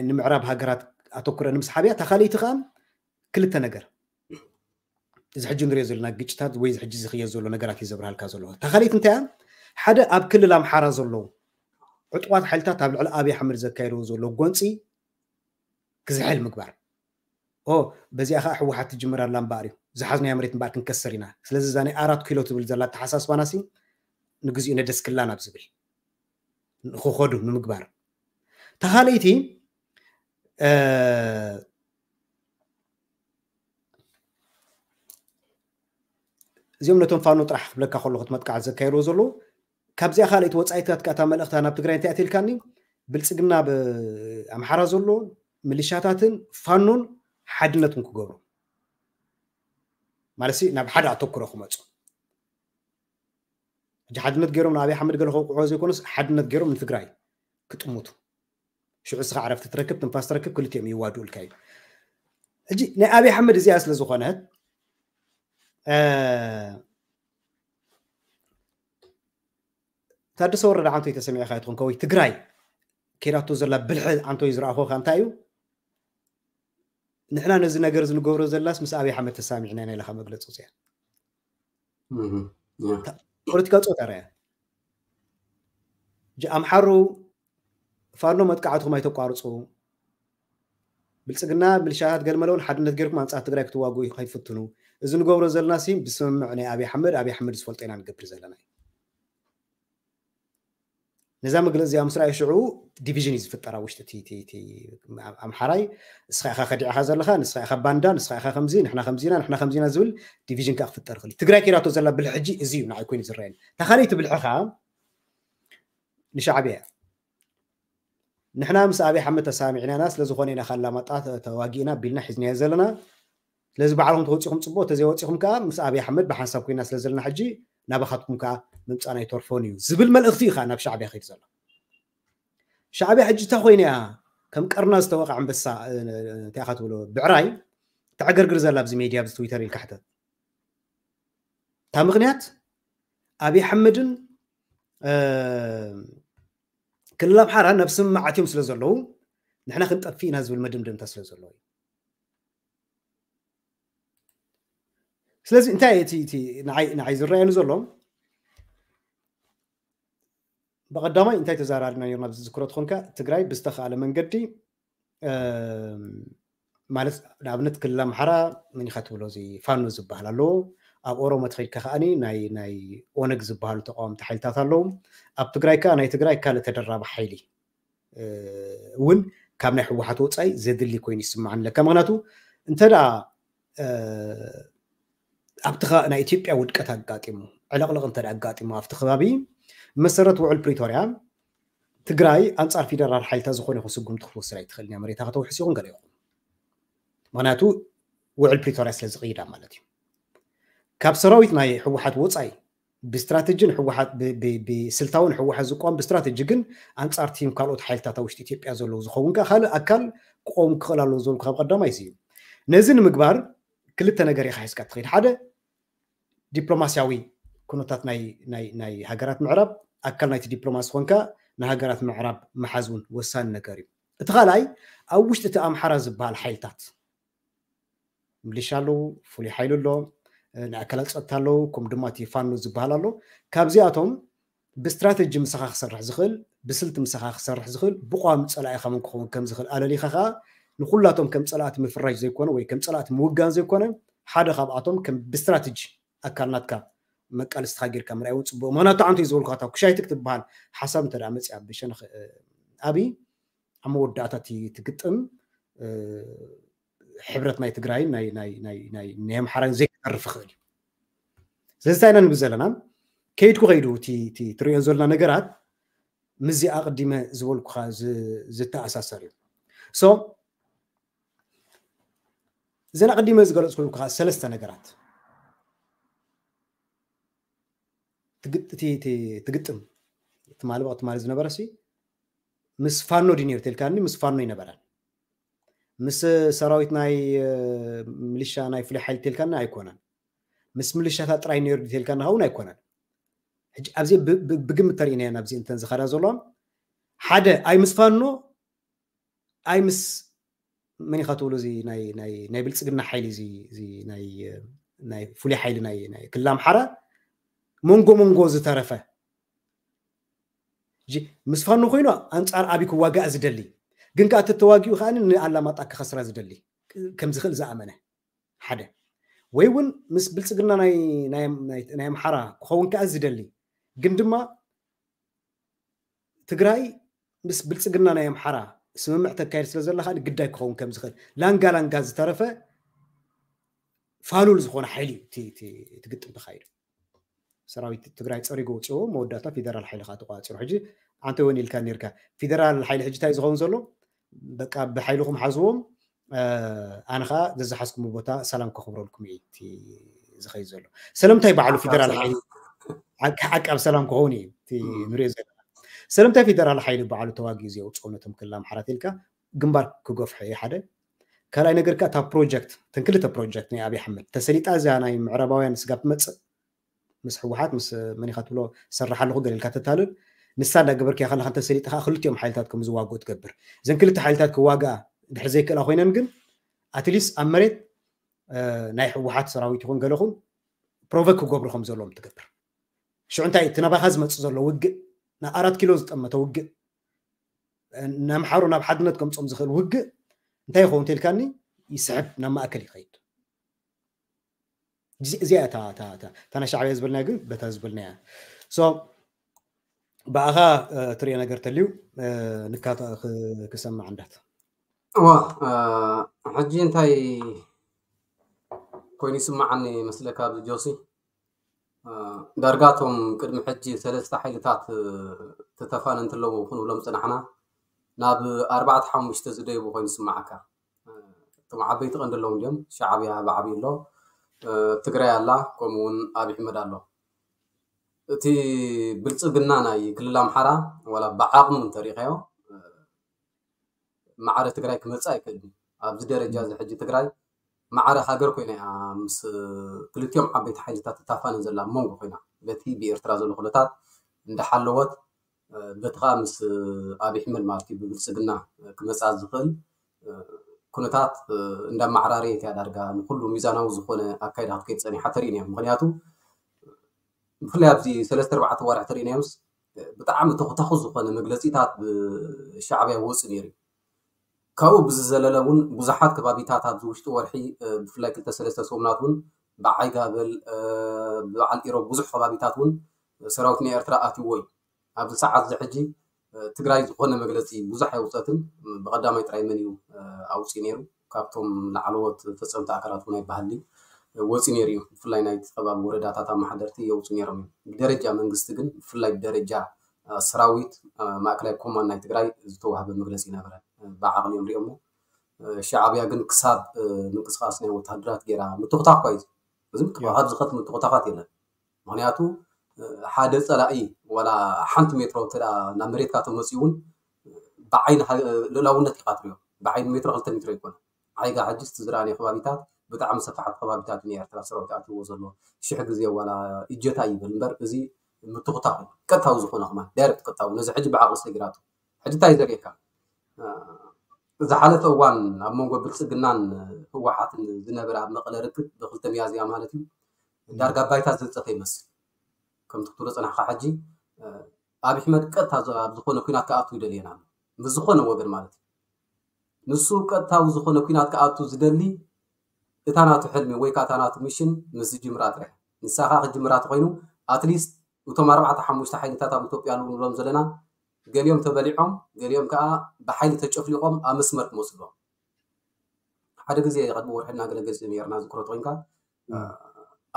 ንምዕራብ ሃገራት ኣተኩረ ንምስሓብያ ተኻለይቲ ከዓ ክልተ ነገር እዚ ሕጂ ንሪኦ ዘለና ግጭታት ወይ እዚ ሕጂ ዝኽየድ ዘሎ ነገራት እዩ ዘብርሃልካ ዘሎ። ተኻሊት እንታይ እያ? ሓደ ኣብ ክልል ኣምሓራ ዘለዉ ዕጡቋት ሓይልታት ኣብ ልዕሊ ኣብይ ኣሕመድ ዘካየድዎ ዘሎ ጎንፂ ክዝሕል ምግባር። ኦ በዚኣ ከዓ ህወሓት ትጅምር ኣላ እምበኣር እዩ ዝሓዝናዮ መሬት እምበኣር ክንከስር ኢና። ስለዚ እዛ ናይ ኣራት ኪሎ ትብል ዘላ ኣተሓሳስባና ሲ ንግዚኡ ነደስክላ ናብ ዝብል ንክኸዱ ንምግባር። ተኻለይቲ እዚኦም ነቶም ፋኖ ጥራሕ ክብለካ ከሎ ክትመጥቃዕ ዘካየድዎ ዘለዉ ካብዚኣ ካልኣይቲ ወፃኢታት ከኣታ መልእኽታ ናብ ትግራይ እንታይ ኣትልካኒ ብልፅግና ብኣምሓራ ዘሎ ምልሻታትን ፋኖን ሓድነትን ክገብሩ ማለት ናብ ሓደ ኣተኩሮ ክመፁ ሕጂ ሓድነት ገይሮም ንኣብይ ኣሕመድ ገለ ከውቅዕዎ ዘይኮነስ ሓድነት ገይሮም ንትግራይ ክጥምቱ። ሽዑ እስኻ ዕረፍቲ ትረክብ፣ ትንፋስ ትረክብ፣ ክልቲኦም ይዋድኡልካ እዩ። ሕጂ ናይ ኣብይ ኣሕመድ እዚኣ ስለ ዝኾነት ታደሰ ወረደ ዓንቶይ ተሰሚዕካ ይትኾን ከወይ ትግራይ ከይዳቶ ዘላ ብልሒ ዓንቶይ ዝረኣኹ እንታይ እዩ? ንሕና ነዚ ነገር ዝንገብሮ ዘላስ ምስ ኣብይ ኣሕመድ ተሳሚዕና ኢና ኢለካ መግለፂ ውፅያ። ፖለቲካ ፆታ ርያ ኣምሓሩ ፋኖ መጥቃዕትኩም ኣይተቋርፁ። ብልፅግና ምልሻታት ገልመለውን ሓድነት ገይርኩም ኣንፃር ትግራይ ክትዋግኡ ከይትፍትኑ። እዚ ንገብሮ ዘለና ሲ ብስምምዕ ናይ ኣብይ ኣሕመድ ኣብይ ኣሕመድ ዝፈልጦ ኢና ንገብር ዘለና። ነዛ መግለፂ እዚኣ ምስ ረኣዩ ሽዑ ዲቪዥን እዩ ዝፍጠር ኣብ ውሽጢ ኣምሓራይ። ንስኻ ኢኻ ከዲዕኻ ዘለኻ፣ ንስኻ ኢኻ ባንዳ፣ ንስኻ ኢኻ ከምዚ፣ ንሕና ከምዚና፣ ንሕና ከምዚና ዝብል ዲቪዥን ከዓ ክፍጠር ይኽእል። ትግራይ ከይዳቶ ዘላ ብልሕጂ እዚ እዩ ንዓይ ኮይኑ ዝረኣየኒ። እታ ካልኣይቲ ብልሒ ከዓ ንሻዕብያ ንሕና ምስ ኣብይ ኣሕመድ ተሳሚዕናና ስለዝኾነ ኢና ካላማጣ ተዋጊእና ቢልና ሒዝናዮ ዘለና። ስለዚ ባዕልኹም ተወፂኹም ፅቡቅ፣ ተዘይወፂኹም ከዓ ምስ ኣብይ ኣሕመድ ብሓንሳብ ኮይና ስለ ዘለና ሕጂ ናባኻትኩም ከዓ ምምፃእና ኣይተርፎን እዩ ዝብል መልእኽቲ እዩ ከዓ ናብ ሻዕብያ ከይዱ ዘሎ። ሻዕብያ ሕጂ እታ ኮይና እያ ከም ቀርና ዝተወቃ ኣንበሳ እንታይ ኢኻ ትብሎ ብዕራይ ተዕገርግር ዘላ ኣብዚ ሜድያ ኣብዚ ትዊተር ኢልካ ሕተት። እታ ምክንያት ኣብይ ኣሕመድን ክልል ኣምሓራ ናብ ስምምዓት እዮም ስለ ዘለዉ ንሕና ክንጠፍእ ኢና ዝብል መደምደምታ ስለ ዘለዎ እዩ። ስለዚ እንታይ እቲ ንዓይ ዝረኣየኒ ዘሎ ብቐዳማይ እንታይ ተዘራርብና ነርና ኣብዚ ዝዝክሮ ትኾንካ ትግራይ ብዝተኻእለ መንገዲ ማለት ንኣብነት ክልል ኣምሓራ መኒኻ ትብሎ እዚ ፋኖ ዝበሃል ኣለዎ። ኣብ ኦሮሞ ተኸይድካ ከዓኒ ናይ ናይ ኦነግ ዝበሃሉ ተቃወምቲ ሓይልታት ኣለዉ። ኣብ ትግራይ ከዓ ናይ ትግራይ ካልእ ተደራቢ ሓይሊ እውን ካብ ናይ ህወሓት ወፃኢ ዘድሊ ኮይኑ ይስማዓኒ ኣለካ። ምክንያቱ እንተ ደኣ ኣብቲ ናይ ኢትዮጵያ ውድቀት ኣጋጢሙ ዕለቕለቕ እንተ ኣጋጢሙ ኣብቲ ከባቢ መሰረት ውዕል ፕሪቶርያ ትግራይ ኣንፃር ፌደራል ሓይልታት ዝኾነ ይኹን ስጉምቲ ክትወስድ ኣይትኽእልን እያ። መሬታ ከተውሕስ ይኹን ገለ ይኹን ምክንያቱ ውዕል ፕሪቶርያ ስለ ዝቕይዳ ማለት እዩ። ካብ ሰራዊት ናይ ህወሓት ወፃኢ ብስትራተጂን ህወሓት ብስልታውን ህወሓት ዝቋም ብስትራተጂ ግን ኣንፃር ቲም ካልኦት ሓይልታት ኣብ ውሽጢ ኢትዮጵያ ዘለዉ ዝኸውን ከዓ ካልእ ኣካል ክቆም ክኽእል ኣለዎ ዝብልኩ ካብ ቀዳማይ እዩ። ነዚ ንምግባር ክልተ ነገር ኢኻ ሒዝካ ትኸይድ። ሓደ ዲፕሎማስያዊ ኩነታት ናይ ሃገራት ምዕራብ ኣካል ናይቲ ዲፕሎማሲ ኮንካ ንሃገራት ምዕራብ ምሓዝ እውን ወሳኒ ነገር እዩ። እቲ ካልኣይ ኣብ ውሽጢ እቲ ኣምሓራ ዝበሃል ሓይልታት ምሊሻ ኣለዉ፣ ፍሉይ ሓይሊ ኣሎ፣ ናይ ኣካላት ፀጥታ ኣለዉ፣ ከምኡ ድማ እቲ ፋኖ ዝበሃል ኣሎ። ካብዚኣቶም ብስትራተጂ ምሳኻ ክሰርሕ ዝኽእል ብስልቲ ምሳኻ ክሰርሕ ዝኽእል ብቋሚ ፀላኢኻ መን ክኸውን ከም ዝኽእል ኣለሊኻ ከዓ ንኩላቶም ከም ፀላእቲ ምፍራጅ ዘይኮነ ወይ ከም ፀላእቲ ምውጋን ዘይኮነ ሓደ ካብኣቶም ከም ብስትራተጂ ኣካል ናትካ መቃልስትኻ ጌርካ ምርኣይ እውን ፅቡቅ። ምክንያቱ ኣንተ እዩ ዝበልኩ ታ ኩሻይትክ ትበሃል ሓሳብ እንተ መፅያ ብሸነኽ ኣብይ ኣብ መወዳእታ ትግጥም ሕብረት ናይ ትግራይን ናይ ኣምሓራን ዘይክተርፍ ይኽእል እዩ። ስለዚ እንታይ ኢና ንብል ዘለና ከይድኩ ከይዱ ትሪኦ ዘለና ነገራት ምስዚ ኣቕዲመ ዝበልኩኻ ዝተኣሳሰር እዩ። እዘን ኣቕዲመ ዝገለፅኩልኩኻ ሰለስተ ነገራት ትግጥም ትማሊ ብቕትማሊ ዝነበረ ሲ ምስ ፋኖ ድዩ ነይሩ ተልካኒ ምስ ፋኖ ይነበረን ምስ ሰራዊት ናይ ምልሻ ናይ ፍሉይ ሓይሊ ተልካኒ ኣይኮነን። ምስ ምልሻታት ጥራይ ነይሩ ተልካኒ እውን ኣይኮነን። ሕጂ ኣብዚ ብግምት ተሪእናዮ ኣብዚ እንተን ዝኸዳ ዘሎ ሓደ ኣይ ምስ ፋኖ ኣይ ምስ መን ኢኻ ትብሉ እዚ ናይ ብልፅግና ሓይሊ ናይ ፍሉይ ሓይሊ ናይ ክልል ኣምሓራ መንጎ መንጎ ዝተረፈ ምስ ፋኖ ኮይኑ ኣንፃር ኣብይ ክዋጋእ ዝደሊ ግን ከዓ ተተዋጊኡ ከዓ ንኣላማጣ ክኸስራ ዝደሊ ከም ዝኽእል ዝኣመነ ሓደ ወይ እውን ምስ ብልፅግና ናይ ኣምሓራ ክኸውን ከዓ ዝደሊ ግን ድማ ትግራይ ምስ ብልፅግና ናይ ኣምሓራ ስምምዕ ተካየድ ስለ ዘላ ከዓ ግዳይ ክኸውን ከም ዝኽእል ላንጋ ላንጋ ዝተረፈ ፋሉል ዝኾነ ሓይሊ እዩ ትግጥም ተካይዱ። ሰራዊት ትግራይ ፀሪጎ ውፅዎ መወዳእታ ፌደራል ሓይሊ ከዓ ተቋፂሩ። ሕጂ ኣንተ እውን ኢልካ ነርካ ፌደራል ሓይሊ ሕጂ እንታይ ዝኸውን ዘሎ በቃ ብሓይልኹም ሓዝዎም ኣነ ከዓ ዘዝሓዝኩም ቦታ ሰላም ከኽብረልኩም እዩ ዝኸይድ ዘሎ። ስለምንታይ ባዕሉ ፌደራል ሓይሊ ዓቃብ ሰላም ክኸውን እዩ እቲ ንሪኦ ዘለና። ሰለምታይ ፌደራል ሓይሊ በዓሉ ተዋጊኡ ዘየውፅኦም ነቶም ክልል ኣምሓራ ኢልካ ግንባር ክገፍሖ እዩ ሓደ። ካልኣይ ነገር ከኣ እታ ፕሮጀክት፣ እተን ክልተ ፕሮጀክት ናይ ኣብይ ኣሕመድ ተሰሊጣ እዚኣ ናይ ምዕራባውያን ስጋብ ትመፅእ ምስ ህወሓት ምስ መን ኢኻ ትብሎ ሰራሕ ኣለኹ ገለ ኢልካ ተታልል፣ ንሳ እንዳገበርክያ ከለኻ እንተሰሊጣ ከኣ ክልቲኦም ሓይልታት ከም ዝዋግኡ ትገብር። እዘን ክልተ ሓይልታት ክዋግኣ ድሕር ዘይክእላ ኮይነን ግን ኣትሊስት ኣብ መሬት ናይ ህወሓት ሰራዊት ይኹን ገለኹም ፕሮቨክ ክገብሩ ከም ዘለዎም ትገብር። ሽዑ እንታይ እቲ ናባኻ ዝመፅእ ዘሎ ውግእ፣ ንኣራት ኪሎ ዝጠመተ ውግእ፣ ንኣምሓሩ ናብ ሓድነት ከምፆም ዝኽእል ውግእ እንታይ ይኸውን ተልካኒ ይስሕብ፣ ናብ ማእከል ይኸይድ። እዚኣ እታ ናይ ሻዕብያ ዝበልናያ ግን በታ ዝበልናያ ሶ ብኣኻ ትሪኦ ነገር ተልዩ ንካ ክሰማዕ እንዳት እዋ ሕጂ እንታይ ኮይኑ ይስማዓኒ መስለካ ኣብዚ ጆሲ ዳርጋቶም ቅድሚ ሕጂ ሰለስተ ሓይልታት ተተፋነንቲ ኣለዉ ክንብሎም ፅናሕና ናብ ኣርባዕተ ሓሙሽተ ዝደይቡ ኮይኑ ይስማዓካ እቶም ዓበይቲ ቀንዲ ኣለዉ እንዲዮም ሻዕብያ ብዓብዩ ኣሎ ትግራይ ኣላ ከምኡ እውን ኣብ ይሕመድ ኣሎ እቲ ብልፅግና ናይ ክልል ኣምሓራ ዋላ ብዓቕሚ እንተሪኢኻዮ ማዕረ ትግራይ ክመፅእ ኣይክእልን ኣብዚ ደረጃ እዚ ሕጂ ትግራይ ማዕረ ሃገር ኮይና እያ ምስ ክልቲኦም ዓበይቲ ሓይልታት ትታፋነን ዘላ ኣብ መንጎ ኮይና በቲ ብኤርትራ ዘሎ ኩነታት እንዳሓለወት በቲ ከዓ ምስ ኣብይ ኣሕመድ ማለት እዩ ብብልፅግና ክመፅኣ ዝኽእል ኩነታት እንዳማዕራረየት እያ ዳርጋ ንኩሉ ሚዛናዊ ዝኾነ ኣካይዳ ክትከይድ ፀኒሓ ተሪእና እዮም ምክንያቱ ብፍላይ ኣብዚ ሰለስተ ኣርባዕተ ዋርሕ ተሪእናዮምስ ብጣዕሚ ተኹታኹ ዝኾነ መግለፂታት ብሻዕብያ ወፅእ ነይሩ ካብኡ ብዝዘለለ እውን ብዙሓት ከባቢታት ኣብዚ ውሽጢ ወርሒ ብፍላይ ክልተ ሰለስተ ሰሙናት እውን ብዓይ ጋበል ብበዓል ኢሮብ ብዙሕ ከባቢታት እውን ሰራዊት ናይ ኤርትራ ኣትይዎ እዩ ኣብዚ ሰዓት እዚ ሕጂ ትግራይ ዝኾነ መግለፂ ብዙሕ ኣይውፀትን ብቀዳማይ ጥራይ መን እዩ ኣውፅኡ ነይሩ ካብቶም ላዕለዎት ፈፀምቲ ኣካላት እውን ኣይበሃሊ ወፂኡ ነይሩ እዩ ብፍላይ ናይ ከባቢ ወረዳታት ኣመሓደርቲ የውፅኡ ነይሮም እዮም ብደረጃ መንግስቲ ግን ብፍላይ ብደረጃ ሰራዊት ማእከላይ ኮማንድ ናይ ትግራይ ዝተዋህበ መግለፂ ነበረ ብዓቕሊ እዮም ሪኦሞ ሻዕብያ ግን ክሳብ ምንቅስቃስ ናይ ወታደራት ገይራ ምትኹታኽ ኳ እዩ እዚ ምትኹታኻት ዝኸት ምትኹታኻት የለን ምክንያቱ ሓደ ፀላኢ ዋላ ሓንቲ ሜትሮ ተ ናብ መሬትካ ተመፅኡ እውን ብዓይኒ ልእላውነት ኢካ ትሪኦ ብዓይኒ ሜትሮ ክልተ ሜትሮ ይኮነ ዓይጋ ሕጂ ዝረኣነ ከባቢታት ብጣዕሚ ሰፋሓት ከባቢታት ን ኤርትራ ሰራዊት ኣትዎ ዘሎ ሽሕ ግዜ ዋላ እጀታ ይበል እምበር እዚ ምትኩታኩ ቀጥታዊ ዝኾነ ከማን ዳይረክት ቀጥታዊ ነዚ ሕጂ ብዓቕሊ ሰጊራቱ ሕጂ እንታይ ዘርእየካ ዝሓለፈ እዋን ኣብ መንጎ ብልፅግናን ህወሓትን ዝነበረ ኣብ መቐለ ርክብ ብክልተ ሚያዝያ ማለት እዩ ዳርጋ ባይታ ዘንፀፈ ይመስል ከምቲ ክትብሎ ፅናሕካ ሕጂ ኣብ ኣሕመድ ቀጥታ ኣብ ዝኾነ ኩናት ክኣቱ ይደልየና ኣሎ ምስ ዝኾነ ወገን ማለት እዩ ንሱ ቀጥታዊ ዝኾነ ኩናት ክኣቱ ዝደሊ እታ ናቱ ሕልሚ ወይ ከዓ እታ ናቱ ሚሽን ምስ ዝጅምራ ጥራሕ ንሳ ከዓ ክጅምራ ተኮይኑ ኣትሊስት እቶም ኣርባዕተ ሓሙሽተ ሓይልታት ኣብ ኢትዮጵያ ኣለዉ ንብሎም ዘለና ገሊኦም ተበሊዖም ገሊኦም ከዓ ብሓይሊ ተጨፍሊቆም ኣብ መስመር ክመፅሎም ሓደ ግዜ ቅድሚ ወርሒ እናገለገልፂ ነርና ዝክሮ ተኮይንካ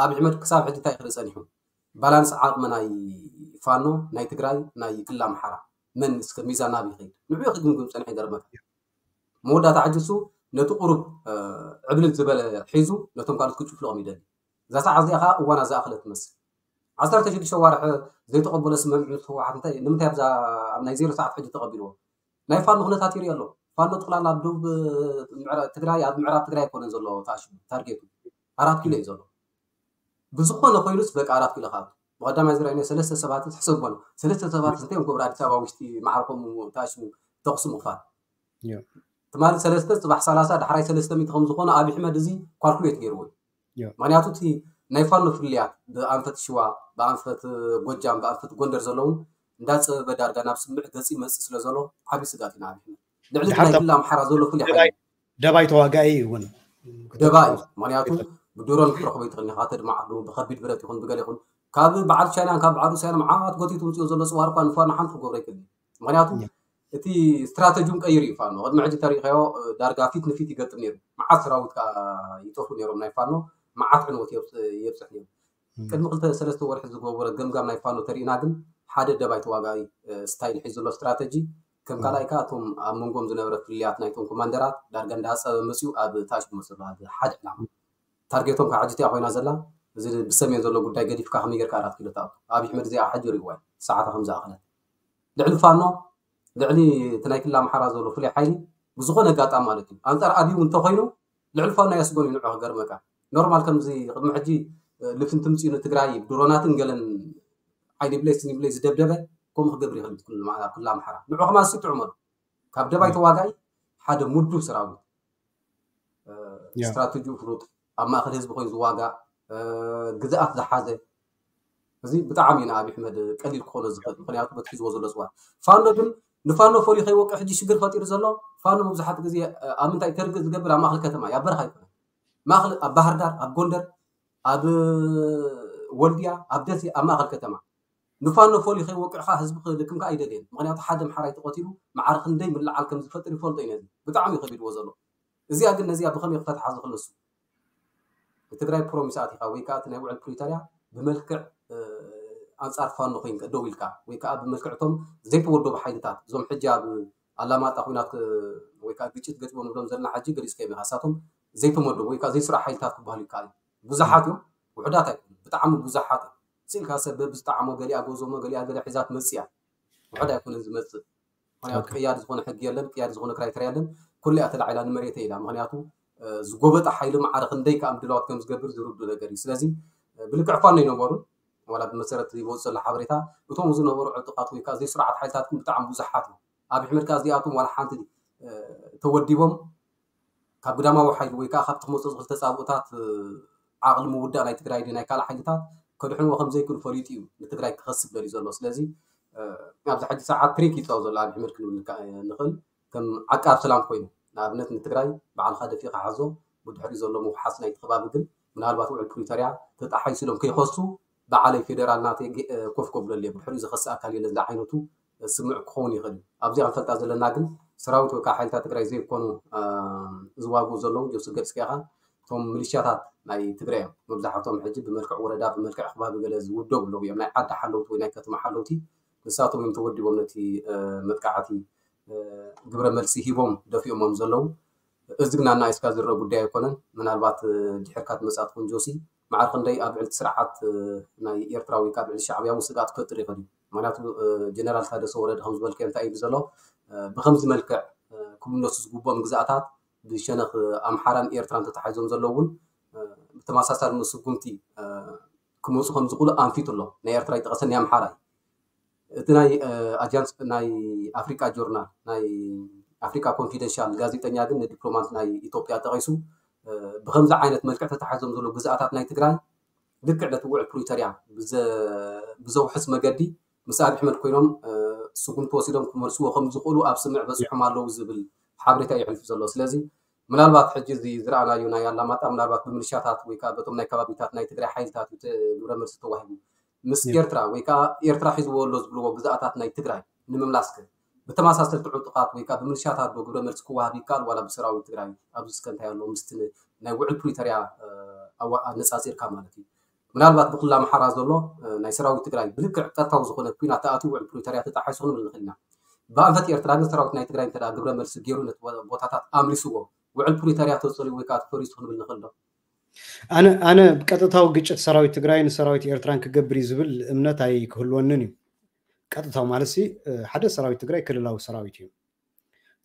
ኣብ ኣሕመድ ክሳብ ሕጂ እንታይ ክርኢ ፀኒሑ ባላንስ ዓቕሚ ናይ ፋኖ ናይ ትግራይ ናይ ክልል ኣምሓራ መን እስከ ሚዛን ናብ ይኸይድ ንዑ ክግምግም ፀንሐ ይገርመካ መወዳእታ ሕጂ እሱ ነቲ ቁሩብ ዕብልል ዝበለ ሒዙ ነቶም ካልኦት ክጭፍልቖም ይደሊ እዛ ሰዓት እዚኣ ከዓ እዋና ዝኣኽለ ትመስል ዓሰርተ ሽዱሽተ ዋርሒ ዘይተቐበሎ ስምምዕ ምስ ህወሓት እንታይ ንምንታይ ኣብዛ ኣብ ናይ ዜሮ ሰዓት ሕጂ ተቐቢልዎ ናይ ፋኖ ኩነታት ይርኢ ኣሎ ፋኖ ጥቕላላ ኣብ ደቡብ ትግራይ ኣብ ምዕራብ ትግራይ ኣይኮነን ዘሎ ታሽሙ ታርጌቱ ኣራት ኪሎ እዩ ዘሎ ብዝኾነ ኮይኑስ በቃ ኣራት ኪሎ ካብ ብቀዳማይ ዝረኣይና ሰለስተ ሰባት ሕሰቦ ሰለስተ ሰባት እንታይ እዮም ክብሩ ኣዲስ ኣበባ ውሽጢ ማዕርኮም ታሽሙ ተኩሲ ምኽፋል ትማሊ ሰለስተ ፅባሕ ሰላሳ ዳሕራይ ሰለስተ ሚእቲ ከም ዝኾነ ኣብ ኣሕመድ እዚ ኳልኩሌት ገይርዎ እዩ ምክንያቱ እቲ ናይ ፋኖ ፍልያት ብኣንፈት ሽዋ ብኣንፈት ጎጃም ብኣንፈት ጎንደር ዘለውን እንዳፀበበ ዳርጋ ናብ ስምዕ ገፂ መፅእ ስለ ዘሎ ዓብዪ ስጋት ኢና ኣብ ኣሕመድ ልዕሊ ናይ ክልል ኣምሓራ ዘሎ ፍሉይ ሓይሊ ደባይ ተዋጋኢ እውን ደባይ ምክንያቱ ብድሮን ክትረኽቦ ይትኽእል ኢኻ ተድማዓሉ ብከቢድ ብረት ይኹን ብገለ ይኹን ካብ በዓል ቻይናን ካብ በዓል ሩስያን መዓት ጎቲቱ ምፅኡ ዘሎ ፅዋር እኳ ንፋኖ ሓንቲ ክገብሮ ይክእል ምክንያቱ እቲ ስትራተጂውን ቀይሩ እዩ ፋኖ ቅድሚ ሕጂ ተሪኢኻዮ ዳርጋ ፊት ንፊት ይገጥም ነይሩ መዓት ሰራዊት ከዓ ይጠፉ ነይሮም ናይ ፋኖ መዓት ዕንወት የብፅሕ ነይሩ ቅድሚ ክልተ ሰለስተ ወርሒ ዝገበረ ገምጋም ናይ ፋኖ ተሪእና ግን ሓደ ደባይ ተዋጋኢ ስታይል ሒዙ ዘሎ ስትራተጂ ከም ካልኣይ ከዓ እቶም ኣብ መንጎም ዝነበረ ፍልያት ናይቶም ኮማንደራት ዳርጋ እንዳፀበ መፅኡ ኣብ ታሽ መፅሉ ሓደ ዕላማ ታርጌቶም ከዓ ሕጂ እቲኣ ኮይና ዘላ እዚ ብሰሜን ዘሎ ጉዳይ ገዲፍካ ከመይ ጌርካ ኣራት ኪሎ ትኣቱ? ኣብይ ኣሕመድ እዚኣ ሕጂ ሪእዋ እዩ፣ ሰዓታ ከም ዝኣኸለት። ልዕሊ ፋኖ፣ ልዕሊ እቲ ናይ ክልል ኣምሓራ ዘሎ ፍሉይ ሓይሊ ብዝኾነ ኣጋጣሚ ማለት እዩ። ኣንጻር ኣብይ እውን እንተኾይኑ ልዕሊ ፋኖ ኣየስጎን እዩ ንዑ ክገርመካ። ኖርማል ከምዚ ቅድሚ ሕጂ ልፍንቲ ምጽኡ ንትግራይ ድሮናትን ገለን ዓይኒ ብለይ ስኒ ብለይ ዝደብደበ ከምኡ ክገብር ይኽእል እዩ። ኩሉ ኣምሓራ ንዑ ከማን ስጥዑ መሉ ካብ ደባይ ተዋጋኢ ሓደ ሙዱ ሰራዊት ስትራቴጂኡ ፍሉጥ ኣብ ማእከል ህዝቢ ኮይኑ ዝዋጋእ ግዝኣት ዝሓዘ እዚ ብጣዕሚ እዩ ንኣብይ ኣሕመድ ቀሊል ክኾኖ ዝኽእል። ምክንያቱ በቲ ሒዝዎ ዘሎ ፅዋት ፋኖ ግን ንፋኖ ፈልዩ ከይወቅዕ ሕጂ ሽግር ፈጢሩ ዘሎ ፋኖ መብዛሕትኡ ግዜ ኣብ ምንታይ ተርግእ ዝገብር ኣብ ማእከል ከተማ እዩ፣ ኣብ በረኻ ኣይኮነን። ማእከል ኣብ ባህር ዳር፣ ኣብ ጎንደር፣ ኣብ ወልድያ፣ ኣብ ደሴ፣ ኣብ ማእከል ከተማ ንፋኖ ፈልዩ ከይወቅዕካ ህዝቢ ክልክምካ ኣይደልየን። ምክንያቱ ሓደ ኣምሓራይ ተቐቲሉ ማዕረ ክንደይ ምልዓል ከም ዝፈጥር ይፈልጦ እዩ። ነዚ ብጣዕሚ እዩ ከቢድዎ ዘሎ። እዚኣ ግን ነዚኣ ብኸመይ ክፈትሓ ዝኽእል ንሱ? ንትግራይ ፕሮሚስ ኣቲኻ ወይ ከዓ እቲ ናይ ውዕል ፕሪቶርያ ብመልክዕ ኣንፃር ፋኖ ኮይንካ ደው ኢልካ ወይ ከዓ ብመልክዕ እቶም ዘይተወደቡ ሓይልታት እዞም ሕጂ ኣብ ኣላማጣ ኩናት ወይ ከዓ ግጭት ገጥሞም ንብሎም ዘለና ሕጂ ገሊፅካ ኢኻ። እሳቶም ዘይተመደቡ ወይ ከዓ ዘይስራሕ ሓይልታት ክበሃሉ ይከኣል እዩ። ብዙሓት እዮም፣ ውሑዳት ኣይኮኑን፣ ብጣዕሚ ብዙሓት እዮም። ስኢልካ ሰብ በብዝጠዓሞ ገሊኣ ጎዞሞ ገሊኣ ገለ ሒዛ ትመፅእ እያ። ውሑድ ኣይኮነን ዝመፅእ። ምክንያቱ ቅያድ ዝኾነ ሕጊ የለን፣ ቅያድ ዝኾነ ክራይተርያ የለን። ኩሉ እያ ተላዒላ ንመሬተ ኢላ። ምክንያቱ ዝጎበጠ ሓይሊ ማዕረ ክንደይ ከዓ ምድላዋት ከም ዝገብር ዝርዱ ነገር እዩ። ስለዚ ብልክዕ ፋኖ ይነበሩ ዋላ ብመሰረት ይወፅ ዘሎ ሓበሬታ እቶም ዝነበሩ ዕጡቃት ወይ ከዓ ዘይስሩዓት ሓይልታት ግን ብጣዕሚ ብዙሓት እዮም። ኣብ ኣሕመድ ከዓ እዚኣቶም ዋላ ሓንቲ ተወዲቦም ካብ ግዳማዊ ሓይሊ ወይ ከዓ ካብቲ ክመፅኦ ዝኽእል ተፃብኦታት ዓቕሊ ምውዳእ ናይ ትግራይ ድዩ ናይ ካልእ ሓይልታት ከድሕንዎ ከም ዘይክእሉ ፈሊጡ እዩ ንትግራይ ክኸስብ ደልዩ ዘሎ። ስለዚ ኣብዚ ሕጂ ሰዓት ትሪክ ይፃወት ዘሎ ኣብ ኣሕመድ ክንብል ንኽእል ከም ዓቃብ ሰላም ኮይኑ ንኣብነት ንትግራይ ባዕልካ ደፊእካ ሓዞ ብድሕሪ ዘሎ ምውሓስ ናይቲ ከባቢ ግን ምናልባት ውዕል ፕሪቶርያ ተጣሓይሱ ኢሎም ከይኸሱ በዓለይ ፌደራል ናተይ ኮፍ ከብለሉ እየ ብድሕሪኡ ዝኸስእ ኣካል የለን ዝዓይነቱ ስምዕ ክኸውን ይኽእል እዩ። ኣብዚኣ ክንፈልጣ ዘለና ግን ሰራዊት ወይ ከዓ ሓይልታት ትግራይ ዘይኮኑ ዝዋግኡ ዘለዉ ጆሲ ገድስካ ኢኻ እቶም ሚሊሻታት ናይ ትግራይ እዮም መብዛሕቶም ሕጂ ብመልክዕ ወረዳ ብመልክዕ ከባቢ ገለ ዝውደቡ ኣለዉ እዮም ናይ ዓዲ ሓለውቲ ወይ ናይ ከተማ ሓለውቲ ንሳቶም እዮም ተወዲቦም ነቲ መጥቃዕቲ ግብረ መልሲ ሂቦም ደፊኦሞም ዘለዉ እዚ ግን ኣናኢስካ ዝረአ ጉዳይ ኣይኮነን ምናልባት ድሕርካ ትመፅኣ ትኾን ጆሲ ማዕረ ክንደይ ኣብ ልዕሊ ስርዓት ናይ ኤርትራ ወይ ከዓ ኣብ ልዕሊ ሻዕብያ እውን ስግኣት ክፈጥር ይኽእል እዩ ምክንያቱ ጀነራል ታደሰ ወረደ ከም ዝበልከ እንታይ እዩ ዘሎ ብከምዚ መልክዕ ክምለሱ ዝግብኦም ግዝኣታት ብሸነኽ ኣምሓራን ኤርትራን ተታሒዞም ዘለዉ እውን ብተመሳሳሊ ስጉምቲ ክመፁ ከም ዝኽእሉ ኣንፊቱ ኣሎ ናይ ኤርትራ ይጠቐሰ ናይ ኣምሓራ እዩ እቲ ናይ ኣጃንስ ናይ ኣፍሪቃ ጆርናል ናይ ኣፍሪቃ ኮንፊደንሻል ጋዜጠኛ ግን ንዲፕሎማት ናይ ኢትዮጵያ ጠቒሱ ብከምዚ ዓይነት መልክዕ ተታሒዞም ዘለዉ ግዝኣታት ናይ ትግራይ ልክዕ ነቲ ውዕል ፕሪቶርያ ብዘውሕስ መገዲ ምስ ኣብይ ኣሕመድ ኮይኖም ስጉምቲ ወሲዶም ክመልስዎ ከም ዝኽእሉ ኣብ ስምዕ በፂሖም ኣለዉ ዝብል ሓበሬታ የሕልፍ ዘሎ ስለዚ ምናልባት ሕጂ እዚ ዝረኣናዮ ናይ ኣላማጣ ምናልባት ብምልሻታት ወይ ከዓ በቶም ናይ ከባቢታት ናይ ትግራይ ሓይልታት እዩ ግብረ መልሲ ተዋሂቡ ምስ ኤርትራ ወይ ከዓ ኤርትራ ሒዝዎ ኣሎ ዝብልዎ ግዝኣታት ናይ ትግራይ ንምምላስከ ብተመሳሰልቲ ዕጡቓት ወይ ከዓ ብምልሻታት ዶ ግብረ መልሲ ክወሃብ ይከኣል ዋላ ብሰራዊት ትግራይ ኣብዚ እስከ እንታይ ኣሎ ምስቲ ናይ ውዕል ፕሪቶርያ ኣነፃፂርካ ማለት እዩ ምናልባት ብክልል ኣምሓራ ዘሎ ናይ ሰራዊት ትግራይ ብልክዕ ቀጥታዊ ዝኾነ ኩናት ተኣትዩ ውዕል ፕሪቶርያ ተጣሒሱ ክንብል ንኽእል ኢና ብኣንፈት ኤርትራ ግን ሰራዊት ናይ ትግራይ እንተ ግብረ መልሲ ገይሩ ነቲ ቦታታት ኣምሊስዎ ውዕል ፕሪቶርያ ተፀልዩ ወይ ከዓ ተፈሪሱ ክንብል ንኽእል ዶ ኣነ ኣነ ብቀጥታዊ ግጭት ሰራዊት ትግራይ ንሰራዊት ኤርትራን ክገብር እዩ ዝብል እምነት ኣይክህልወንን እዩ ቀጥታዊ ማለት ሓደ ሰራዊት ትግራይ ክልላዊ ሰራዊት እዩ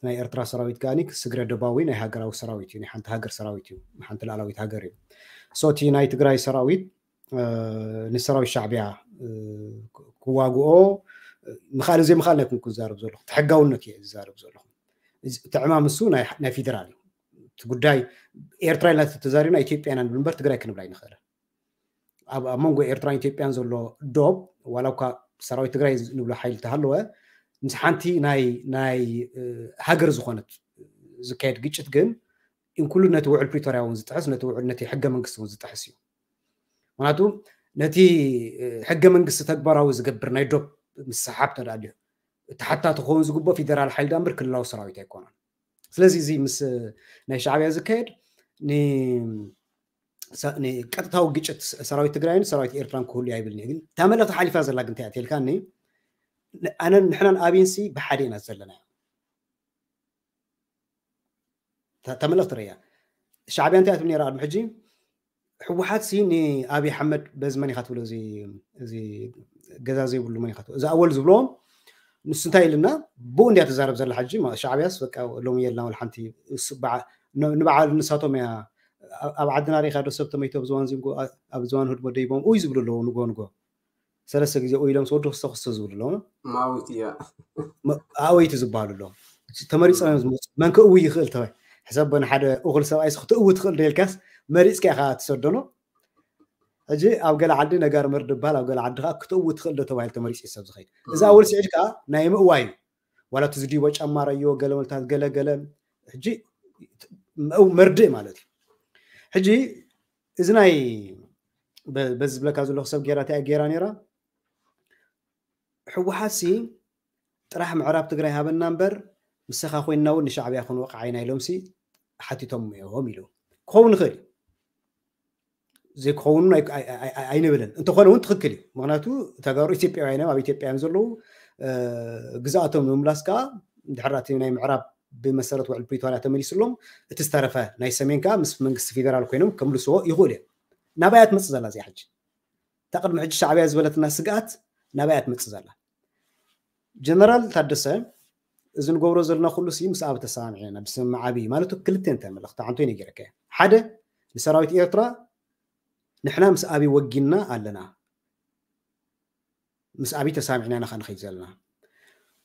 ናይ ኤርትራ ሰራዊት ከኣ ስግረ ደባዊ ናይ ሃገራዊ ሰራዊት እዩ ናይ ሓንቲ ሃገር ሰራዊት እዩ ሓንቲ ላዕላዊት ሃገር እዩ ሶቲ ናይ ትግራይ ሰራዊት ንሰራዊት ሻዕብያ ክዋግኦ ምኻል ዘይምኻል ናይ ኩንኩ ዝዛረብ ዘለኹ ተሕጋውነት እየ ዝዛረብ ዘለኹ እቲ ዕማም እሱ ናይ ፌደራል እዩ እቲ ጉዳይ ኤርትራ ኢልና ተዛሪብና ኢትዮጵያ ኢና ንብል እምበር ትግራይ ክንብል ኣይንኽእልን ኣብ መንጎ ኤርትራን ኢትዮጵያን ዘሎ ዶብ ዋላ እኳ ሰራዊት ትግራይ ንብሎ ሓይሊ ተሃለወ ምስ ሓንቲ ናይ ናይ ሃገር ዝኾነት ዝካየድ ግጭት ግን ኢንክሉድ ነቲ ውዕል ፕሪቶርያ እውን ዝጥሕስ ነቲ ውዕል ነቲ ሕገ መንግስቲ እውን ዝጥሕስ እዩ ምክንያቱ ነቲ ሕገ መንግስቲ ተግባራዊ ዝገብር ናይ ዶብ ምስሓብ ተዳልዩ ተሓታቲ ክኸውን ዝግብኦ ፌደራል ሓይሊ ዳምበር ክልላዊ ሰራዊት ኣይኮነን ስለዚ እዚ ምስ ናይ ሻዕብያ ዝካየድ ቀጥታዊ ግጭት ሰራዊት ትግራይን ሰራዊት ኤርትራን ክህሉ ኣይብልን ግን እታ መልእክቲ ሓሊፋ ዘላ ግን እንታይ እያ ተልካኒ ኣነ ንሕናን ኣብይንሲ ብሓደ ኢና ዘለና እታ መልእክቲ ርያ ሻዕብያ እንታይ ትብል ነራ ቅድሚ ሕጂ ህወሓት ሲ ንኣብይ ኣሕመድ በዚ መን ኢኻ ትብሎ፣ እዚ ገዛ ዘይብሉ መን ኢኻ ትብሎ፣ እዚ ኣወል ዝብሎ ንሱ እንታይ ኢልና ብኡ እንድያ ትዛረብ ዘላ ሕጂ። ሻዕብያስ በቃ ሎሚ የልና ወላ ሓንቲ፣ ንበዓል ንሳቶም እያ። ኣብ ዓድና ሪኢኻ ዶ ሰብ ተመይቶ ኣብ ዝዋን ዚንጎ ኣብ ዝዋን ህድሞ ደይቦም ኡይ ዝብሉ ኣለዉ። ንጎ ንጎ ሰለስተ ግዜ ኡይ ኢሎም ዝወዱ ክስተ ክስተ ዝብሉ ኣለዉ። ማዊት እያ። ኣወይቲ ዝበሃሉ ኣለዉ። ተመሪፆም እዮም ዝመፁ። መን ክእዊ ይኽእል ተባይ ሕሰብ በን ሓደ እኹል ሰብኣይ ክትእዊ ትኽእል ዶ ኢልካስ መሪፅካ ኢኻ ትሰደኖ። ሕጂ ኣብ ገለ ዓዲ ነጋር መርድ ይበሃል፣ ኣብ ገለ ዓዲ ከዓ ክትእዊ ትኽእል ዶ ተባሂሉ ተመሪፂ ሰብ ዝኸይድ። እዚ ኣወል ስዒድ ከዓ ናይ ምእዋይ እዩ። ዋላ እቲ ዝድይቦ ጫማ ረዮ ገለመልታት ገለ ገለ ሕጂ መርድእ ማለት እዩ። ሕጂ እዚ ናይ በዚ ዝብለካ ዘለኹ ሰብ ጌራ እንታይ ገይራ ነይራ? ህወሓት ሲ ጥራሕ ምዕራብ ትግራይ ሃበና እምበር ምሰኻ ኮይንና እውን ንሻዕብያ ክንወቕዓ ኢና ኢሎም ሲ ሓቲቶም እዮም ኢሉ ክኸውን ይኽእል እዩ። ዘይክኸውን ኣይንብልን። እንተኾነ እውን ትኽክል እዩ። ምክንያቱ ተጋሩ ኢትዮጵያውያን እዮም፣ ኣብ ኢትዮጵያ እዮም ዘለዉ። ግዝኣቶም ንምምላስ ከዓ ድሕር እቲ ናይ ምዕራብ ብመሰረት ውዕል ፕሪቶርያ ተመሊስሎም፣ እቲ ዝተረፈ ናይ ሰሜን ከዓ ምስ መንግስቲ ፌደራል ኮይኖም ከምልስዎ ይኽእሉ እዮም። ናባይ እያ ትመፅእ ዘላ እዚኣ ሕጂ። እታ ቅድሚ ሕጂ ሻዕብያ ዝበለትና ስግኣት ናባይ እያ ትመፅእ ዘላ። ጀነራል ታደሰ፣ እዚ ንገብሮ ዘለና ኩሉ ሲ ምስ ኣብ ተሰማምዒ ኢና፣ ብስምምዕ ዓብዪ ማለት ክልተ እንታይ መልእኽቲ ዓንቶ ነጊረካ እየ። ሓደ ንሰራዊት ኤርትራ ንሕና ምስ ኣብይ ወጊና ኣለና፣ ምስ ኣብይ ተሳሚዕና ኢና ንኸይድ ዘለና።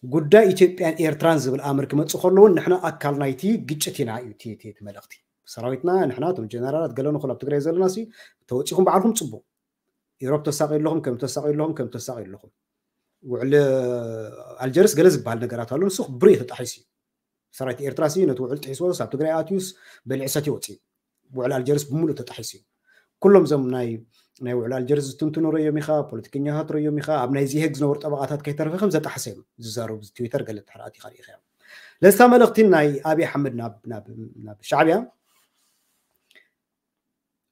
ጉዳይ ኢትዮጵያን ኤርትራን ዝብል ኣምር ክመፅእ ከለውን ንሕና ኣካል ናይቲ ግጭት ኢና እዩ እቲ መልእኽቲ። ሰራዊትና ንሕና እቶም ጀነራላት ገለ ንኹል ኣብ ትግራይ ዘለና ሲ ተወፂኹም ባዕልኩም ፅቡቅ። ኢሮብ ተሳቂ ኣለኹም ከም ተሳቂ ኣለኹም ከም ተሳቂ ኣለኹም። ውዕል ኣልጀርስ ገለ ዝበሃል ነገራት ኣሎ፣ ንሱ ብሬ ተጣሒሱ እዩ። ሰራዊት ኤርትራ ሲ ነቲ ውዕል ጥሒስዎ ሳብ ትግራይ ኣትዩስ በሊዑ ሰትዩ ወፂኡ። ውዕል ኣልጀርስ ብምሉእ ተጣሒሱ እዩ። ኩሎም እዞም ናይ ናይ ውዕል ኣልጀርስ ዝትንትኑ ረዮም ኢኻ፣ ፖለቲከኛታት ረዮም ኢኻ፣ ኣብ ናይ ዚሄግ ዝነበሩ ጠበቃታት ከይተረፈ ከም ዘጣሕሰ እዮም ዝዛረቡ። ትዊተር ገለ ተሕራኣት ኢኻ ርኢኻ እዮም። ለስታ መልእኽቲ ናይ ኣብይ ኣሕመድ ናብ ሻዕብያ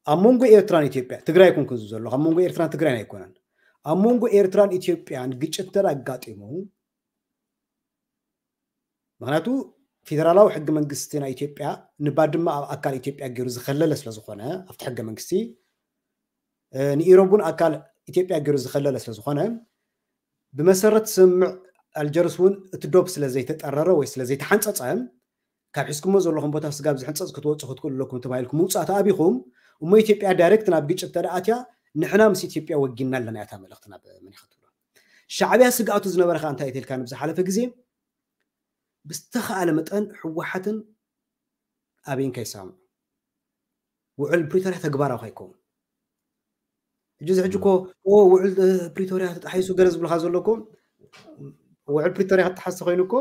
ኣብ መንጎ ኤርትራን ኢትዮጵያ፣ ትግራይ ኮንኩ ዘሎ ኣብ መንጎ ኤርትራን ትግራይን ኣይኮነን፣ ኣብ መንጎ ኤርትራን ኢትዮጵያን ግጭት እንተ ኣጋጢሙ፣ ምክንያቱ ፌደራላዊ ሕገ መንግስቲ ናይ ኢትዮጵያ ንባድማ ኣብ ኣካል ኢትዮጵያ ገይሩ ዝኸለለ ስለዝኾነ ኣብቲ ሕገ መንግስቲ ንኢሮብ እውን ኣካል ኢትዮጵያ ገይሩ ዝኸለለ ስለዝኾነ ብመሰረት ስምምዕ ኣልጀርስ እውን እቲ ዶብ ስለዘይተጠረረ ወይ ስለዘይተሓንፀፀ ካብ ሒዝኩሞ ዘለኹም ቦታ ስጋብ ዝሕንፀፅ ክትወፁ ክትክእሉ ኣለኩም ተባሂልኩም ምውፃእ ተኣቢኹም እሞ ኢትዮጵያ ዳይሬክት ናብ ግጭት ተደኣትያ ንሕና ምስ ኢትዮጵያ ወጊና ኣለና እያ እታ መልእኽቲ ናብ መን ኢኻ ትብሎ። ሻዕብያ ስግኣቱ ዝነበረ ከዓ እንታይ ተልካ ንብዝሓለፈ ግዜ ብዝተኸኣለ መጠን ህወሓትን ኣብይን ከይሳምዑ ውዕል ፕሪቶርያ ተግባራዊ ከይከውን። ሕጂ እዚ ሕጂ እኮ ውዕል ፕሪቶርያ ተጣሒሱ ገለ ዝብልካ ዘሎ እኮ ውዕል ፕሪቶርያ ክተሓስ ኮይኑ እኮ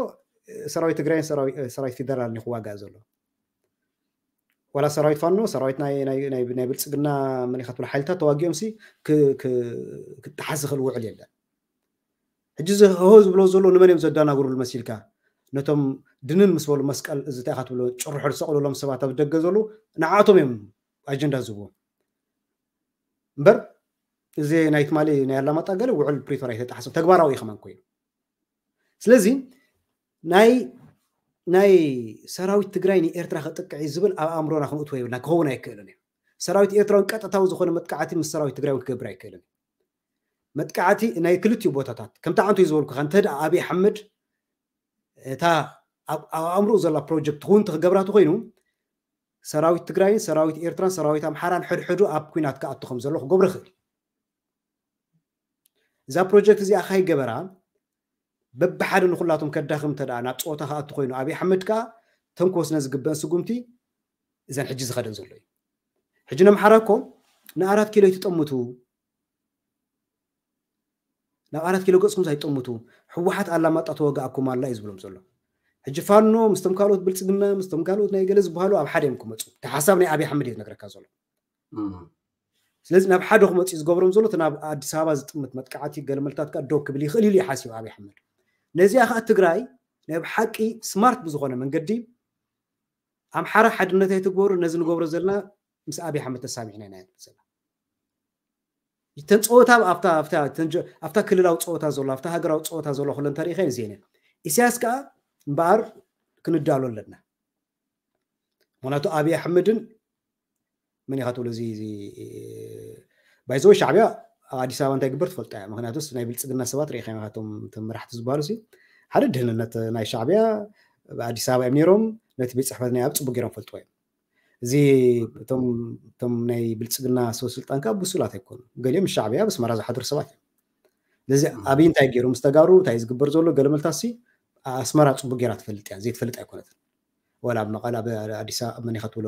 ሰራዊት ትግራይን ሰራዊት ፌደራል ክዋጋእ ዘሎ። ዋላ ሰራዊት ፋኖ ሰራዊት ናይ ብልፅግና መን ኢኻ ትብሎ ሓይልታት ተዋጊኦም ሲ ክጠሓስ ዝኽእል ውዕል የለን። ሕጂ እዚ ህሆ ዝብሎ ዘሎ ንመን እዮም ዘዳናግሩሉ መሲልካ? ነቶም ድንን ምስ በሉ መስቀል እዚ እንታይ ኢኻ ትብሎ ጭርሖ ዝሰቕሉሎም ሰባት ኣብ ደገ ዘለዉ ንዓቶም እዮም ኣጀንዳ ዝህብዎም። እምበር እዚ ናይ ትማሊ ናይ ኣላማጣ ገለ ውዕል ፕሪቶርያ ኣይተጣሓሰም ተግባራዊ እዩ ከማን ኮይኑ። ስለዚ ናይ ናይ ሰራዊት ትግራይ ንኤርትራ ከጥቅዕ እዩ ዝብል ኣብ ኣእምሮና ክንእትዎ የብልና፣ ክኸውን ኣይክእልን እዩ። ሰራዊት ኤርትራ እውን ቀጥታዊ ዝኾነ መጥቃዕቲ ምስ ሰራዊት ትግራይ እውን ክገብር ኣይክእልን እዩ። መጥቃዕቲ ናይ ክልቲኡ ቦታታት ከምቲ ዓንቶ እዩ ዝበልኩኻ እንተ ደኣ ኣብይ ኣሕመድ እታ ኣብ ኣእምሮኡ ዘላ ፕሮጀክት እውን ክገብራ ተኮይኑ ሰራዊት ትግራይን ሰራዊት ኤርትራን ሰራዊት ኣምሓራን ሕድሕዱ ኣብ ኩናት ክኣቱ ከም ዘሎ ክገብሮ ይኽእል እዩ። እዛ ፕሮጀክት እዚኣ ካይገበራ በብሓደ ንኩላቶም ከዳኽም እንተ ደኣ ናብ ፀወታ ክኣቱ ኮይኑ ኣብይ ኣሕመድ ከዓ ተንኮስነ ዝግበአን ስጉምቲ እዘን ሕጂ ዝኸደን ዘሎ እዩ። ሕጂ ነምሓራ እኮ ንኣራት ኪሎ ይትጠምቱ ናብ ኣራት ኪሎ ገፅኩም ሳይጠምቱ ህወሓት ኣላማጣ ተወጋእኩም ኣላ እዩ ዝብሎም ዘሎ። ሕጂ ፋኖ ምስቶም ካልኦት ብልፅግና ምስቶም ካልኦት ናይ ገለ ዝበሃሉ ኣብ ሓደ እዮም ክመፁ። እቲ ሓሳብ ናይ ኣብይ ኣሕመድ እዩ ዝነግረካ ዘሎ። ስለዚ ናብ ሓደ ክመፁ እዩ ዝገብሮም ዘሎ። እቲ ናብ ኣዲስ ኣበባ ዝጥምት መጥቃዕቲ ገለመልታት ከዓ ደው ክብል ይኽእል ኢሉ ይሓስብ ኣብይ ኣሕመድ። ነዚኣ ከዓ ትግራይ ናይ ብሓቂ ስማርት ብዝኾነ መንገዲ ኣምሓራ ሓድነት ኣይትግበሩ፣ ነዚ ንገብሮ ዘለና ምስ ኣብይ ኣሕመድ ተሳሚዕና ኢና ይብል ዘላ። እተን ፀወታ ኣብታ ክልላዊ ፀወታ ዘሎ ኣብታ ሃገራዊ ፀወታ ዘሎ ኩለን ተሪኸን እዚአን እየን። ኢሳያስ ከዓ እምበኣር ክንዳሎ ኣለና። ምክንያቱ ኣብይ ኣሕመድን መን ኢኻ ትብሎ እዚ ባይዘወ ሻዕብያ ኣብ ኣዲስ ኣበባ እንታይ ግበር ትፈልጦ እያ። ምክንያቱስ ናይ ብልፅግና ሰባት ርኢኻ ኢኻ፣ እቶም መራሕቲ ዝበሃሉ ሲ ሓደ ድህንነት ናይ ሻዕብያ ኣብ ኣዲስ ኣበባ እዮም ነይሮም። ነቲ ቤት ፅሕፈት ናይ ኣብ ፅቡቅ ገይሮም ፈልጥዎ እዮም። እዚ እቶም ናይ ብልፅግና ሰው ስልጣን ከዓ ብሱላት ኣይኮኑ። ገሊኦም ሻዕብያ ኣብ ኣስመራ ዝሓድሩ ሰባት እዮም። ስለዚ ኣብይ እንታይ ገይሩ ምስ ተጋሩ እንታይ ዝግበር ዘሎ ገለመልታ ሲ ኣስመራ ፅቡቅ ገይራ ትፈልጥ እያ፣ ዘይትፈልጥ ኣይኮነትን። ወላ ኣብ መቐለ ኣብ ኣዲስ ኣበባ መን ኢኻ ትብሎ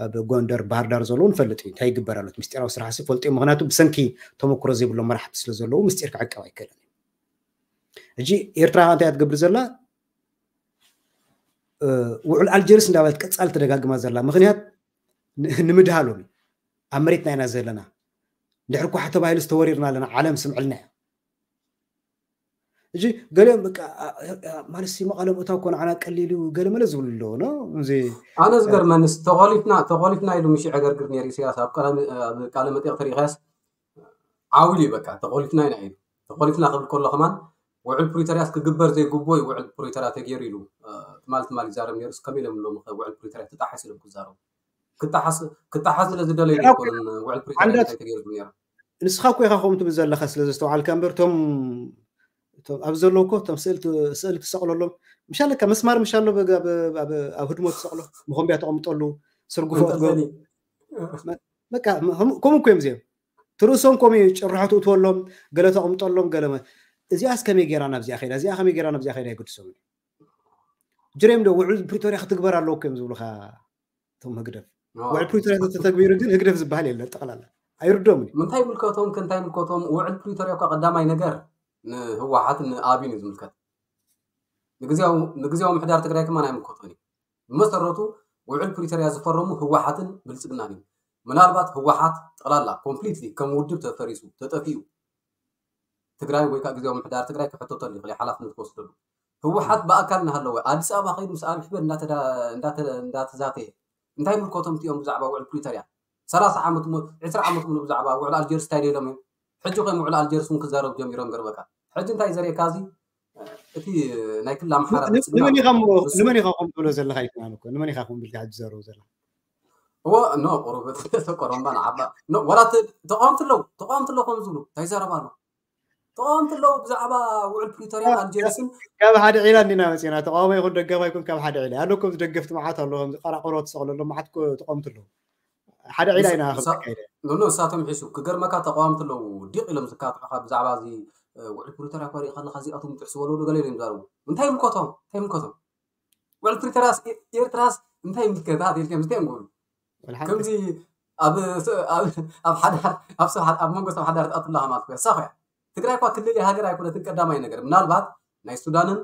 ኣብ ጎንደር ባህር ዳር ዘለዉ ንፈልጥ እዩ እንታይ ይግበር ኣሎ። ምስጢራዊ ስራሕ ሲ ፈልጡ እዮም። ምክንያቱ ብሰንኪ ተመክሮ ዘይብሎም መራሕቲ ስለ ዘለዉ ምስጢር ክዕቀብ ኣይክእልን እዩ። ሕጂ ኤርትራ እንታይ እያ ትገብር ዘላ? ውዕል ኣልጀርስ እንዳበለት ቀፃሊ ተደጋግማ ዘላ ምክንያት ንምድሃሎም እዩ። ኣብ መሬትና ኢና ዘለና። ድሕሪ ኳሕ ተባሂሉ ዝተወሪርና ኣለና፣ ዓለም ስምዕልና እያ። እጂ ገሊኦም በቃ ማለት ሲ መቐለ ምእታው እኮ ንዓና ቀሊል እዩ ገለ መለ ዝብሉ ኣለዎ። እዚ ኣነ ዝገርመንስ ተቆሊፍና ተቆሊፍና ኢሉ ምሽ ዕገርግር ነይሩ ኢሳያስ ኣብ ቃለ መጠይቅ ተሪኢኻስ ዓውል እዩ በቃ ተቆሊፍና ኢና ኢሉ። ተቆሊፍና ክብል ከሎ ከማን ውዕል ፕሪቶሪያስ ክግበር ዘይግቦ እዩ ውዕል ፕሪቶሪያ ተገይሩ ኢሉ ትማል ትማል ይዛረብ ነይሩ። ከመይ ኢሎም ሎም ውዕል ፕሪቶሪያ ትጣሓስ ኢሎም ክዛረቡ ክጣሓስ ክጣሓስ ስለ ዝደለዩ ኣይኮነን። ውዕል ፕሪቶሪያ እንታይ ተገይሩ ነይሩ? ንስኻ እኮ ኢኻ ከምኡ ትብል ዘለኻ ስለ ዘስተውዓልካ እምበር እቶም ኣብዚ ዘለዉ እኮ እቶም ስእሊ ትሰቕለሎም ምሻለካ መስማር ምሻሎ ኣብ ህድሞ ትሰቕሎ መኾንቢያ ተቐምጠሉ ስርጉፎ ትገብሩ በቃ ከምኡ እኮ እዮም እዚኦም ትርእሶም ከምኡ እዩ ጭርሖ ትእትወሎም ገለ ተቐምጠሎም ገለ እዚኣስ ከመይ ገይራ ናብዚኣ ከይዳ እዚኣ ከመይ ገይራ ናብዚኣ ከይዳ የገድሶም ጅሬም ዶ ውዕል ፕሪቶሪያ ክትግበር ኣለዎ እኮ እዮም ዝብሉካ እቶም ህግደፍ ውዕል ፕሪቶሪያ ተተግቢሩ ግን ህግደፍ ዝበሃል የለን ጠቕላላ ኣይርዶምን እዩ። እንታይ ምልከቶም ከእንታይ ምልከቶም ውዕል ፕሪቶሪያ እኳ ቀዳማይ ነገር ንህወሓትን ንኣብይን እዩ ዝምልከት። ንግዝያዊ ምሕዳር ትግራይ ከማን ኣይምልከቶን እዩ። ብመሰረቱ ውዕል ፕሪቶሪያ ዝፈረሙ ህወሓትን ብልፅግናን እዩ። ምናልባት ህወሓት ጠቕላላ ኮምፕሊትሊ ከም ውድብ ተፈሪሱ ተጠፊኡ ትግራይ ወይ ከዓ ግዝያዊ ምሕዳር ትግራይ ክሕተተሉ ይኽእል ሓላፍነት ክወስደሉ ህወሓት ብኣካል እናሃለወ ኣዲስ ኣበባ ከይዱ ምስ ኣብይ ኣሕመድ እንዳተዛተየ እንታይ ምልከቶም እቲኦም ብዛዕባ ውዕል ፕሪቶሪያ ሰላሳ ዓመት ዕስራ ዓመት ሙሉ ብዛዕባ ውዕል ኣልጀርስ እንታይ ደሎም እዮም ሕጂ ከም ውዕል ኣልጀርስ እውን ክዛረቡ ጀሚሮም ገርበካ ሕጂ እንታይ ዘርእየካ እዚ እቲ ናይ ክልል ኣምሓራ ንመን ኢኻ ከም ትብሎ ዘለካ ይትማም እኮ ንመን ኢኻ ከም ብልካ ሕጂ ዘረቡ ዘላ እዎ ኖ ቁሩብ ተቆሮምባ ንዓባ ዋላ ተቃወምቲ ኣለዉ ተቃወምቲ ኣለዉ ከም ዝብሉ እንታይ ዘረባ ኣሎ ተቃወምቲ ኣለዉ ብዛዕባ ውዕል ፕሪቶሪያን ኣልጀርስን ካብ ሓደ ዒላ እንዲና መፂና ተቃዋሞ ይኹን ደጋፋ ይኩን ካብ ሓደ ዒላ ኣሎ ከም ደገፍቲ መዓት ኣሎ ከም ቀራቆሮ ትሰቅለሎም መዓት ተቃወምቲ ኣለዉ ሓደ ዒላ ኢና ኖ እሳቶም ሒሱ ክገርመካ ተቃወምቲ ኣለዉ ዲቅ ኢሎም ዝካትዑካ ብዛዕባ እዚ ውዕል ፕሪቶሪያ ኮሪእ ከለካ እዚኣቶም ጥዕስ ወለሉ ገለ ኢሎም ይዛረቡ እንታይ ምልከቶም እንታይ ምልከቶም ውዕል ፕሪቶሪያስ ኤርትራስ እንታይ ምልከታ ኣትልከም ዝተ ንጎሉ ከምዚ ኣብ ኣብ ሓደ ኣብ ሰብ ኣብ መንጎ ሰብ ሓዳር ትኣትላ ማለት እኮ ሳኸ ትግራይ እኳ ክልል ሃገር ኣይኮነትን ቀዳማይ ነገር ምናልባት ናይ ሱዳንን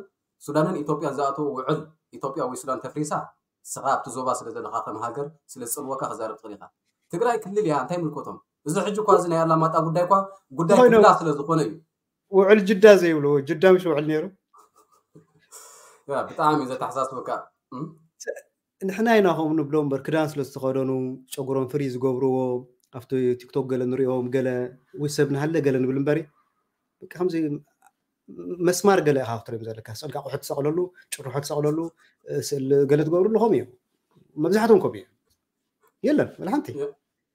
ሱዳንን ኢትዮጵያን ዝኣተው ውዕል ኢትዮጵያ ወይ ሱዳን ተፍሪሳ ስኻ ኣብቲ ዞባ ስለ ዘለኻ ከም ሃገር ስለ ዝፅልወካ ክዛረብ ትኽእል ኢኻ ትግራይ ክልል እያ እንታይ ምልከቶም እዚ ሕጂ እኳ እዚ ናይ ኣላማጣ ጉዳይ እኳ ጉዳይ ክልላ ስለ ዝኾነ እዩ ውዕል ጅዳ ዘይብሉ ጅዳ ምሽ ውዕል ነይሩ ብጣዕሚ እዩ ዘተሓሳስበካ ንሕና ኢና ከምኡ ንብሎ እምበር ክዳን ስለ ዝተኸደኑ ጨጉሮም ፍሪ ዝገብርዎ ኣብቲ ቲክቶክ ገለ ንሪኦም ገለ ወይ ሰብ ንሃለ ገለ ንብል እምበሪ ከምዚ መስማር ገለ ኢኻ ክትሪኦም ዘለካ ስእልካ ቁሑ ትሰቕለሉ ጭርሖ ትሰቕለሉ ስእል ገለ ትገብርሉ ከምኡ እዩ መብዛሕትኦም ከምኡ እዩ የለን ወላ ሓንቲ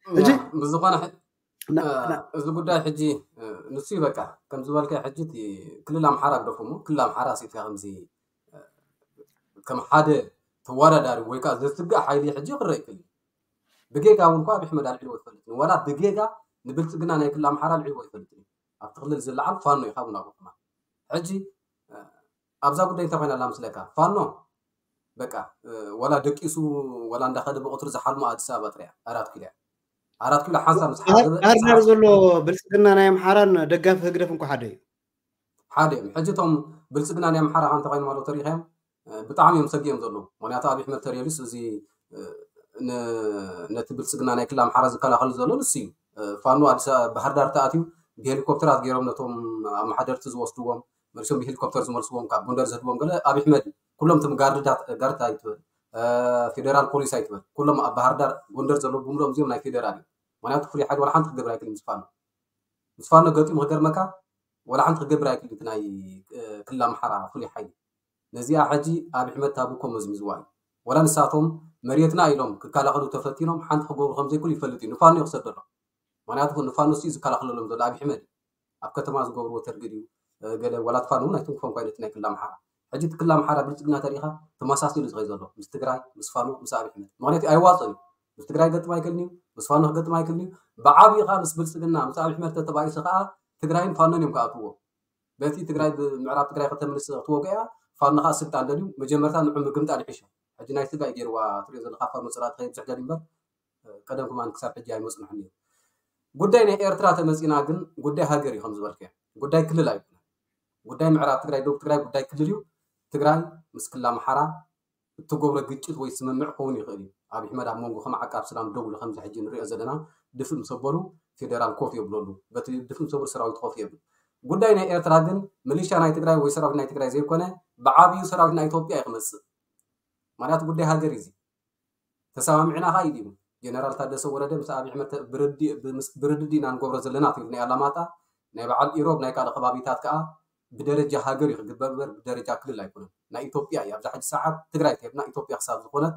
ሕጂ ብዝኾነ እዚ ጉዳይ ሕጂ ንሱ እዩ በቃ ከም ዝበልካ ሕጂ ክልል ኣምሓራ ግደፎ እሞ ክልል ኣምሓራ ኣስኢትካ ከምዚ ከም ሓደ ተወዳዳሪ ወይ ከዓ ዘስግእ ሓይሊ ሕጂ ክረአ ይክእል ብጌጋ እውን እኳ ብሕመድ ኣልዒልዎ ይፈልጥ ዋላ ብጌጋ ንብልፅግና ናይ ክልል ኣምሓራ ኣልዒልዎ ይፈልጥ ኣብቲ ክልል ዝለዓል ፋኖ እዩ ካብኡ ናብኡ ከማን ሕጂ ኣብዛ ጉዳይ እንታይ ኮይና ኣላ ምስለካ ፋኖ በቃ ወላ ደቂሱ ወላ እንዳኸደ ብቁፅሪ ዝሓልሞ ኣዲስ ኣበባ ጥሪያ ኣራት ኪሎ ኣራት ኪሎ ሓንሳብ ምስ ባህር ዳር ዘሎ ብልፅግና ናይ ኣምሓራን ደጋፊ ህግደፍ እንኳ ሓደ እዩ ሓደ እዮም ሕጂ እቶም ብልፅግና ናይ ኣምሓራ ከ እንተኮይኖም ኣለዉ ተሪኢኻዮም ብጣዕሚ እዮም ሰጊኦም ዘለዉ ምክንያቱ ኣብ ሕመድ ተሪየሉስ እዚ ነቲ ብልፅግና ናይ ክልል ኣምሓራ ዝከላኸሉ ዘሎ ንሱ እዩ ፋኖ ኣዲስ ባህር ዳር ተኣትዩ ብሄሊኮፕተራት ገይሮም ነቶም ኣመሓደርቲ ዝወስድዎም መሪሶም ብሄሊኮፕተር ዝመልስዎም ካብ ጎንደር ዝህድዎም ገለ ኣብ ሕመድ ኩሎም ትም ጋርድታት ጋርድታ ይትበል ፌደራል ፖሊስ ኣይትበል ኩሎም ኣብ ባህር ዳር ጎንደር ዘለዉ ብምሎም እዚኦም ናይ ፌደራል እዩ ምክንያቱ ፍሉይ ሓይሊ ዋላ ሓንቲ ክገብር ኣይክእል ምስ ፋኖ ምስ ፋኖ ገጢሙ ክገርመካ ዋላ ሓንቲ ክገብር ኣይክእል እቲ ናይ ክልል ኣምሓራ ፍሉይ ሓይሊ ነዚኣ ሕጂ ኣብ ሕመድ ታብኮ መዝሚዝዋ እዩ ወላ ንሳቶም መሬትና ኢሎም ክከላኸሉ ተፈቲኖም ሓንቲ ክገብሩ ከም ዘይክእሉ ይፈልጥ እዩ። ንፋኖ እዩ ክሰደሎም። ምክንያቱ ንፋኖ ሲ ዝከላኸለሎም ዘሎ ኣብይ ኣሕመድ እዩ። ኣብ ከተማ ዝገብርዎ ተርጊድ እዩ። ገለ ወላ ፋኖ እውን ኣይትንክፎም ኮይነት ናይ ክልል ኣምሓራ። ሕጂ እቲ ክልል ኣምሓራ ብልፅግና ተሪኢኻ ተመሳሲሉ ዝኸይ ዘሎ ምስ ትግራይ፣ ምስ ፋኖ፣ ምስ ኣብይ ኣሕመድ። ምክንያቱ ኣይዋፅን እዩ። ምስ ትግራይ ገጥም ኣይክእልን እዩ፣ ምስ ፋኖ ክገጥም ኣይክእልን እዩ። ብዓብዩ ከዓ ምስ ብልፅግና፣ ምስ ኣብይ ኣሕመድ ተተባኢሱ ከዓ ትግራይን ፋኖን እዮም ክኣትዎ። በቲ ትግራይ ብምዕራብ ትግራይ ከተምልስ ክትወግያ ፋኖ ከዓ ስልጣን ደልዩ መጀመርታ ንዑ ምግምጣል ይሕሾ። ሕጂ ናይ ስጋ እዩ ገይርዋ ትሪኦ ዘለካ ፋኖ ፅላእ ትኸይድ ዝሕደል እምበር ቀደም ከማን ክሳብ ሕጂ ኣይመፅንሑን እዮም። ጉዳይ ናይ ኤርትራ ተመፂና ግን ጉዳይ ሃገር እዩ ከም ዝበልከ ጉዳይ ክልል ኣይኮነ። ጉዳይ ምዕራብ ትግራይ ደቡብ ትግራይ ጉዳይ ክልል እዩ። ትግራይ ምስ ክልል ኣምሓራ እትገብሮ ግጭት ወይ ስምምዕ ክኸውን ይኽእል እዩ። ኣብይ ኣሕመድ ኣብ መንጎ ከም ዓቃብ ሰላም ደው ኢሉ ከምዚ ሕጂ ንሪኦ ዘለና ድፍእ ምስ ኣበሉ ፌደራል ኮፍ የብለሉ። በቲ ድፍእ ምስ ኣበሉ ሰራዊት ኮፍ የብል። ጉዳይ ናይ ኤርትራ ግን ሚሊሻ ናይ ትግራይ ወይ ሰራዊት ናይ ትግራይ ዘይኮነ ብዓብዩ ሰራዊት ናይ ኢትዮጵያ እዩ ክመፅእ። ምክንያቱ ጉዳይ ሃገር እዩ እዚ። ተሰማሚዕና ከዓ ኢሉ እዩ ጀነራል ታደሰ ወረደ ምስ ኣብይ ኣሕመድ ተ- ብርዲ- ብምስ- ብርድድ ኢና ንገብሮ ዘለና ትብል ናይ ኣላማጣ ናይ በዓል ኢሮብ ናይ ካልእ ከባቢታት ከዓ ብደረጃ ሃገር እዩ ክግበር እምበር ብደረጃ ክልል ኣይኮነን። ናይ ኢትዮጵያ እዩ። ኣብዛ ሕጂ ሰዓት ትግራይ ተብና ኢትዮጵያ ክሳብ ዝኾነት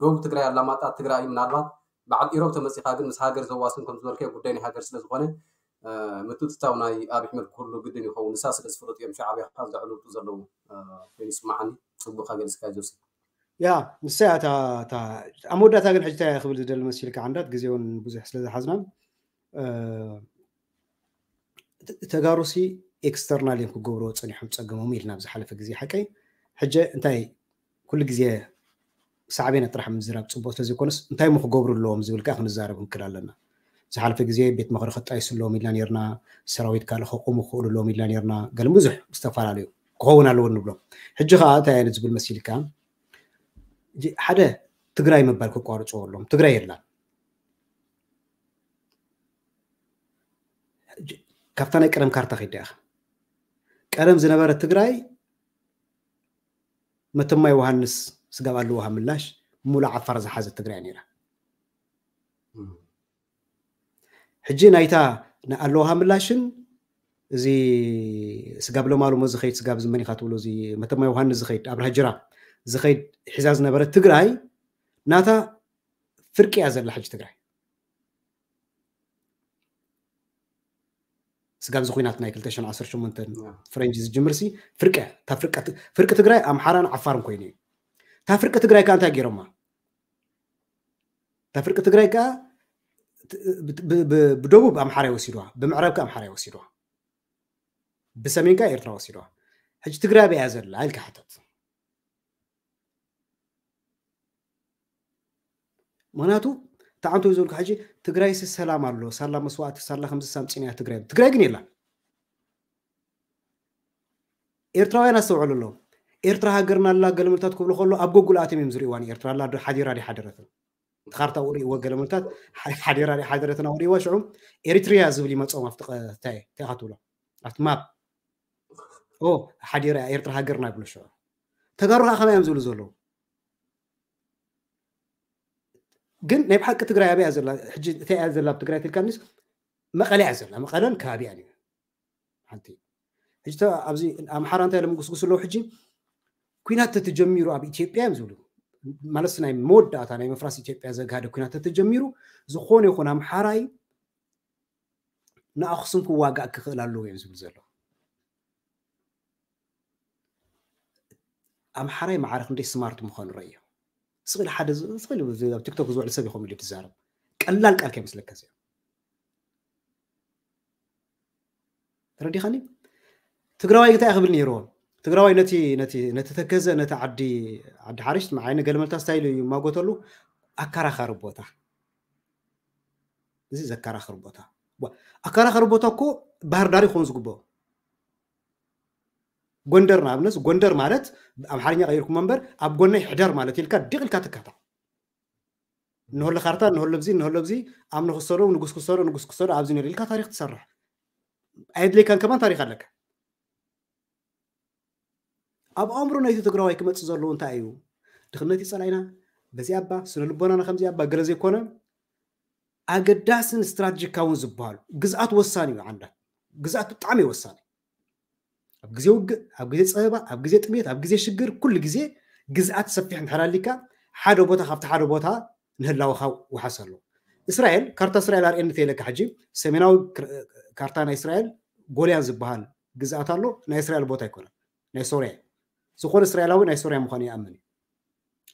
ደቡብ ትግራይ ኣላማጣ ትግራይ እዩ። ምናልባት በዓል ኢሮብ ተመፂኻ ግን ምስ ሃገር ዘዋስን ከም ዝበልከ ጉዳይ ናይ ሃገር ስለ ዝኾነ ምትእትታው ናይ ኣብይ ኣሕመድ ኩሉ ግድን ይኸውን። ንሳ ስለ ዝፍለጡ እዮም ሻዕብያ ካብ ዘዕልውጡ ዘለዉ ኮይኑ ይስማዓኒ። ፅቡቅ ከገልፅካ ጆሲ። ያ ንሳ እያ እታ እታ ኣብ መወዳእታ ግን ሕጂ እንታይ ክብል ዝደሊ መሲልካ ዓንዳት ግዜ እውን ብዙሕ ስለ ዝሓዝናን ተጋሩሲ ኤክስተርናል እዮም ክገብርዎ ፀኒሖም ፀገሞም ኢልና ኣብ ዝሓለፈ ግዜ ሓቀይ ሕጂ እንታይ ኩሉ ግዜ ሳዕቤና ጥራሕ ምዝራብ ፅቡቅ ስለዘይኮነስ እንታይ ሞ ክገብሩ ኣለዎም ዝብል ከዓ ክንዛረብ ክንክል ኣለና። ዝሓለፈ ግዜ ቤት ምኽሪ ከጣይሱ ኣለዎም ኢልና ነርና፣ ሰራዊት ካልእ ከቆሙ ክኽእሉ ኣለዎም ኢልና ነርና። ገለ ብዙሕ ዝተፈላለዩ ክኸውን ኣለዎ ንብሎ። ሕጂ ከዓ እንታይ ዓይነት ዝብል መሲልካ ሓደ ትግራይ ምባል ክቋርፅዎ ኣለዎም። ትግራይ የላን። ካብታ ናይ ቀደም ካርታ ከይዳ ኢኻ ቀደም ዝነበረ ትግራይ መተማ ዮሃንስ ስጋብ ኣለውሃ ምላሽ ሙሉ ዓፋር ዝሓዘት ትግራይ ነይራ። ሕጂ ናይታ ኣለውሃ ምላሽን እዚ ስጋብ ለማሉሞ ዝኸይድ ስጋብ ዝመኒኻ ትብሎ እዚ መተማ ዮሃንስ ዝኸይድ ኣብርሃ ጅራ ዝኸይድ ሒዛ ዝነበረት ትግራይ ናታ ፍርቂ እያ ዘላ ሕጂ ትግራይ። ስጋብ እዚ ኩናት ናይ ክልተ ሽሕን ዓሰርተ ሸሞንተን ፈረንጂ ዝጅምር ሲ ፍርቂ እያ። እታ ፍርቂ ፍርቂ ትግራይ ኣምሓራን ዓፋርን ኮይኑ እዩ። እታ ፍርቂ ትግራይ ከዓ እንታይ ገይሮማ? እታ ፍርቂ ትግራይ ከዓ ብ- ብ- ብ- ብደቡብ ኣምሓራ ይወሲድዋ፣ ብምዕራብ ከዓ ኣምሓራ ይወሲድዋ፣ ብሰሜን ከዓ ኤርትራ ወሲድዋ። ሕጂ ትግራይ ኣበይ እያ ዘላ ኢልካ ሕተት። ምክንያቱ ተዓንቶ ዝብልካ ሕጂ ትግራይሲ ሰላም ኣሎ ሳላ መስዋእቲ ሳላ ከምዚ ሳምፂና እያ ትግራይ ትግራይ ግን የላን። ኤርትራውያን ኣስተውዕሉ ኣለዎም። ኤርትራ ሃገርና ኣላ ገለመልታት ክብሉ ከሎ ኣብ ጎጉል ኣትዮም እዮም ዝርእዋ። ንኤርትራ ኣላ ዶ ሓዲራ ዲ ሓደረትን እቲ ካርታ ርእይዎ ገለመልታት ሓዲራ ዲ ሓደረትን ኣውርእዋ ሽዑ ኤሪትሪያ ዝብል ይመፅኦም ኣብቲ እንታይ እንታይ ኢኻ ትብሎ ኣብቲ ማፕ ኦ ሓዲራ ኤርትራ ሃገርና ይብሉ ሽዑ ተጋሩ ከዓ ከመይ እዮም ዝብሉ ዘለዉ። ግን ናይ ብሓቂ ትግራይ ኣበይ እያ ዘላ? ሕጂ እንታይ እያ ዘላ ኣብ ትግራይ ትልካኒስ መቐለ እያ ዘላ። መቐለን ከባቢያን እዩ ሓንቲ ሕጂ ኣብዚ ኣምሓራ እንታይ ለምጉስጉስ ኣለዉ ሕጂ ኩናት ተተጀሚሩ ኣብ ኢትዮጵያ እዮም ዝብሉ ማለት ናይ መወዳእታ ናይ መፍራስ ኢትዮጵያ ዘግሃደ ኩናት ተተጀሚሩ ዝኾነ ይኹን ኣምሓራይ ንኣክሱም ክዋጋእ ክኽእል ኣለዎ እዮም ዝብል ዘሎ። ኣምሓራይ ማዕረ ክንደይ ስማርት ምዃኑ ረእዮ። ስቕል ሓደ ስቕል ኣብ ቲክቶክ ዝውዕል ሰብ ይኸውን ኢሉ ትዛረብ ቀላል ቃል ከይመስለካ እዚኣ ተረዲኻኒ። ትግራዋይ እንታይ ክብል ነይርዎ? ትግራዋይ ነቲ ነቲ ነቲ ተከዘ ነቲ ዓዲ ዓዲ ሓርሽ መዓይነ ገለመልታ ስታይል ይማጎተሉ ኣከራኻሪ ቦታ እዚ ዘከራኽር ቦታ ኣከራኻሪ ቦታ እኮ ባህር ዳር ይኾን ዝግበኦ ጎንደር ንኣብነት ጎንደር ማለት ኣምሓርኛ ቀይርኩም እምበር ኣብ ጎነይ ሕደር ማለት ኢልካ ድቕ ኢልካ ትካታ ንሆለ ካርታ ንሆለ ብዚ ንሆለ ብዚ ኣብ ንክሰዶ ንጉስ ክሰዶ ንጉስ ክሰዶ ኣብዚ ነር ኢልካ ታሪክ ትሰርሕ ኣየድለይካን ከማን ታሪክ ኣለካ ኣብ ኣእምሮ ናይቲ ትግራዋይ ክመፅእ ዘለዎ እንታይ እዩ ድኽነት ይፀላኢና በዚኣ ባ ስነ ልቦናና ከምዚኣ ባ ገለ ዘይኮነ ኣገዳስን ስትራቴጂካውን ዝበሃሉ ግዝኣት ወሳኒ እዩ ዓንዳት ግዝኣት ብጣዕሚ ወሳኒ ኣብ ግዜ ውግእ ኣብ ግዜ ፀበባ ኣብ ግዜ ጥሜት ኣብ ግዜ ሽግር ኩሉ ግዜ ግዝኣት ሰፊሕ እንድሕር ኣሊካ ሓደ ቦታ ካብቲ ሓደ ቦታ ንህላወኻ ውሓስ ኣሎ። እስራኤል ካርታ እስራኤል ኣርእየኒ ተይለካ ሕጂ ሰሜናዊ ካርታ ናይ እስራኤል ጎልያን ዝበሃል ግዝኣት ኣሎ። ናይ እስራኤል ቦታ ኣይኮነን፣ ናይ ሶርያ። ዝኾነ እስራኤላዊ ናይ ሶርያ ምዃኑ ይኣምን እዩ።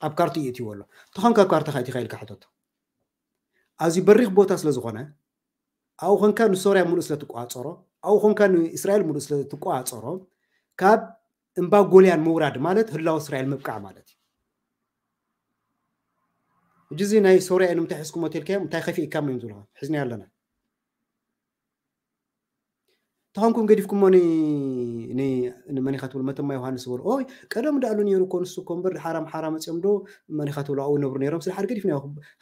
ኣብ ካርታ እዩ እትይዎ ኣሎ። ተኾንካ ኣብ ካርታ ከይትኻ ኢልካ ሕተቶ። ኣዝዩ በሪኽ ቦታ ስለ ዝኾነ ኣብኡ ኾንካ ንሶርያ ሙሉእ ስለ ትቆፃፀሮ ኣብኡ ኾንካ ንእስራኤል ሙሉእ ስለ ትቆፃፀሮ ካብ እምባ ጎልያን ምውራድ ማለት ህላወ እስራኤል ምብቃዕ ማለት እዩ። ሕጂ እዚ ናይ ሶርያ ንምንታይ ሒዝኩሞ ተልካዮም እንታይ ከፊእካሞ እዮም ዝብልኻ ሒዝና ኣለና። ተኾንኩም ገዲፍኩሞ ንመኒኻ ትብል መተማ ዮሃንስ ዝበሉ ኦይ ቀደም ዳኣሉ ነይሩ እኮ ንሱ እኮ እምበር ሓራ ኣምሓራ መፅኦም ዶ መኒኻ ትብሉ ኣብኡ ይነብሩ ነይሮም ስለ ሓደ ገዲፍና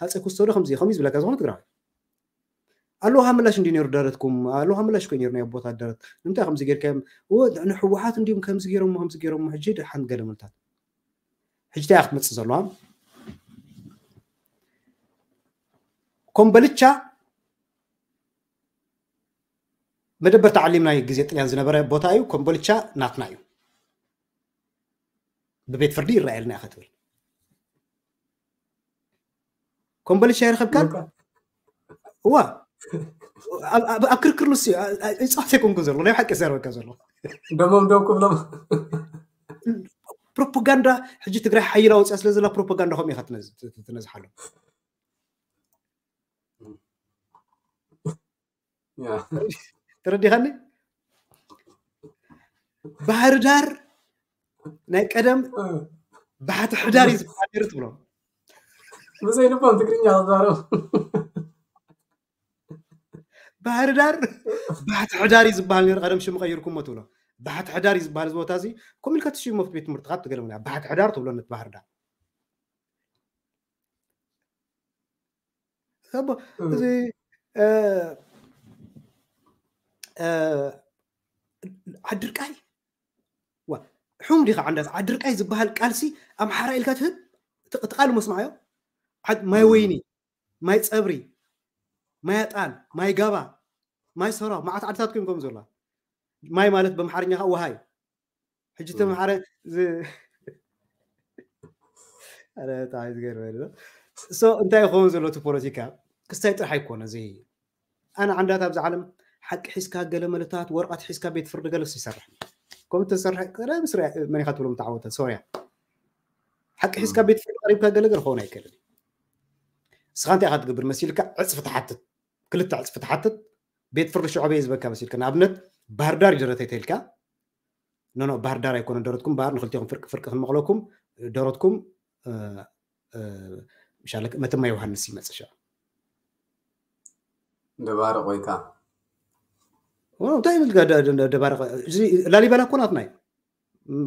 ሃፀ ኩስቶ ዶ ከምዚ ከምዚ ዝብለካ ዝኾነ ትግራዋይ ኣለውሃ ምላሽ እንዲ ነይሩ ደረትኩም ኣለውሃ ምላሽ ኮይ ነይሩ ናይ ኣቦታት ደረት ንምንታይ ከምዚ ጌርካዮም ንሕወሓት እንዲም ከምዚ ገይሮሞ ከምዚ ገይሮሞ ሕጂ ደሓን ገለ መልታት ሕጂ እንታይ ክትመፅእ ዘለዋ ኮምበልቻ መደበር ተዓሊም ናይ ግዜ ጥልያን ዝነበረ ቦታ እዩ ኮምበልቻ ናትና እዩ ብቤት ፍርዲ ይረኣየልና ኢኻ ትብል ኮምበልቻ ይረኸብካን እዋ ኣብ ክርክር ንሱ ይፃወት ኣይኮንኩ ዘሎ ናይ ሓቂ ዘረበካ ዘሎ ደሞም ደው ክብሎም ፕሮፓጋንዳ ሕጂ ትግራይ ሓይላ ወፅያ ስለ ዘላ ፕሮፓጋንዳ ከምኡ ኢኻ ትነዝሓሉ ተረዲኻኒ ባህር ዳር ናይ ቀደም ባሕቲ ሕዳር እዩ ዝበሃል ነይሩ ትብሎ ብዘይ ልቦም ትግርኛ ክዛረቡ ባህር ዳር ባሕቲ ሕዳር እዩ ዝበሃል ነይሩ ቀደም ሽሙ ቀይርኩሞ ትብሎ ባሕቲ ሕዳር እዩ ዝበሃል እዚ ቦታ እዚ ከምኡ ኢልካ ትሽሞ ቤት ትምህርቲ ካብ ትገለምና ባሕቲ ሕዳር ትብሎ ነት ባህር ዳር እዚ ዓድርቃይ ሕሙም ዲኻ ዓንዳት ዓድርቃይ ዝበሃል ቃልሲ ኣምሓራ ኢልካ ትህብ እቲ ቃል መስማዓዮ ማይ ወይኒ ማይ ፀብሪ ማይ ኣጣል ማይ ጋባ ማይ ሰራው መዓት ዓድታት ኮይም ከም ዘላ ማይ ማለት በምሓርኛ ከዓ ውሃ እዩ ሕጂ ተምሓረ እንታይ ይኸውን ዘሎ እቲ ፖለቲካ ክስታይ ጥራሕ ኣይኮነ እዚ ኣነ ዓንዳት ኣብዚ ዓለም ሓቂ ሒዝካ ገለ መለታት ወረቐት ሒዝካ ቤት ፍርዲ ገለስ ይሰርሕ ከም ተሰርሐ ቀደም መን ኢኻ ትብሎም ተዓወተ ሶርያ ሓቂ ሒዝካ ቤት ፍርዲ ቀሪብካ ገለ ገለ ክኸውን ኣይክእልን እስኻ እንታይ ኢኻ ትገብር መሲልካ ዕፅፊ ትሓትት ክልተ ዕፅፊ ትሓትት ቤት ፍርዲ ሽዑ ኣበይ ዝበካ መሲልካ ንኣብነት ባህርዳር ይደረተይ ተልካ ኖኖ ባህርዳር ኣይኮነ ደረትኩም ባህር ንክልቲኹም ፍርቂ ፍርቂ ክንመቕለኩም ደረትኩም መተማ ዮሃንስ ይመፅእ ሽዑ ደባርቕ ወይ ከዓ እንታይ ይብል ደባርቕ ላሊበላ እኮ ናትና እዩ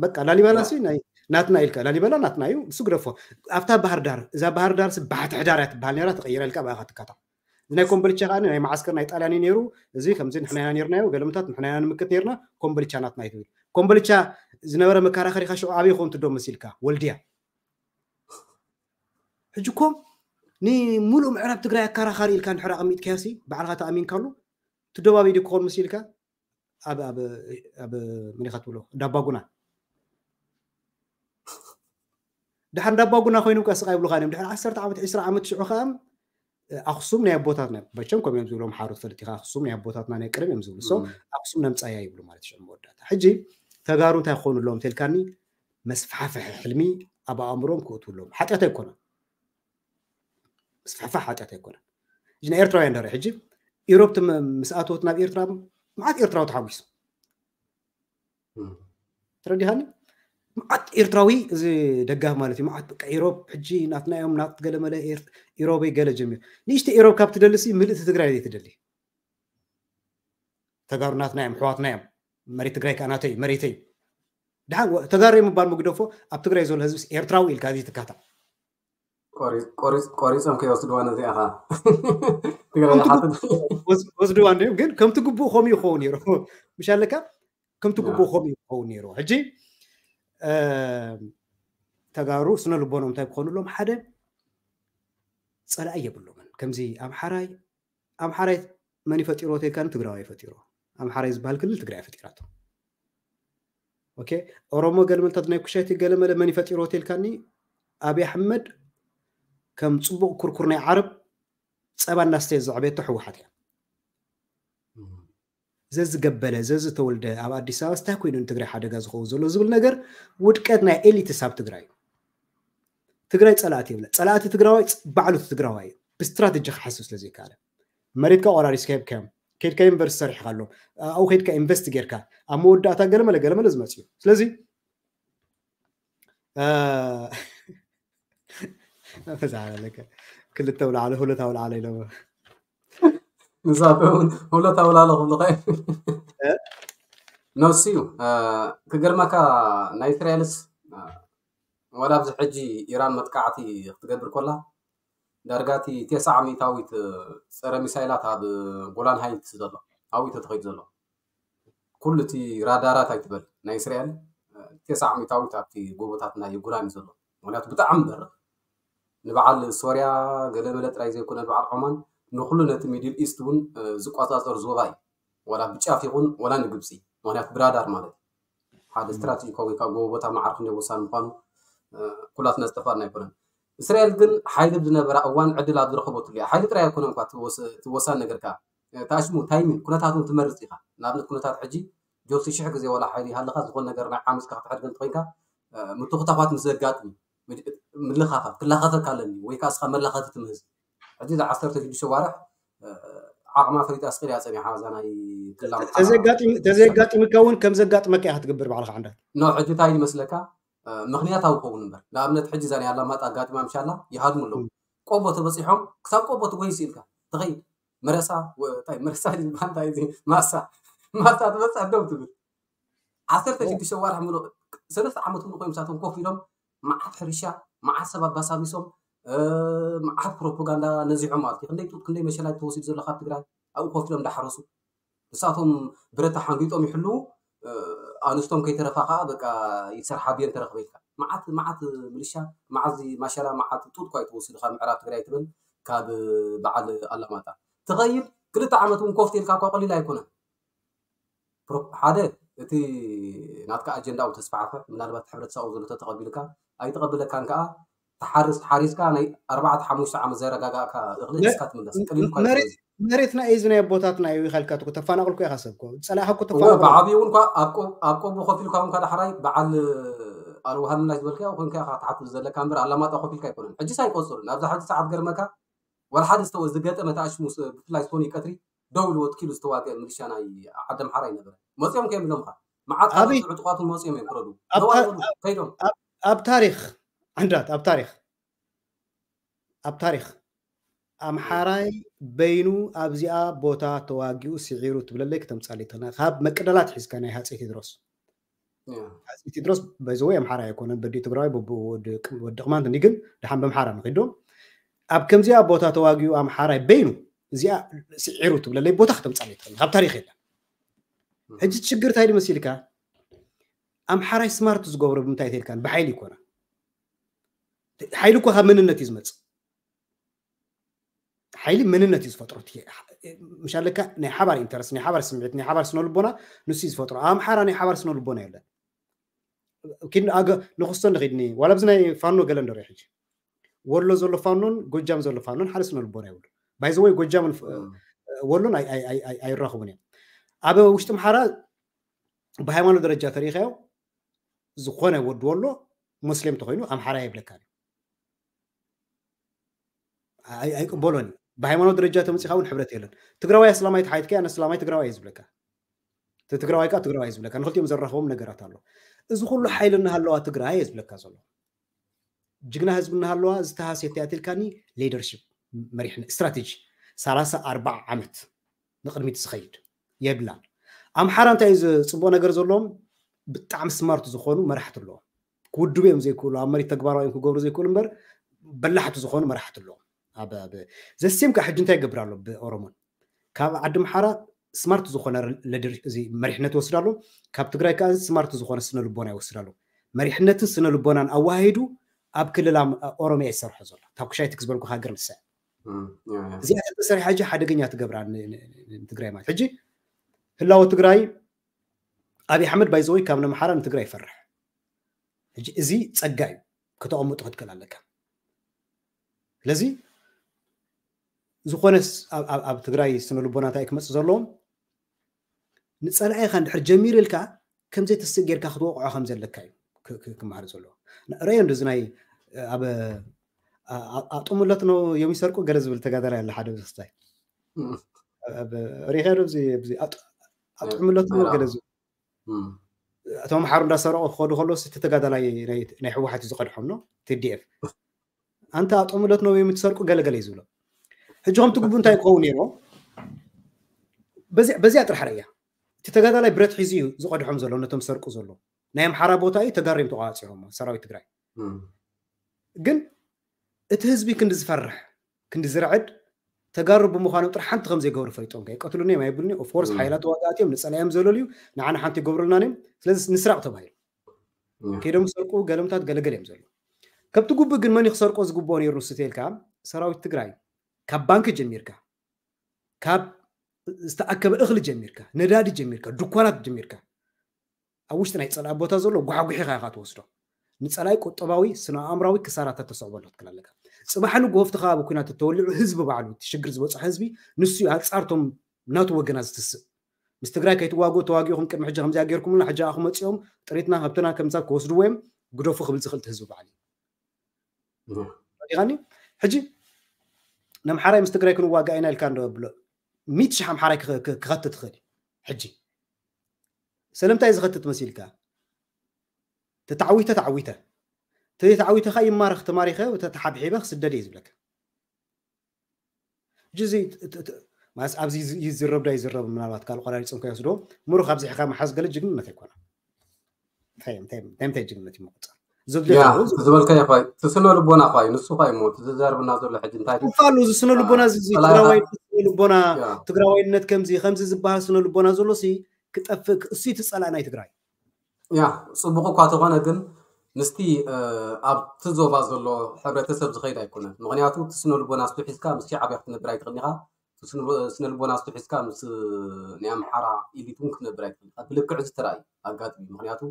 በቃ ላሊበላ ሲ ናትና ኢልካ ላሊበላ ናትና እዩ እሱ ግደፎ ኣብታ ባህር ዳር እዛ ባህር ዳር ሲ ባሕቲ ሕዳር እያ ትበሃል ነራ ተቐይራ ኢልካ ብኣኻ ትካታ ናይ ኮምበልቻ ከዓ ናይ መዓስከር ናይ ጣልያን ነይሩ እዚ ከምዚ ንሕና ኢና ነርናዮ ገለምታት ንሕና ኢና ንምክት ነርና ኮምበልቻ ናትና እዩ ትብል ኮምበልቻ ዝነበረ መከራኸሪካ ሽዑ ኣበይ ይኸውን ትዶ መሲልካ ወልድያ ሕጂ እኮ ንሙሉእ ምዕራብ ትግራይ ኣከራኻሪ ኢልካ እንድሕር ኣቐሚጥካዮ ሲ ባዕልካ ተኣሚንካሉ ትደባበይ ዶ ክኾን መሲልካ ኣብ ኣብ መን ኢኻ ትብሎ እንዳባጉና ድሓር እንዳባጉና ኮይኖም ከስቃ ይብሉካ እዮም ድሕር ዓሰርተ ዓመት ዕስራ ዓመት ሽዑ ከዓ ኣክሱም ናይ ኣቦታትና መቸም ከም እዮም ዝብሎም ሓሩ ትፈልጥ ኢኻ ኣክሱም ናይ ኣቦታትና ናይ ቅርብ እዮም ዝብሉ so ኣክሱም ነምፃያ ይብሉ ማለት ሽዑ መወዳእታ ሕጂ ተጋሩ እንታይ ክኾኑ ኣለዎም ተልካኒ መስፋሕፍሒ ሕልሚ ኣብ ኣእምሮም ክእትውሎም ሓጢኣት ኣይኮነን ምስፍሕፋሕ ሓጢኣት ኣይኮነን እዚ ናይ ኤርትራውያን ዳረ ሕጂ ኢሮብ ምስ ኣተወት ናብ ኤርትራ መዓት ኤርትራዊ ተሓጒሱ ተረዲኻኒ መዓት ኤርትራዊ እዚ ደጋፍ ማለት እዩ መዓት በቃ ኢሮብ ሕጂ ናትና እዮም ናት ገለመለ ኢሮበይ ገለ ጀሚሩ ንእሽተ ኢሮብ ካብ ትደልሲ ምልእቲ ትግራይ ዘይትደሊ ተጋሩ ናትና እዮም ኣሕዋትና እዮም መሬት ትግራይ ከዓ ናተይ መሬተይ ድሓን ተጋሩ ምባል ምግደፎ ኣብ ትግራይ ዘሎ ህዝብስ ኤርትራዊ ኢልካ ዘይትካታ ቆሪፆም ከይወስድዋ ነዚኣ ወስድዋ እንዲም ግን ከምቲ ግቡእ ከምኡ ይኸውን ነይሩ ምሽ ኣለካ ከምቲ ግቡእ ከምኡ ይኸውን ነይሩ ሕጂ ተጋሩ ስነ ልቦኖም እንታይ ክኾኑሎም ሓደ ፀላኢ የብሎምን ከምዚ ኣምሓራይ ኣምሓራይ መን ይፈጢሮ ተልካኒ ትግራዋይ ፈጢሮ ኣምሓራይ ዝበሃል ክልል ትግራይ ፈጢራቶ ኦኬ፣ ኦሮሞ ገለመለታት ናይ ኩሻይቲ ገለመለ መን ይፈጢሮ ሆቴልካኒ? ኣብይ ኣሕመድ ከም ፅቡቕ ኩርኩር ናይ ዓረብ ፀባ እናስተየ ዘዕበየቶ ህወሓት እያ። ዘዝገበለ ዘዝተወልደ ኣብ ኣዲስ ኣበባ ስታይ ኮይኑ ንትግራይ ሓደጋ ዝኸውን ዘሎ ዝብል ነገር ውድቀት ናይ ኤሊትስ ኣብ ትግራይ እዩ። ትግራይ ፀላእቲ የብላ። ፀላእቲ ትግራዋይ ባዕሉ ትግራዋይ እዩ። ብስትራቴጂ ክሓስብ ስለ ዘይከኣለ መሬትካ ቆራሪስካ ሂብካዮም፣ ከይድካ ዩኒቨርሲቲ ሰሪሕካ ኣሎ ኣብኡ ከይድካ ኢንቨስት ጌርካ ኣብ መወዳእታ ገለመለ ገለመለ ዝመፅእ እዩ። ስለዚ ክልተ ውላዕለ ሁለት ውላዕለ ኢሎም ንሳቶም እውን ሁለት ኣውላለ ክብሉ ኸ ነሱ እዩ። ክገርመካ ናይ እስራኤልስ ዋላ ኣብዚ ሕጂ ኢራን መጥቃዕቲ ክትገብር ኮላ ዳርጋቲ ቴስዓ ሚእታዊት ፀረ ሚሳይላት ኣብ ጎላን ሃይትስ ዘሎ ኣብኡ ተተኸይዱ ዘሎ ኩሉ እቲ ራዳራት ኣይትበል ናይ እስራኤል ቴስዓ ሚእታዊት ኣብቲ ጎቦታት ናይ ጎላን እዩ ዘሎ። ምክንያቱ ብጣዕሚ በርቕ ንበዓል ሶርያ ገለመለ ጥራይ ዘይኮነ በዓል ዖማን ንኩሉ ነቲ ሚድል ኢስት እውን ዝቆፃፀር ዞባ እዩ። ወላ ብጫፍ ይኹን ወላ ንግብፂ ምክንያቱ ብራዳር ማለት ሓደ ስትራቴጂካዊ ወይ ከዓ ጎቦ ቦታ መዓርክ እንደ ወሳኒ ምኳኑ ኩላትና ዝጠፋና ኣይኮነን። እስራኤል ግን ሓይሊ ዝነበራ እዋን ዕድል ኣብ ዝረኸበትሉ እያ። ሓይሊ ጥራይ ኣይኮነን እኳ እቲ ወሳኒ ነገር ከዓ ታሽሙ ታይሚን ኩነታት እውን ትመርፅ ኢኻ። ንኣብነት ኩነታት ሕጂ ጆሲ ሽሕ ግዜ ወላ ሓይሊ ይሃለካ ዝኾን ነገር ናይ ዓመፅካ ክትሕድገ እንተኮይንካ ምትኹታኳት ምስ ዘጋጥሚ ምልኻኻት ክላኸፈካ ኣለኒ ወይ ከዓ እስኻ መላኸቲ ትምህዝ ሕጂ እዚ ዓሰርተ ሽዱሽተ ዋርሕ ዓቕማ ፈሊጣ ስቅል እያ ፀኒሓ እዛ ናይ ክላ ተዘጋጢምካ እውን ከም ዘጋጥመካ ኢኻ ትገብር ባዕልካ ዓንዳት ኖ ሕጂ እንታይ ይመስለካ ምክንያታዊ ክኸውን እምበር ንኣብነት ሕጂ እዛ ናይ ኣላማጣ ኣጋጢማ ምሻላ ይሃድሙ ኣለዉ ቆቦ ተበፂሖም ክሳብ ቆቦ ትጎይ ስኢልካ ትኸይድ መረሳ እንታይ መረሳ ዝበሃል እንታይ እዚ ማሳ ማሳ ትበፅሕ ደው ትብል ዓሰርተ ሽዱሽተ ዋርሕ ምሉእ ሰለስተ ዓመት እውን ኮይኖም ሳቶም ኮፍ ኢሎም መዓት ሕርሻ መዓት ሰብ ኣባሳቢሶም መዓት ፕሮፓጋንዳ ነዚሖም ማለት እዩ። ክንደይ ጡጥ ክንደይ መሸላ ተወሲዱ ዘሎ ካብ ትግራይ ኣብኡ ኮፍ ኢሎም እንዳሓረሱ ንሳቶም ብረት ተሓንጊጦም ይሕልዉ ኣንስቶም ከይተረፋ ከዓ በቃ ይሰርሓ ብየን ተረክበ ኢልካ መዓት መዓት ምልሻ መዓት ማሸላ መዓት ጡጥ ኳ ይተወሲዱ ካብ ምዕራብ ትግራይ ትብል ካብ በዓል ኣላማጣ ትኸይድ ክልተ ዓመት እውን ኮፍ ኢልካ እኳ ቀሊል ኣይኮነን። ሓደ እቲ ናትካ ኣጀንዳ ው ተስፋሕፈ ምናልባት ሕብረተሰብ ዘሎ ተተቐቢልካ ኣይተቐብለካን ከዓ ተሓርስ ሓሪስካ ናይ ኣርባዕተ ሓሙሽተ ዓመት ዘረጋጋእካ እኽሊ እስካ ትምለስ ቅሊል እኳ መሬትና እዩ ዝናይ ኣቦታትና እዩ ይኸልካ ተፋናቕልኩ ኢኻ ሰብኮ ፀላእካ እኮ ተፋናቕሉ ብዓብዩ እውን እኳ ኣብ ቆ- ኣብ ቆቦ ኮፍ ኢልካ እውን እኳ ዳሕራይ በዓል ኣልውሃ ምላሽ ዝበልካ ኮይንካ ኢኻ ትሓትት ዘለካ እምበር ኣላማጣ ኮፍ ኢልካ ኣይኮነን ሕጂ ሳይቆፅሩ ናብዛ ሕጂ ሰዓት ገርመካ ወላ ሓደ ዝተወ ዝገጠመ ተኣሽሙ ስ- ብፍላይ ሶኒ ቀትሪ ደው ኢሉ ወትኪሉ ዝተዋግአ ሚሊሻ ናይ ዓዲ ኣምሓራ ኣይነበረ መፂኦም ከየም ኢሎምካ መዓት ኣበይ? ካልኦት ዕጡቋት እውን መፂኦም እዮም ክረዱ ኣብ ደው ታ- ኣይበሉ ከይዶም ኣብ- ኣብ ታሪክ ዓንዳት ኣብ ታሪክ ኣብ ታሪክ ኣምሓራይ በይኑ ኣብዚኣ ቦታ ተዋጊኡ ስዒሩ ትብለለይ ክተምፃለይ ትኽእል ካብ መቅደላት ሒዝካ ናይ ሃፀይ ቴድሮስ ሃፀይ ቴድሮስ በዚ ወይ ኣምሓራይ ኣይኮነን በዲ ትግራዋይ በብኡ ወዲ ወዲ ቅማንት እንዲ ግን ደሓን በምሓራ ንኺዶ ኣብ ከምዚኣ ቦታ ተዋጊኡ ኣምሓራይ በይኑ እዚኣ ስዒሩ ትብለለይ ቦታ ክተምፃለይ ትኽእል ካብ ታሪክ የለን ሕጂ ችግር እንታይ ድመሲልካ ኣምሓራይ ስማርት ዝገብሮ ብምንታይ ተልካን ብሓይሊ ይኮነ ሓይሊ እኮ ካብ መንነት እዩ ዝመፅእ ሓይሊ መንነት እዩ ዝፈጥሮ ምሻለካ ናይ ሓባር ኢንተረስት ናይ ሓባር ስምዒት ናይ ሓባር ስነልቦና ንሱ እዩ ዝፈጥሮ ኣምሓራ ናይ ሓባር ስነልቦና የለን ንክስቶ ንክድኒ ዋላ ብዚ ናይ ፋኖ ገለ እንደሪኦ ሕጂ ወሎ ዘሎ ፋኖን ጎጃም ዘሎ ፋኖን ሓደ ስነልቦና ይብሉ ባይዘወይ ጎጃምን ወሎን ኣይራኽቡን እዮም ኣብ ውሽጢ ኣምሓራ ብሃይማኖት ደረጃ ተሪኢኻዮ ዝኾነ ወዲ ወሎ ሙስሊም ተኮይኑ ኣምሓራ የብለካ ኣይቅበሎን እዩ ብሃይማኖት ደረጃ ተመፂኻ እውን ሕብረት የለን ትግራዋይ ኣስላማይ ተሓይትካ ኣነ ኣስላማይ ትግራዋይ እየ ዝብለካ ትግራዋይ ከዓ ትግራዋይ እየ ዝብለካ ንክልቲኦም ዘራኽቦም ነገራት ኣሎ እዚ ኩሉ ሓይሊ እናሃለዋ ትግራይ እየ ዝብለካ ዘሎ ጅግና ህዝቢ እናሃለዋ ዝተሃስየት እያ ትልካኒ ሊደርሽፕ መሪሕነት ስትራቴጂ ሰላሳ ኣርባዓ ዓመት ንቅድሚት ዝኸይድ የብላን ኣምሓራ እንታይ እዩ ዝፅቡቅ ነገር ዘለዎም ብጣዕሚ ስማርት ዝኾኑ መራሕቲ ኣለዎም ክውድቡ እዮም ዘይክእሉ ኣብ መሬት ተግባራዊ እዮም ክገብሩ ዘይክእሉ እምበር በላሕቲ ዝኾኑ መራሕቲ ኣለዎም ዘሴም ከዓ ሕጂ እንታይ ይገብር ኣሎ ብኦሮሞን ካብ ዓዲ ኣምሓራ ስማርት ዝኾነ መሪሕነት ይወስድ ኣሎ ካብ ትግራይ ከዓ ስማርት ዝኾነ ስነ ልቦና ይወስድ ኣሎ መሪሕነትን ስነ ልቦናን ኣዋሃሂዱ ኣብ ክልል ኦሮሚያ ይሰርሖ ዘሎ ካብ ኩሻይቲ ክዝበልኩ ሃገር ንሳ እዚኣ ተተሰሪሓ ሕጂ ሓደገኛ ትገብራ ትግራይ ማለት ሕጂ ህላወ ትግራይ ኣብይ ኣሕመድ ባይዘወይ ካብ ነምሓራ ንትግራይ ይፈርሕ። ሕጂ እዚ ጸጋ እዩ፣ ከተቐምጡ ክትክእል ኣለካ። ስለዚ ዝኾነስ ኣብ- ኣብ ኣብ ትግራይ ስነ ልቦና እንታይ ክመፅእ ዘለዎም፣ ንፀላኢኻ እንድሕር ጀሚሩ ኢልካ ከምዘይትስእ ጌርካ ክትወቕዖ ከም ዘለካ እዩ ክ- ክ- ክመሃር ዘለዎ። ረዮ እንደዚ ናይ ኣብ ኣጥሙለት ነው የሚሰርቁ ገለ ዝብል ተጋዳላይ ኣለ ሓደ ብዝክስታይ ሪኸ ኣብዚ ኣጥሙለት ነው ገለ ዝብል እቶም ሓሩ እንዳሰረቑ ክኸዱ ከሎ እቲ ተጋዳላይ ናይ ህወሓት እዩ ዝቐድሖም ነው ቲዲኤፍ ኣንተ ኣጥሙለት ነው የምትሰርቁ ገለገለ እዩ ዝብሎ። ሕጂ ከምቲ ግቡ እንታይ ክኸውን ነይርዎ? በዚኣ ጥራሕ ረያ እቲ ተጋዳላይ ብረት ሒዙ እዩ ዝቐድሖም ዘሎ ነቶም ዝሰርቁ ዘሎ ናይ ኣምሓራ ቦታ እዩ ተጋሪም ተቋፂሮሞ ሰራዊት ትግራይ። ግን እቲ ህዝቢ ክንዲ ዝፈርሕ ክንዲ ዝርዕድ ተጋሩ ብምዃኖም ጥራሕ ሓንቲ ከም ዘይገብሩ ፈሊጦም ከይቀትሉኒ እዮም ኣይብሉኒ። ኦፍኮርስ ሓይላት ተዋጋእቲ እዮም ንፀላዮም ዘለሉ እዩ ንዓና ሓንቲ ይገብሩልናን እዮም። ስለዚ ንስራቕ ተባሂሉ ከይዶም ዝሰርቁ ገለምታት ገለገለ እዮም ዘሎ። ከብቲ ጉብእ ግን መን ክሰርቆ ዝግብኦ ነይሩ ንሱ ተልካ ሰራዊት ትግራይ ካብ ባንክ ጀሚርካ ካብ ዝተኣከበ እኽሊ ጀሚርካ ነዳዲ ጀሚርካ ድኳናት ጀሚርካ ኣብ ውሽጢ ናይ ፀላኢ ቦታ ዘሎ ጓሕጉሒኻ ኢኻ ትወስዶ። ንፀላኢ ቁጠባዊ ስነ ኣእምራዊ ክሳራታት ተሰዕበሉ ክትክል ኣለካ። ፅባሕ ንግሆ ኣብቲ ከባቢ ኩናት እተወሊዑ ህዝቢ ባዕሉ እቲ ሽግር ዝበፅሖ ህዝቢ ንሱ እዩ ኣንፃርቶም ናቱ ወገና ዝትስእ። ምስ ትግራይ ከይትዋግኡ ተዋጊኹም ቅድሚ ሕጂ ከምዚኣ ጌርኩምና ሕጂ ኣኹ መፂኦም ጥሪትና ሃብትና ከምዛ ክወስድዎ እዮም ግደፉ ክብል ዝኽእል ህዝቢ ባዕሉ ዲኻኒ። ሕጂ ነምሓራይ ምስ ትግራይ ክንዋጋእ ኢና ኢልካ እንዶ ብሎ ሚት ሽሕ ኣምሓራይ ክኸትት ትኽእል። ሕጂ ስለምንታይ ዝኸትት መሲልካ ተተዓዊተ ተዓዊተ ተተዓዊተ ካ ይማረኽ ተማሪኸ ተተሓብሒበ ክስደድ እየ ዝብለካ። ሕጂ እዚ ማለት ኣብዚ ይዝረብ ዳ ይዝረብ ምናልባት ካልእ ቆራሪፅም ከይወስዶ ምሩኽ ኣብዚሕካ መሓዝ ገለ ጅግንነት ኣይኮነ። እንታይ እንታይ እንታይ ጅግንነት እዩ መቆፃ ዝበልካዮ ኳይ እቲ ስነ ልቦና ኳይ ንሱ ኳይ ሞ እቲ ዝዛርብና ዘሎ ሕጂ እንታይ ፋሉ እዚ ስነ ልቦና እዚ ትግራዋይነት ስነ ልቦና ትግራዋይነት ከምዚ ከምዚ ዝበሃል ስነ ልቦና ዘሎ ሲ ክጠፍእ እሱ እቲ ፀላእ ናይ ትግራይ ያ ፅቡቅ እኳ ተኾነ ግን ምስቲ ኣብቲ ዞባ ዘሎ ሕብረተሰብ ዝኸይድ ኣይኮነን። ምክንያቱ እቲ ስነ ልቦና ስቱ ሒዝካ ምስ ሻዕብያ ክትነብር ኣይትኽእል ኢኻ። ስነ ልቦና ስቱ ሒዝካ ምስ ናይ ኣምሓራ ኢሊት እውን ክትነብር ኣይትኽእል ኢኻ። ብልክዕ ዝተራእዩ ኣጋጥሚ ምክንያቱ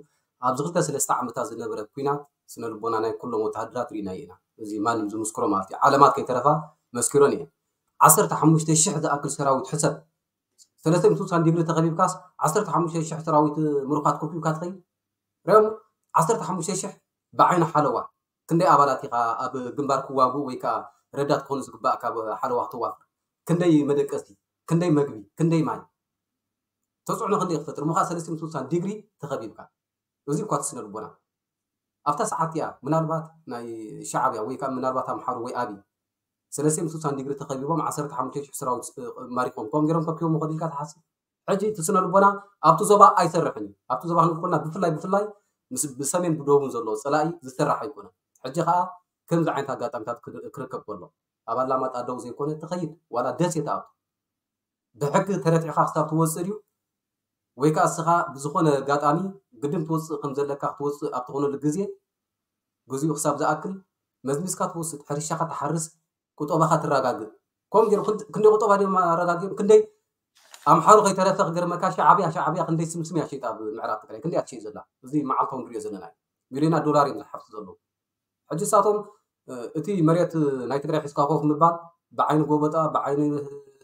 ኣብዚ ክልተ ሰለስተ ዓመታት ዝነበረ ኩናት ስነ ልቦና ናይ ኩሎም ወተሃደራት ርኢናዮ ኢና። እዚ ማንም ዝምስክሮ ማለት እዩ። ዓለማት ከይተረፋ መስኪሮን እየን። ዓሰርተ ሓሙሽተ ሽሕ ዝኣክል ሰራዊት ሕሰብ ሰለስተ ሚእቲ ስሳን ዲግሪ ተኸቢብካስ ዓሰርተ ሓሙሽተ ሽሕ ሰራዊት ምሩኻት ኮፒብካ ትኸይድ ሪኦም ዓሰርተ ሓሙሽተ ሽሕ ብዓይኒ ሓለዋ ክንደይ ኣባላት ኢኻ ኣብ ግንባር ክዋጉ ወይ ከዓ ረዳት ክኾኑ ዝግባእ ካብ ሓለዋ ክተዋፍር ክንደይ መደቀስቲ ክንደይ መግቢ ክንደይ ማይ ተፅዕኖ ክንደይ ክፈጥር ምኻ ሰለስተ ሚእቲ ስሳን ዲግሪ ተኸቢብካ እዚ እኳ ትስነ ልቦና ኣብታ ሰዓት እያ ምናልባት ናይ ሻዕብያ ወይ ከዓ ምናልባት ኣምሓሩ ወይ ኣብይ ሰለስተ ሚእቲ ስሳን ዲግሪ ተኸቢቦም ዓሰርተ ሓሙሽተ ሽሕ ሰራዊት ማሪኾም ከም ገይሮም ከኪቦም ይኸዱ ኢልካ ትሓስብ ሕጂ እቲ ስነ ልቦና ኣብቲ ዞባ ኣይሰርሕን እዩ ኣብቲ ዞባ ክንብል ከለና ብፍላይ ብፍላይ ምስ ብሰሜን ብደቡብን ዘሎ ፀላኢ ዝሰራሕ ኣይኮነን ሕጂ ከዓ ከምዚ ዓይነት ኣጋጣሚታት ክርከብ ከሎ ኣብ ኣላማጣ ደው ዘይኮነ ትኸይድ ዋላ ደሴ ትኣቱ ብሕጊ ተረቲዕካ ክሳብ ትወፅእ ድዩ ወይ ከዓ እስኻ ብዝኾነ ኣጋጣሚ ግድን ትወፅእ ከም ዘለካ ክትወፅእ ኣብ ትኾነሉ ግዜግዚኡ ክሳብ ዝኣክል መዝሚዝካ ትወስድ ሕርሻኻ ትሓርስ ቁጠባኻ ትረጋግእ ከምኡ ገይሩ ክንደይ ቁጠባ ድዮም ኣረጋጊኦም ክንደይ ኣምሓሩ ከይተረፈ ክገርመካ ሻዕብያ ሻዕብያ ክንደይ ስምስም እያ ሸይጣ ኣብ ምዕራብ ትግራይ ክንደይ ኣትሸይ ዘላ እዚ መዓልታዊ ንሪኦ ዘለና እዩ ሚሊዮናት ዶላር እዮም ዝሓፍሱ ዘለዉ ሕጂ እሳቶም እቲ መሬት ናይ ትግራይ ሒዝካ ኮፍ ምባል ብዓይኒ ጎበጣ ብዓይኒ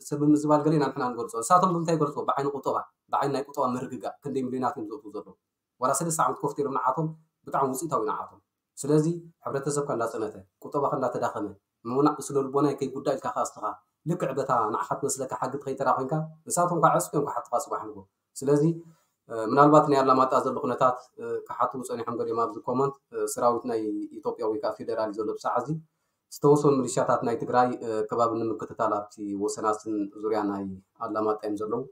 ሰብ ምዝባል ገለ ኢና ንሕና ንገልፆ እሳቶም ብምንታይ ይገልፅዎ ብዓይኒ ቁጠባ ብዓይኒ ናይ ቁጠባ ምርግጋእ ክንደይ ሚሊዮናት እዮም ዘእትዉ ዘለዉ ዋላ ሰለስተ ዓመት ኮፍ ኢሎም ንዓቶም ብጣዕሚ ውፅኢታዊ ንዓቶም ስለዚ ሕብረተሰብካ እንዳፀነተ ቁጠባካ እንዳተዳኸመ ምውናዕ ስነ ልቦናይ ከይጉዳእ ኢልካ ከዓ እስኻ ልክዕ በታ ንዓኻ ትመስለካ ሓጊ ትኸይድ ተራ ኮይንካ ንሳቶም ከዓ ዕፅፊ እዮም ክሓቱኻ ፅባሕ ንጎ ስለዚ ምናልባት ናይ ኣላማጣ ዘሎ ኩነታት ክሓትዉ ፀኒሖም ገሊኦም ኣብዚ ኮመንት ሰራዊት ናይ ኢትዮጵያ ወይ ከዓ ፌደራል እዩ ዘሎ ብሰዓት እዚ ዝተወሰኑ ሚሊሻታት ናይ ትግራይ ከባቢ ንምክትታል ኣብቲ ወሰናስን ዙርያ ናይ ኣላማጣ እዮም ዘለዉ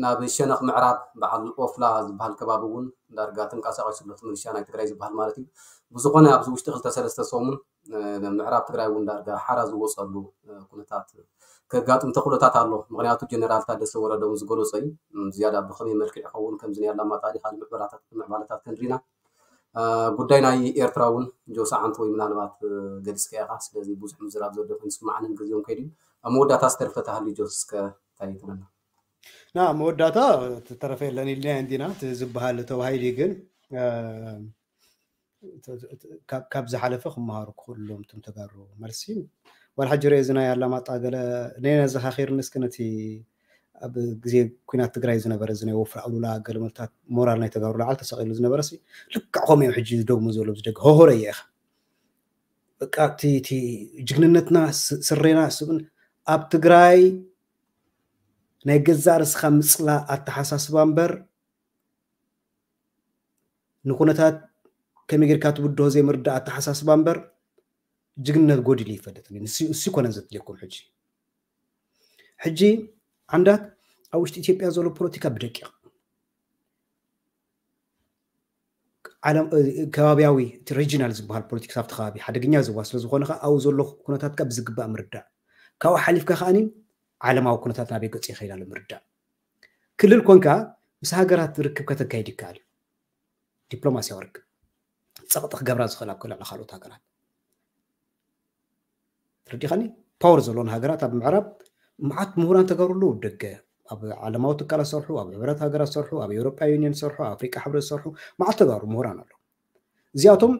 ናብ ሸነኽ ምዕራብ በዓል ኦፍላ ዝበሃል ከባቢ እውን ዳርጋ ተንቀሳቒሱ ኣሎ እቲ ሚሊሻ ናይ ትግራይ ዝበሃል ማለት እዩ ብዝኾነ ኣብዚ ውሽጢ ክልተ ሰለስተ ሰሙን ምዕራብ ትግራይ እውን ዳርጋ ሓራ ዝወፀሉ ኩነታት ከጋጥም ተኽእሎታት ኣሎ ምክንያቱ ጀነራል ታደሰ ወረደ እውን ዝገለፆ እዩ ዝያዳ ብኸመይ መልክዕ ይኸውን ከምዚ ናይ ኣላማጣ ዲ ካልእ ምዕባለታት ክንሪና ጉዳይ ናይ ኤርትራ እውን ጆስ ዓንት ወይ ምናልባት ገሊፅካ ኢኻ ስለዚ ብዙሕ ምዝራብ ዘሎ ኮይኑ ስማዕንን ግዜውን ከይዱ ኣብ መወዳእታ ዝተርፈ ተሃልዩ ጆስ እስከ እንታይ ትብለና ና መወዳእታ ተረፈ የለን ኢልና እንዲና ዝበሃል ተባሂሉ ግን ካብ ዝሓለፈ ክመሃሩ ክኽእሉሎም እቶም ተጋሩ መልሲ ዋላ ሕጂ ርኤ ዝናይ ኣላማጣ ገለ ነና ዘኻኺርኒ እስኪ ነቲ ኣብ ግዜ ኩናት ትግራይ ዝነበረ እዚ ናይ ወፍሪ ኣሉላ ገለመልታት ሞራል ናይ ተጋሩ ላዓል ተሰቂሉ ዝነበረ ሲ ልክዕ ከምኡ እዮም ሕጂ ዝደግሙ ዘሎ ብዝደግ ሆሆረ እየ ኢኻ በቃ እቲ ጅግንነትና ስሬና ስብን ኣብ ትግራይ ናይ ገዛእ ርስኻ ምፅላእ ኣተሓሳስባ እምበር ንኩነታት ከመይ ጌርካ ትብድሆ ዘይምርዳእ ኣተሓሳስባ እምበር ጅግንነት ጎዲሉ ይፈልጥ እሱ ይኮነን ዘድልየኩም ሕጂ ሕጂ ዓንዳት ኣብ ውሽጢ ኢትዮጵያ ዘሎ ፖለቲካ ብደቂቕ ዓለም ከባቢያዊ ሪጂናል ዝበሃል ፖለቲክስ ኣብቲ ከባቢ ሓደገኛ ዝዋ ስለ ዝኾነ ከዓ ኣብኡ ዘሎ ኩነታት ካብ ዝግባእ ምርዳእ ካብኡ ሓሊፍካ ከዓኒ ዓለማዊ ኩነታት ናበይ ገፁ ይኸይድ ኣሎ ምርዳእ ክልል ኮንካ ምስ ሃገራት ርክብ ከተካይድ ይከኣል እዩ ዲፕሎማሲያዊ ርክብ ፀቕጢ ክገብራ ዝኽእል ኣብ ክልዕሊ ካልኦት ሃገራት ተረዲኻኒ ፓወር ዘለዎን ሃገራት ኣብ ምዕራብ መዓት ምሁራን ተጋሩ ኣለዉ ደገ ኣብ ዓለማዊ ትካላት ዝሰርሑ ኣብ ሕብረት ሃገራት ዝሰርሑ ኣብ ኤውሮጳ ዩኒየን ዝሰርሑ ኣብ ኣፍሪቃ ሕብረት ዝሰርሑ መዓት ተጋሩ ምሁራን ኣለዉ እዚኣቶም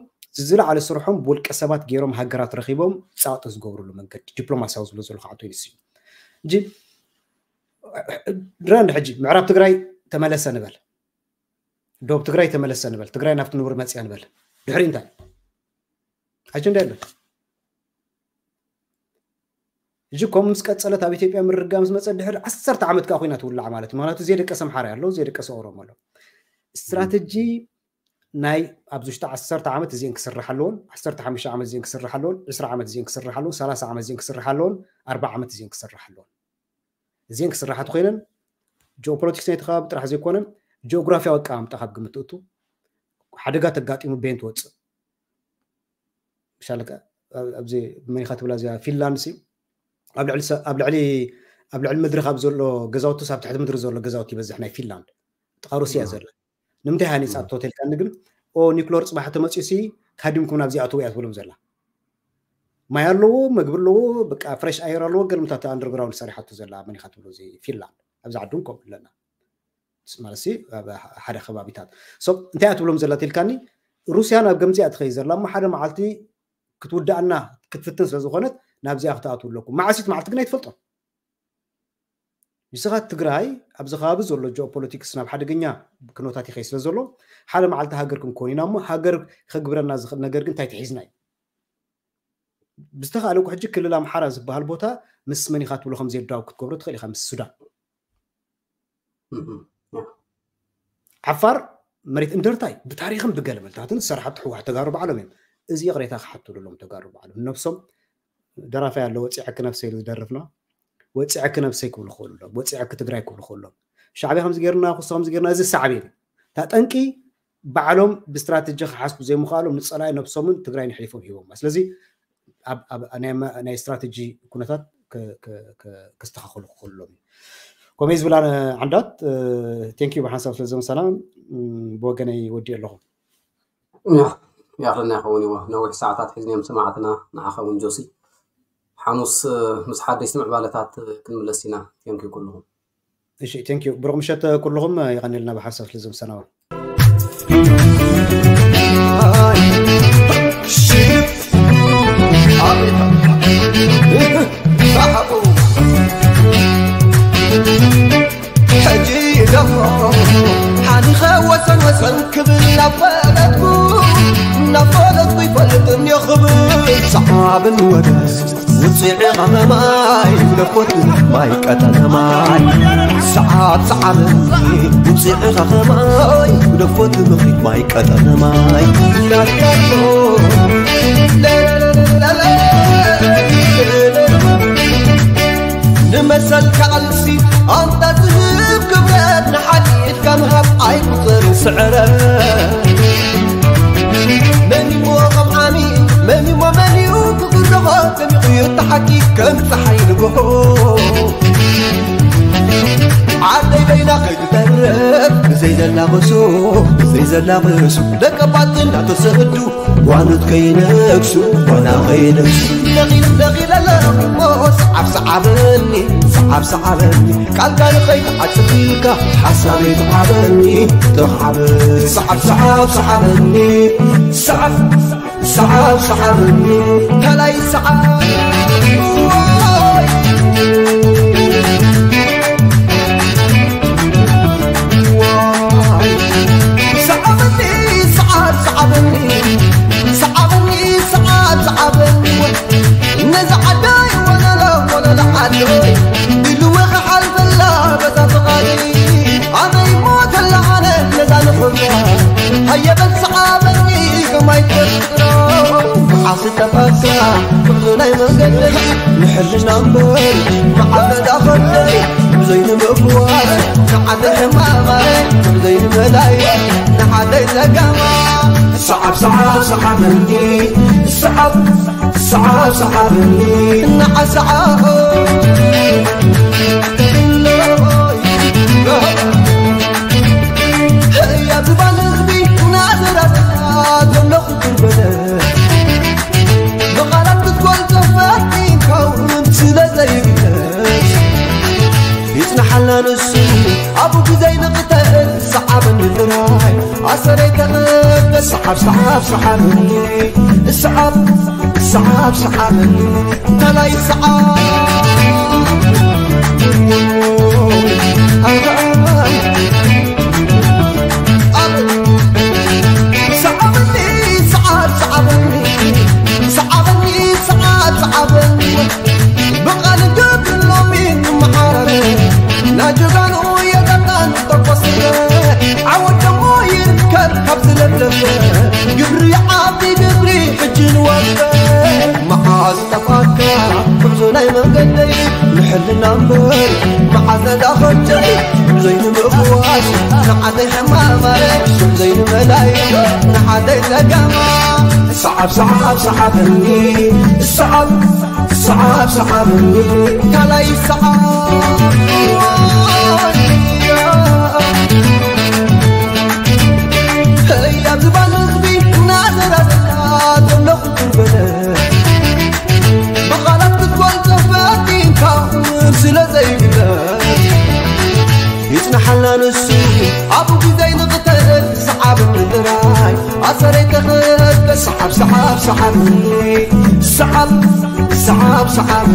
ዝለዓለ ስርሖም ብውልቀ ሰባት ገይሮም ሃገራት ረኺቦም ፃቕጢ ዝገብሩሉ መንገዲ ዲፕሎማሲያዊ ዝብሎ ዘሎ ከዓ ንሱ እዩ እንጂ ድራንድ ሕጂ ምዕራብ ትግራይ ተመለሰ ንበል ዶብ ትግራይ ተመለሰ ንበል ትግራይ ናብቲ ንቡር መፅያ ንበል ድሕሪ እንታይ ኣጀንዳ የለን ሕጂ ከም ምስ ቀፀለት ኣብ ኢትዮጵያ ምርጋ ምስ መፀ ድሕሪ ዓሰርተ ዓመት ከዓ ኮይና ትውላዕ ማለት እዩ ምክንያቱ ዘይደቀሰ ኣምሓራ ኣሎ ዘይደቀሰ ኦሮሞ ኣሎ ስትራተጂ ናይ ኣብዚ ውሽጢ ዓሰርተ ዓመት እዚአን ክስራሕ ኣለዎን ዓሰርተ ሓሙሽተ ዓመት እዚአን ክስራሕ ኣለዎን ዕስራ ዓመት እዚአን ክስራሕ ኣለዎን ሰላሳ ዓመት እዚአን ክስራሕ ኣለዎን ኣርባ ዓመት እዚአን ክስራሕ ኣለዎን እዚአን ክስራሓት ኮይነን ጂኦፖለቲክስ ናይቲ ከባቢ ጥራሕ ዘይኮነ ጂኦግራፊያዊ ኣቀማምጣ ካብ ግምት እቱ ሓደጋ ተጋጢሙ ቤን ትወፅእ ምሻለ ኣብዚ መኒኻ ትብላ እዚኣ ፊንላንድ ሲ ኣብ ልዕሊ ኣብ ልዕሊ ኣብ ልዕሊ ምድሪ ካብ ዘሎ ገዛውቲ ኣብ ትሕቲ ምድሪ ዘሎ ገዛውቲ ይበዝሕ ናይ ፊንላንድ ጥቓ ሩስያ ዘላ ንምንታይ ሃኒፃቶ ተልካኒ ግን ኦ ኒክሎር ፅባሕ ተመፅኡ ሲ ካዲምኩም ናብዚ ኣትው እያ ትብሎም ዘላ ማይ ኣለዎ መግቢ ኣለዎ በቃ ፍሬሽ ኣየር ኣለዎ ገልምታት ኣንደርግራውንድ ሰሪሓቱ ዘላ መኒኻ ትብሎ እዚ ፊንላንድ ኣብዚ ዓዲ እውን ከምኡ ኣለና ማለት ሓደ ከባቢታት ሶ እንታይ እያ ትብሎም ዘላ ትልካኒ ሩስያ ናብ ገምዚኣ ትኸይ ዘላ እሞ ሓደ መዓልቲ ክትውዳእና ክትፍትን ስለ ዝኾነት ናብዚኣ ክትኣትው ኣለኩም መዓሲት መዓልቲ ግን ኣይትፈልጦም ንስኻ ትግራይ ኣብዚ ከባቢ ዘሎ ጂኦፖለቲክስ ናብ ሓደገኛ ክኖታት ይኸይ ስለ ዘሎ ሓደ መዓልቲ ሃገር ክንኮን ኢና እሞ ሃገር ከግብረና ዝኽእል ነገር ግን እንታይ ተሒዝና እዩ ብዝተኻእለኩ ሕጂ ክልል ኣምሓራ ዝበሃል ቦታ ምስ መን ኢኻ ትብሎ ከም ዘየዳው ክትገብሮ ትኽእል ኢኻ ምስ ሱዳን ዓፋር መሬት እንደርታይ ብታሪክን ብገለመልታትን ዝሰርሓቱ ሕዋሕ ተጋሩ ባዕሎም እዮም እዚ ይቕሬታ ክሓትሉ ሎም ተጋሩ ባዕሎም ነብሶም ደራፋይ ኣሎ ወፂዐ ክነብሰ ኢሉ ዝደርፍና ወፂዐ ክነብሰይ ክብሉ ክኽእሉ ሎም ወፂዐ ክትግራይ ክብሉ ክኽእሎም ሻዕብያ ከምዚ ገርና ክሶ ከምዚ ገርና እዚ ሳዕቤን እታ ጠንቂ ባዕሎም ብስትራተጂ ክሓስቡ ዘይምኽኣሎም ንፀላኢ ነብሶምን ትግራይ ንሕሊፎም ሂቦማ ስለዚ ናይ ስትራተጂ ኩነታት ክስተኻኸሉ ክኽእሎም እዩ ኮሜ ዝብላ ዓንዳት ቴንኪዩ ብሓንሳብ ስለ ዘምሰና ብወገነይ ወዲ ኣለኹ ያኽልና ይኸውን እዎ ነዊሕ ሰዓታት ሒዝንዮም ሰማዕትና ንዓኻ እውን ጆሲ ሓሙስ ምስ ሓደሽቲ ምዕባለታት ክንምለስ ኢና ቴንኪዩ ኩልኹም እሺ ቴንክ ዩ ብሩክ ምሸት ኩልኹም የቐኒልና ብሓሳብ ስለ ዘምሰናዋ ሕጂ ደሞ ሓሊኸ ወሰን ወሰን ክብል ናብ ፈለጥኩ ናብ ፈለጥኩ ይፈልጥ እንዮ ክብል ሰዓብን ወደስ ውፅዒ ኸኸማይ ግደፎት ማይ ቀጠነ ማይ ሰዓብ ሰዓብ ውፅዒ ኸኸማይ ግደፎት ምኽሪት ማይ ቀጠነ ማይ ናትካቶ ንመሰል ከዕልሲ ኣንታ ዝህብ ክብረት ንሓድ ኢድካ ምሃብ ኣይቁፅርን ስዕረት መን እሞ ከም ዓሚ መን እሞ መን እዩ ክግረኾ ደሚቑ እዩ እቲ ሓቂ ከም ፀሓይ ንግሆ ዓደይ በይና ከይትተርፍ ብዘይ ዘላቕሱ፣ ብዘይ ዘላቕሱ፣ ደቀባት እናተሰዱ ጓኖት ከይነግሱ፣ ጓና ከይነግሱ። ነቒል ነቒል ኣለኹ እሞ ሰዓብ ሰዓበኒ፣ ሰዓብ ሰዓበኒ፣ ቃልካ ንኸይትዓጽፍ ኢልካ ሓሳበይ ተዓበኒ፣ ተዓበኒ። ሰዓብ ሰዓብ ሰዓበኒ፣ ሰዓብ ሰዓብ ሰዓበኒ፣ ከላይ ሰዓብ። ሰዓበኒ፣ ሰዓብ ሰዓበኒ፣ ሰዓበኒ፣ ሰዓብ ሰዓበኒ። ነዛ ዓዳይ ወለሎ፣ ወለሎ ዓደይ፣ ኢልወ ክሓልፈላ በዛ ፍቓደይ። ኣነ ይሞተላ ኣነ ነዛ ንኽብራ፣ ሃየ በል ሰዓበኒ ከማይ ትፈጥሮ። መዓስ ጠፋእካ ጉዕዞ ናይ መንገደይ፣ ንሕልና እምበር መዓስ ተዳኸብተይ፣ ብዘይ ንምፍዋስ ንዓደይ ሕማማይ፣ ብዘይ ንመላይ ንዓደይ ለጋማ። ሰዓብ ሰዓብ ሰዓበኒ፣ ሰዓብ ሰዓብ ሰዓበኒ፣ ንዓ ሰዓብ። ህያ ዝባን ህዝቢ ናዘራዝራ ዘለኹ ጉልበተ፣ ብቓላት ክትገልጾ ፈቲንካ እውን ስለ ዘይግለጽ፣ ይጽናሓላ ንሱ ኣብኡ ብዘይ ንቕተል ሰዓበኒ ጥራይ። ኣሰረይ ተቐበል ሰዓብ ሰዓብ ሰዓበኒ፣ ሰዓብ ሰዓብ ሰዓበኒ፣ ታላይ ሰዓብ። ሰዓበኒ፣ ሰዓብ ሰዓበኒ፣ ሰዓበኒ፣ ሰዓብ ሰዓበኒ። ብቓል ገብር ሎሚ ንመሓረር፣ ናጀጋኑ የጠጣን ተቆስረ። ዓወት ደሞ ይርከብ ካብ ዝለብለበ፣ ግብሪ ዓቢ ግብሪ ሕጂ ንወፈ። መዓዝ ጠፋእካ ጉዕዞ ናይ መንገደይ፣ ንሕልና እምበር መዓዝ ነዳኸብተይ፣ ዘይንምእዋስ ንዓደይ ሕማማይ፣ ዘይንመላይ ንዓደይ ለጋማ። ሰዓብ ሰዓብ ሰዓበኒ፣ ሰዓብ ሰዓብ ሰዓበኒ፣ ካልኣይ ሰዓብ። ህያ ዝባን ህዝቢ እናዘራዘራ ዘለኹ ጉልበተ፣ ብቓላት ክትገልጾ ፈቲንካ እውን ስለ ዘይግለጽ፣ ይጽናሓልና ንሱ ኣብኡ ብዘይ ንቕተል ሰዓብ ምድራይ። ኣሰረይ ተኸበ ሰዓብ ሰዓብ ሰዓብ ሰዓብ ሰዓብ ሰዓብ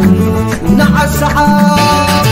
ንዓ ሰዓብ።